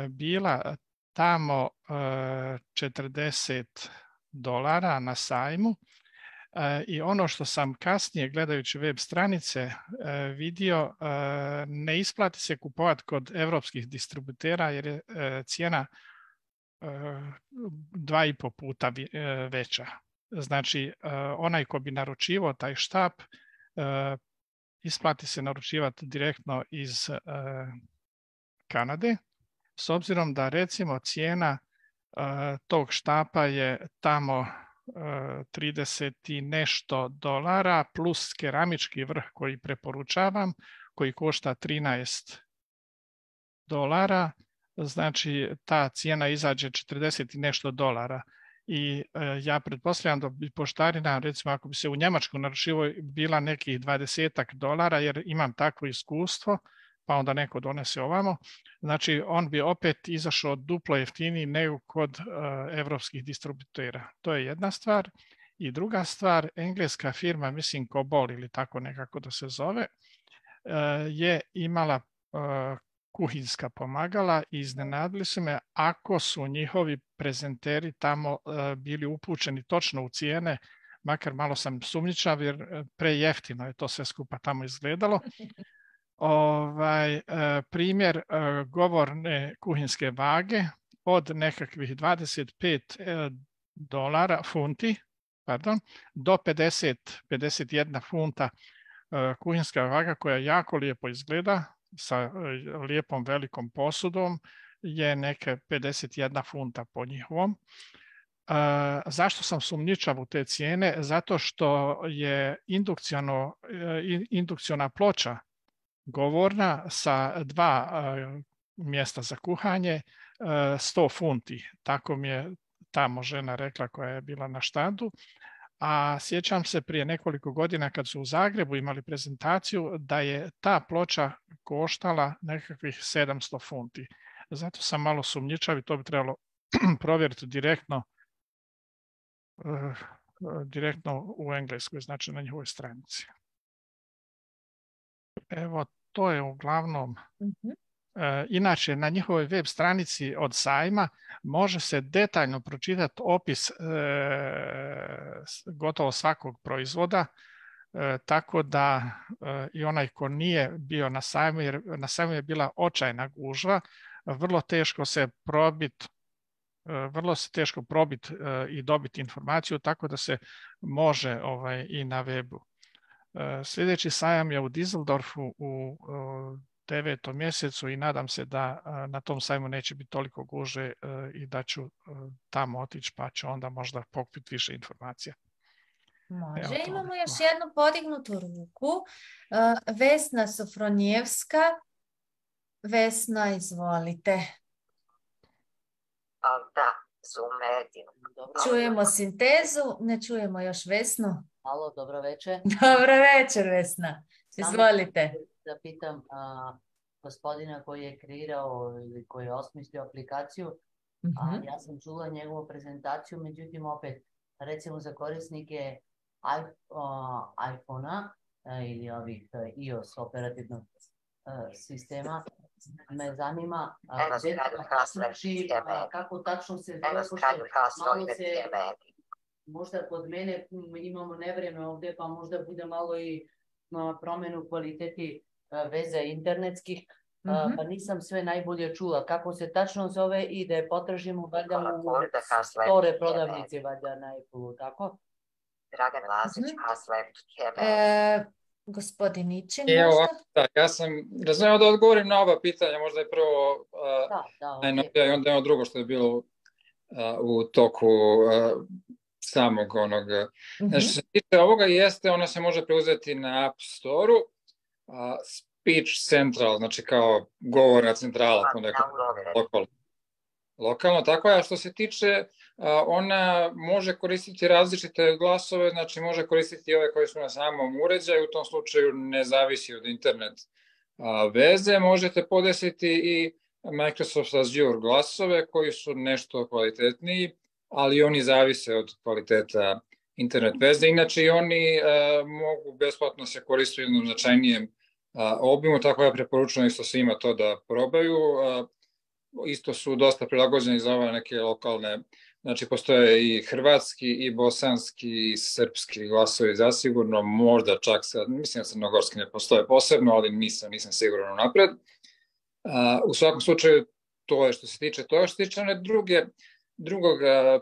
[SPEAKER 9] bila tamo $40 na sajmu i ono što sam kasnije gledajući web stranice vidio, ne isplati se kupovati kod evropskih distributera jer je cijena 2,5 puta veća. Znači, onaj ko bi naručivao taj štap, isplati se naručivati direktno iz Kanade, s obzirom da recimo cijena tog štapa je tamo 30 i nešto dolara plus keramički vrh koji preporučavam, koji košta $13. Znači ta cijena izađe 40 i nešto dolara. I ja pretpostavljam da bi poštarina, recimo ako bi se u Njemačku naručivao, bila nekih $20 jer imam takvo iskustvo, pa onda neko donese ovamo. Znači, on bi opet izašao duplo jeftiniji nego kod evropskih distributera. To je jedna stvar. I druga stvar, engleska firma, mislim Cobol ili tako nekako da se zove, je imala kuhinska pomagala i iznenadili su me ako su njihovi prezenteri tamo bili upućeni točno u cijene, makar malo sam sumnjičav jer prejeftino je to sve skupa tamo izgledalo. Primjer govorne kuhinske vage od nekakvih $25 funti do 51 funta kuhinska vaga koja jako lijepo izgleda sa lijepom velikom posudom je neke 51 funta po njihovom. Zašto sam sumnjičav u te cijene? Zato što je indukciona ploča govorna sa 2 mjesta za kuhanje 100 funti. Tako mi je tamo žena rekla koja je bila na štandu. A sjećam se prije nekoliko godina kad su u Zagrebu imali prezentaciju da je ta ploča koštala nekakvih 700 funti. Zato sam malo sumnjičav i to bi trebalo provjeriti direktno u Engleskoj, znači na njihovoj stranici. Evo, to je uglavnom. Inače, na njihovoj web stranici od sajma može se detaljno pročitati opis gotovo svakog proizvoda, tako da i onaj ko nije bio na sajmu, jer na sajmu je bila očajna gužva, vrlo teško se probiti i dobiti informaciju, tako da se može i na webu. Sljedeći sajam je u Düsseldorfu u 9. mjesecu i nadam se da na tom sajmu neće biti toliko gužve i da ću tamo otići, pa ću onda možda pokupiti više informacija.
[SPEAKER 1] Može. Imamo još jednu podignutu ruku. Vesna Sofronijevska. Vesna, izvolite.
[SPEAKER 10] Da, Zoom medium.
[SPEAKER 1] Čujemo sintezu, ne čujemo još Vesnu.
[SPEAKER 10] Alo, dobro večer.
[SPEAKER 1] Dobro večer, Vesna. Izvolite.
[SPEAKER 10] Da pitam gospodina koji je kreirao ili koji je osmislio aplikaciju, ja sam čula njegovu prezentaciju, međutim opet, recimo za korisnike iPhone-a ili ovih iOS operativnog sistema, me zanima kako tačno se zove, malo se, možda kod mene imamo nevreme ovdje, pa možda bude malo i promjenu kvaliteti veze internetskih, pa nisam sve najbolje čula. Kako se tačno zove i da je potražimo valjda u store prodavnici valjda na Apple-u, tako? Dragan Lazić,
[SPEAKER 1] Gospodin Ičin,
[SPEAKER 7] možda? Ja sam razumio da odgovorim na oba pitanja, možda je prvo najnovija i onda je ono drugo što je bilo u toku samog onog. Znači, što se tiče ovoga jeste, ono se može preuzeti na App Store-u, Speech Central, znači kao govorna centrala, lokalno, tako je. A što se tiče, ona može koristiti različite glasove, znači može koristiti ove koji su na samom uređaju, u tom slučaju ne zavisi od internet veze. Možete podesiti i Microsoft Azure glasove koji su nešto kvalitetniji, ali oni zavise od kvaliteta internet veze. Inače i oni mogu besplatno se koristiti u jednom značajnijem obimu, tako ja preporučujem isto svima to da probaju. Isto su dosta prilagođeni za ove neke lokalne, znači postoje i hrvatski, i bosanski, i srpski glasovi zasigurno, možda čak sad, mislim da crnogorski ne postoje posebno, ali nisam siguran napred. U svakom slučaju, to je što se tiče toga. Što se tiče one drugog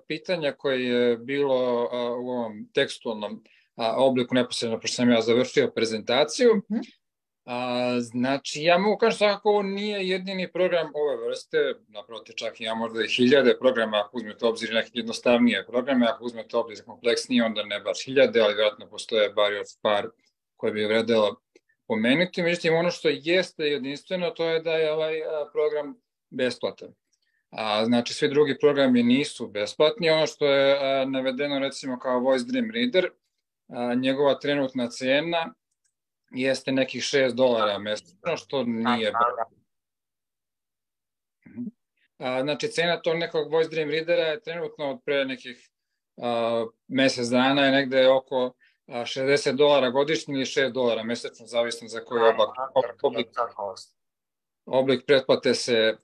[SPEAKER 7] pitanja koje je bilo u ovom tekstualnom obliku neposredno, pošto sam ja završio prezentaciju, znači ja mogu kažem svakako ovo nije jedini program ove vrste, naprotiv čak ima možda i 1000 programa ako uzmete obzir neke jednostavnije programe, ako uzmete obzir kompleksnije onda ne baš 1000, ali vjerojatno postoje bar još par koje bi vredelo pomenuti. Međutim, ono što jeste jedinstveno to je da je ovaj program besplatan. Znači svi drugi programi nisu besplatni. Ono što je navedeno recimo kao Voice Dream Reader, njegova trenutna cena jeste nekih $6 mesečno, što nije znači cena tog nekog Voice Dream Readera je trenutno od pre nekih mesec dana je negde oko $60 godišnji ili $6 mesečno, zavisno za koji oblik pretplate se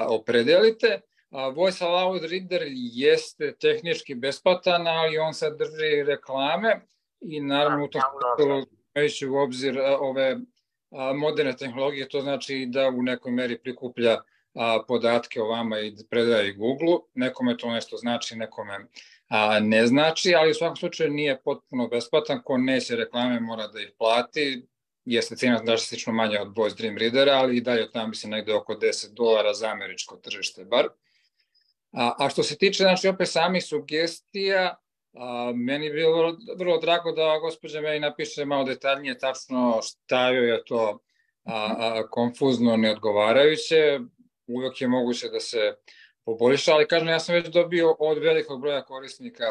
[SPEAKER 7] opredelite. Voice Aloud Reader jeste tehnički besplatan, ali on sadrži reklame i naravno u tom imajući u obzir ove moderne tehnologije, to znači da u nekoj meri prikuplja podatke o vama i predaje Google-u. Nekome to nešto znači, nekome ne znači, ali u svakom slučaju nije potpuno besplatan. Ko neće reklame mora da ih plati. Jeste cena drastično manja od Voice Dream Readera, ali i dalje tamo bi se negde oko $10 za američko tržište bar. A što se tiče, znači, opet samih sugestija, meni je bilo vrlo drago da gospođa meni napiše malo detaljnije tačno šta joj je to konfuzno, neodgovarajuće. Uvijek je moguće da se poboljša, ali kažem, ja sam već dobio od velikog broja korisnika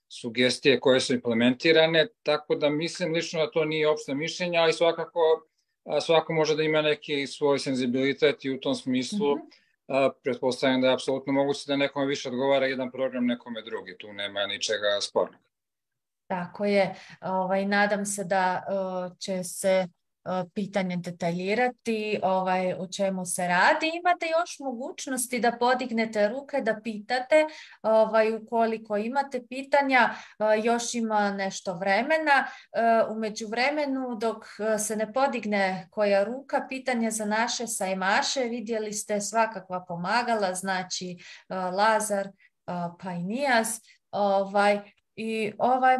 [SPEAKER 7] sugestije koje su implementirane, tako da mislim lično da to nije opšte mišljenje, ali svako može da ima neki svoj senzibilitet i u tom smislu pretpostavljam da je apsolutno moguće da nekome više odgovara jedan program, nekome drugi. Tu nema ničega spornog.
[SPEAKER 1] Tako je. Nadam se da će se pitanje detaljirati o čemu se radi. Imate još mogućnosti da podignete ruke, da pitate ukoliko imate pitanja. Još ima nešto vremena. U međuvremenu dok se ne podigne koja ruka, pitanje za naše sajmaše, vidjeli ste svakakva pomagala, znači Lazar pa i Nijas. I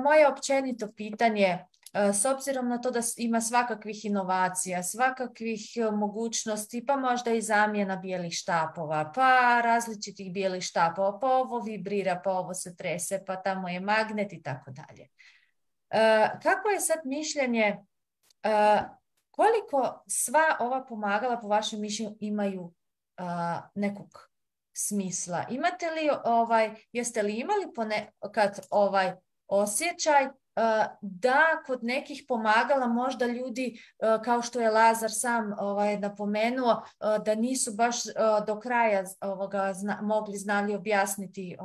[SPEAKER 1] moje općenito pitanje, s obzirom na to da ima svakakvih inovacija, svakakvih mogućnosti, pa možda i zamjena bijelih štapova, pa različitih bijelih štapova, pa ovo vibrira, pa ovo se trese, pa tamo je magnet i tako dalje. Kako je sad mišljenje, koliko sva ova pomagala po vašem mišljenju imaju nekog smisla? Imate li, jeste li imali ponekad osjećaj da kod nekih pomagala možda ljudi, kao što je Lazar sam napomenuo, da nisu baš do kraja mogli znali objasniti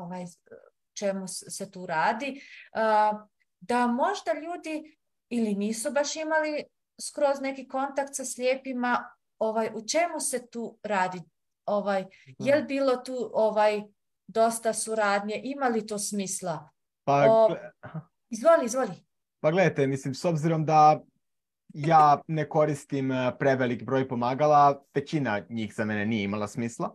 [SPEAKER 1] čemu se tu radi, da možda ljudi ili nisu baš imali skroz neki kontakt sa slijepima, u čemu se tu radi? Je li bilo tu dosta suradnje? Ima li to smisla? Izvoli.
[SPEAKER 8] Pa gledajte, mislim, s obzirom da ja ne koristim prevelik broj pomagala, većina njih za mene nije imala smisla.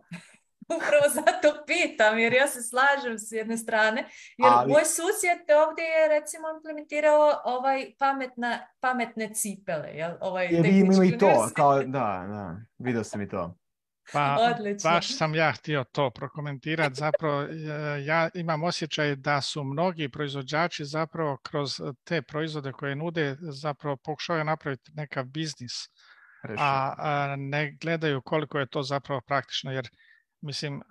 [SPEAKER 1] Upravo zato pitam, jer ja se slažem s jedne strane, jer moj susjed ovdje je recimo implementirao pametne cipele.
[SPEAKER 8] Jer ima i to, da, vidio sam i to.
[SPEAKER 9] Pa, baš sam ja htio to prokomentirati. Zapravo, ja imam osjećaj da su mnogi proizvođači zapravo kroz te proizvode koje nude zapravo pokušavaju napraviti nekav biznis, a ne gledaju koliko je to zapravo praktično, jer mislim,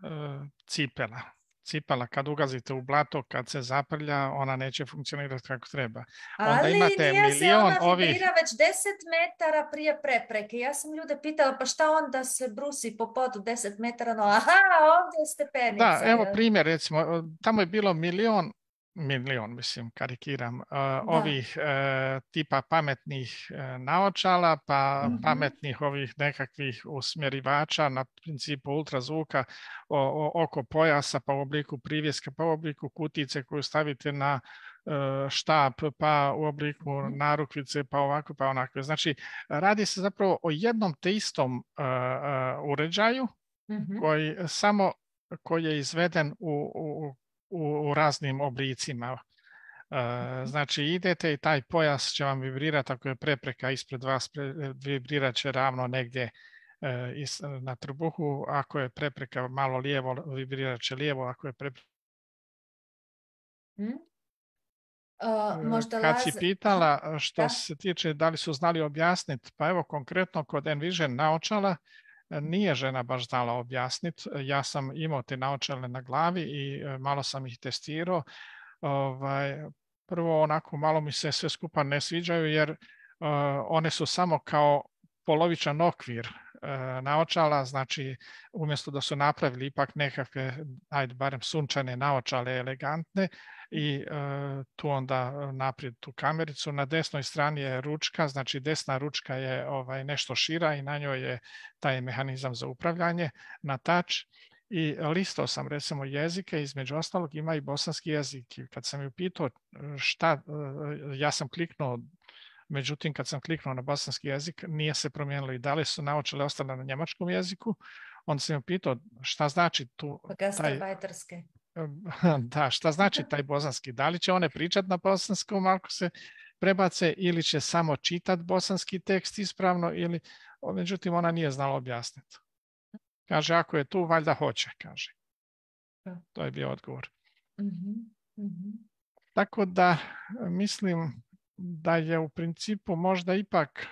[SPEAKER 9] cipela kad ugazite u blato, kad se zaprlja, ona neće funkcionirati kako treba. Onda
[SPEAKER 1] ali
[SPEAKER 9] imate
[SPEAKER 1] nije se ona
[SPEAKER 9] ovih...
[SPEAKER 1] vibrira već 10 metara prije prepreke. Ja sam ljude pitala, pa šta onda se brusi po podu 10 metara, no aha, ovdje je stepenica.
[SPEAKER 9] Da, evo primjer, recimo, tamo je bilo milion, mislim, karikiram, ovih tipa pametnih naočala, pa pametnih ovih nekakvih usmjerivača na principu ultrazvuka oko pojasa, pa u obliku privjeska, pa u obliku kutice koju stavite na štap, pa u obliku narukvice, pa ovako, pa onako. Znači, radi se zapravo o jednom te istom uređaju koji je izveden u raznim oblicima. Znači idete i taj pojas će vam vibrirati ako je prepreka ispred vas, vibrirat će ravno negdje na trbuhu, ako je prepreka malo lijevo, vibrirat će lijevo, ako je prepreka... Kad si pitala što se tiče da li su znali objasniti, pa evo konkretno kod Envision naočala, nije žena baš znala objasniti. Ja sam imao te naočale na glavi i malo sam ih testirao. Prvo onako malo mi se sve skupa ne sviđaju jer one su samo kao polovičan okvir naočala, znači umjesto da su napravili ipak nekakve, ajde barem sunčane naočale elegantne i tu onda naprijed tu kamericu. Na desnoj strani je ručka, znači desna ručka je nešto šira i na njoj je taj mehanizam za upravljanje na touch. I listao sam recimo jezike, između ostalog ima i bosanski jezik. I kad sam ju pitao šta, ja sam kliknuo, međutim kad sam kliknuo na bosanski jezik nije se promijenilo i da li su naočale ostale na njemačkom jeziku. Onda sam ju pitao šta znači tu da, šta znači taj bosanski? Da li će one pričati na bosanskom ako se prebace ili će samo čitati bosanski tekst ispravno ili, međutim ona nije znala objasniti. Kaže, ako je tu, valjda hoće, kaže. To je bio odgovor. Tako da mislim da je u principu možda ipak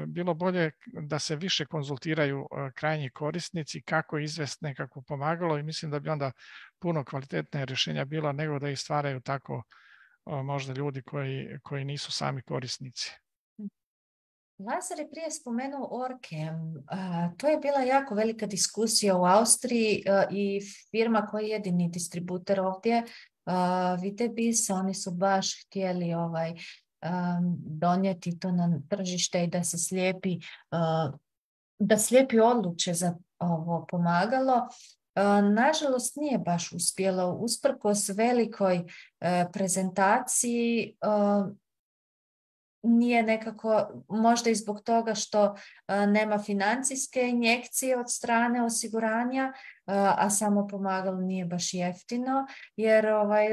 [SPEAKER 9] bilo bolje da se više konzultiraju krajnji korisnici kako izvesti nekako pomagalo i mislim da bi onda puno kvalitetnije rješenja bilo nego da ih stvaraju tako možda ljudi koji nisu sami korisnici.
[SPEAKER 1] Lazar je prije spomenuo Orkem. To je bila jako velika diskusija u Austriji i firma koja je jedini distributer ovdje, Vitebis, oni su baš htjeli donijeti to na tržište i da slijepi odluče za ovo pomagalo. Nažalost nije baš uspjelo, usprkos velikoj prezentaciji, nije nekako, možda i zbog toga što nema financijske injekcije od strane osiguranja, a samo pomagalo nije baš jeftino, jer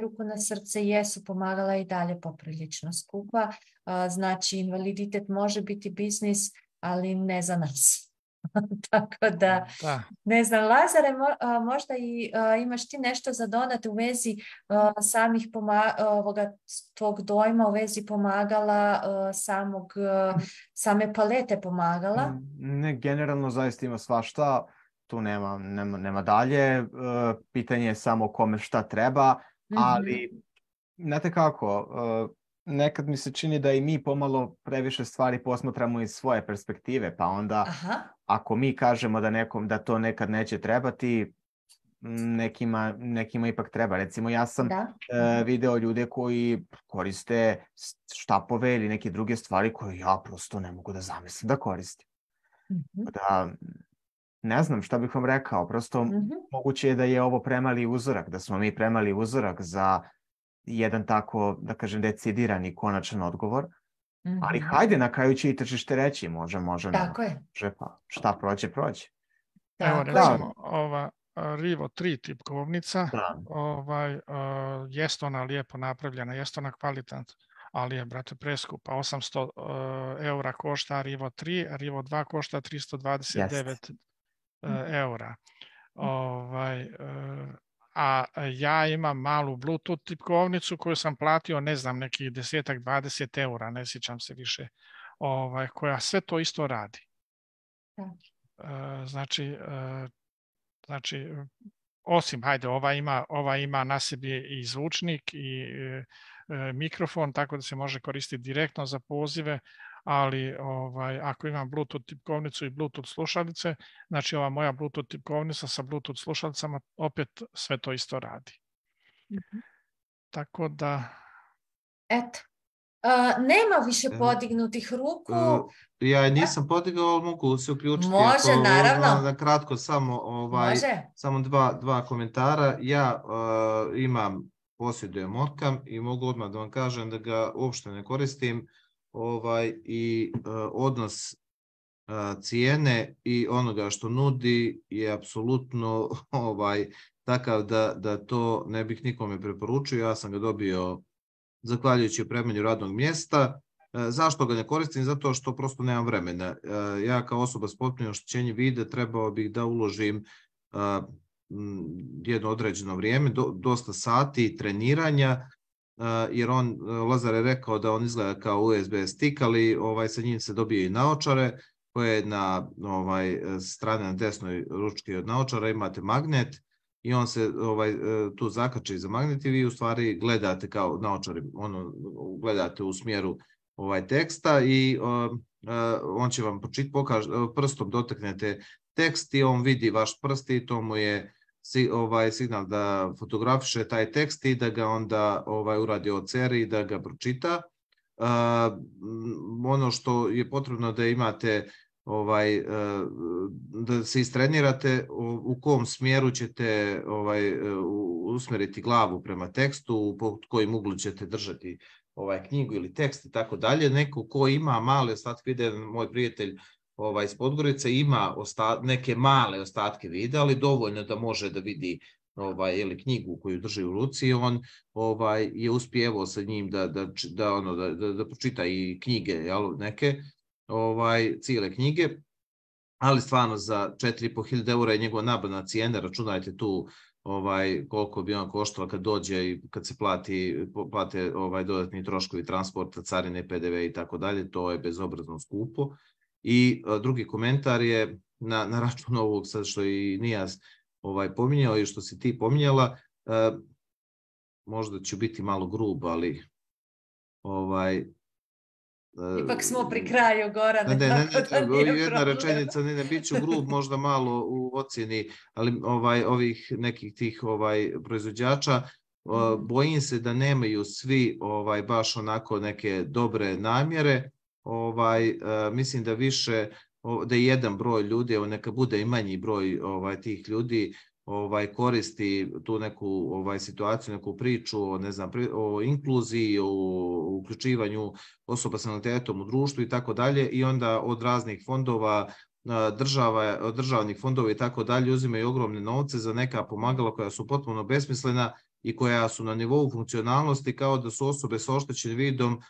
[SPEAKER 1] ruku na srce jesu pomagala i dalje poprilično skupa. Znači, invaliditet može biti biznis, ali ne za nas. Tako da, ne znam, Lazare, možda i imaš ti nešto za dodati u vezi samih tvog dojma, u vezi pomagala, same palete pomagala?
[SPEAKER 8] Ne, generalno zaista ima svašta, tu nema dalje, pitanje je samo kome šta treba, ali znate kako, nekad mi se čini da i mi pomalo previše stvari posmatramo iz svoje perspektive, pa onda ako mi kažemo da to nekad neće trebati, nekima ipak treba. Recimo, ja sam video ljude koji koriste štapove ili neke druge stvari koje ja prosto ne mogu da zamislim da koristim. Da, ne znam šta bih vam rekao, prosto moguće je da je ovo premali uzorak, da smo mi premali uzorak za jedan tako, da kažem, decidirani konačan odgovor. Ali hajde, na kraju će i tržište reći, može,
[SPEAKER 1] tako je.
[SPEAKER 8] Pa šta prođe.
[SPEAKER 9] Evo, recimo, ova Rivo 3 tipkovnica, jest ona lijepo napravljena, jest ona kvalitetna, ali je, brate, preskupa. 800 eura košta Rivo 3, a Rivo 2 košta 329 eura. A ja imam malu Bluetooth tipkovnicu koju sam platio, ne znam, nekih 10-20 eura, ne sjećam se više, koja sve to isto radi. Znači, osim, hajde, ova ima na sebi i zvučnik i mikrofon, tako da se može koristiti direktno za pozive, ali ako imam Bluetooth tipkovnicu i Bluetooth slušalice, znači ova moja Bluetooth tipkovnica sa Bluetooth slušalicama opet sve to isto radi. Tako da...
[SPEAKER 1] Eto. Nema više podignutih ruku.
[SPEAKER 5] Ja nisam podigao, ali mogu se uključiti.
[SPEAKER 1] Može, naravno.
[SPEAKER 5] Na kratko samo dva komentara. Ja posjedujem Orcam i mogu odmah da vam kažem da ga uopšte ne koristim. I odnos cijene i onoga što nudi je apsolutno takav da to ne bih nikome preporučio. Ja sam ga dobio zahvaljujući opremanju radnog mjesta. Zašto ga ne koristim? Zato što prosto nemam vremena. Ja kao osoba s potpunim oštećenjem vida trebao bih da uložim jedno određeno vrijeme, dosta sati treniranja, jer Lazar je rekao da on izgleda kao USB stick, ali sa njim se dobije i naočare, koje na strane na desnoj ručki od naočara imate magnet i on se tu zakači za magnet i vi u stvari gledate kao naočari, gledate u smjeru teksta i on će vam prstom dotaknete tekst i on vidi vaš prst i to mu je signal da fotografiše taj tekst i da ga onda uradi OCR i da ga pročita. Ono što je potrebno da imate, da se istrenirate u kom smjeru ćete usmeriti glavu prema tekstu, pod kojim uglu ćete držati knjigu ili tekst i tako dalje. Neko ko ima male ostatke videa, moj prijatelj iz Podgorice ima neke male ostatke videa, ali dovoljno da može da vidi knjigu koju drži u ruci, on je uspjevao sa njim da pročita i knjige neke, cijele knjige, ali stvarno za 4.500 eura je njegova nabavna cijena, računajte tu koliko bi on koštala kad dođe i kad se plate dodatni troškovi transporta, carine, PDV i tako dalje, to je bezobrazno skupo. I drugi komentar je na račun ovog sad što i Nijas pominjao i što si ti pominjala, možda ću biti malo grub, ali
[SPEAKER 1] ipak smo pri kraju, Gorane.
[SPEAKER 5] Jedna rečenica, ne bit ću grub možda malo u ocjeni, ali ovih nekih tih proizvođača, Bojim se da nemaju svi baš onako neke dobre namjere. Mislim da više, da je jedan broj ljudi, neka bude i manji broj tih ljudi, koristi tu neku situaciju, neku priču, ne znam, o inkluziji, o uključivanju osoba sa invaliditetom u društvu i tako dalje, i onda od raznih fondova, državnih fondova i tako dalje uzimaju ogromne novce za neka pomagala koja su potpuno besmislena i koja su na nivou funkcionalnosti kao da su osobe sa oštećenim vidom,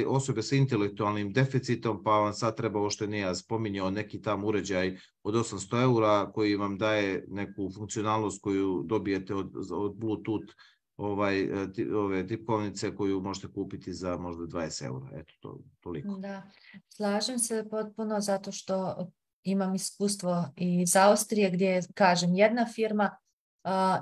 [SPEAKER 5] osobe sa intelektualnim deficitom, pa vam sad treba, ovo što nije ja spominjao, neki tam uređaj od 800 € koji vam daje neku funkcionalnost koju dobijete od Bluetooth ove tipkovnice koju možete kupiti za možda 20 €. Eto, toliko.
[SPEAKER 1] Da, slažem se potpuno zato što imam iskustvo iz Austrije gdje, kažem, jedna firma,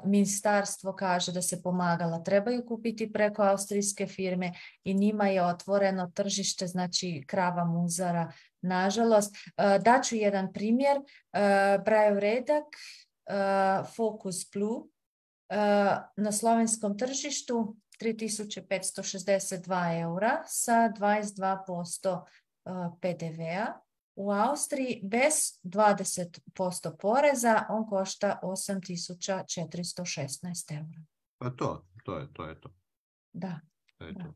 [SPEAKER 1] ministarstvo kaže da se pomagala trebaju kupiti preko austrijske firme i njima je otvoreno tržište, znači krava muzara, nažalost. Daću jedan primjer, Braillev redak, Focus Blue, na slovenskom tržištu 3562 € sa 22% PDV-a. U Austriji bez 20% poreza on košta 8416 €.
[SPEAKER 5] Pa to je to.
[SPEAKER 1] Da.
[SPEAKER 5] To je to.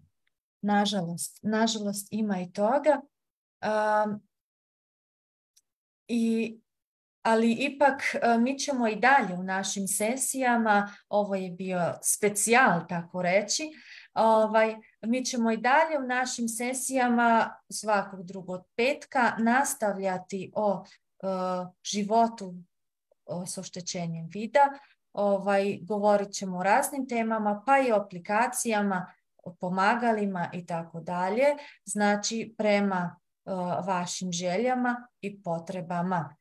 [SPEAKER 1] Nažalost ima i toga. Ali ipak mi ćemo i dalje u našim sesijama, ovo je bio specijal, tako reći, mi ćemo i dalje u našim sesijama svakog drugog petka nastavljati o životu s oštećenjem vida. Govorit ćemo o raznim temama, pa i o aplikacijama, o pomagalima i tako dalje, znači prema vašim željama i potrebama.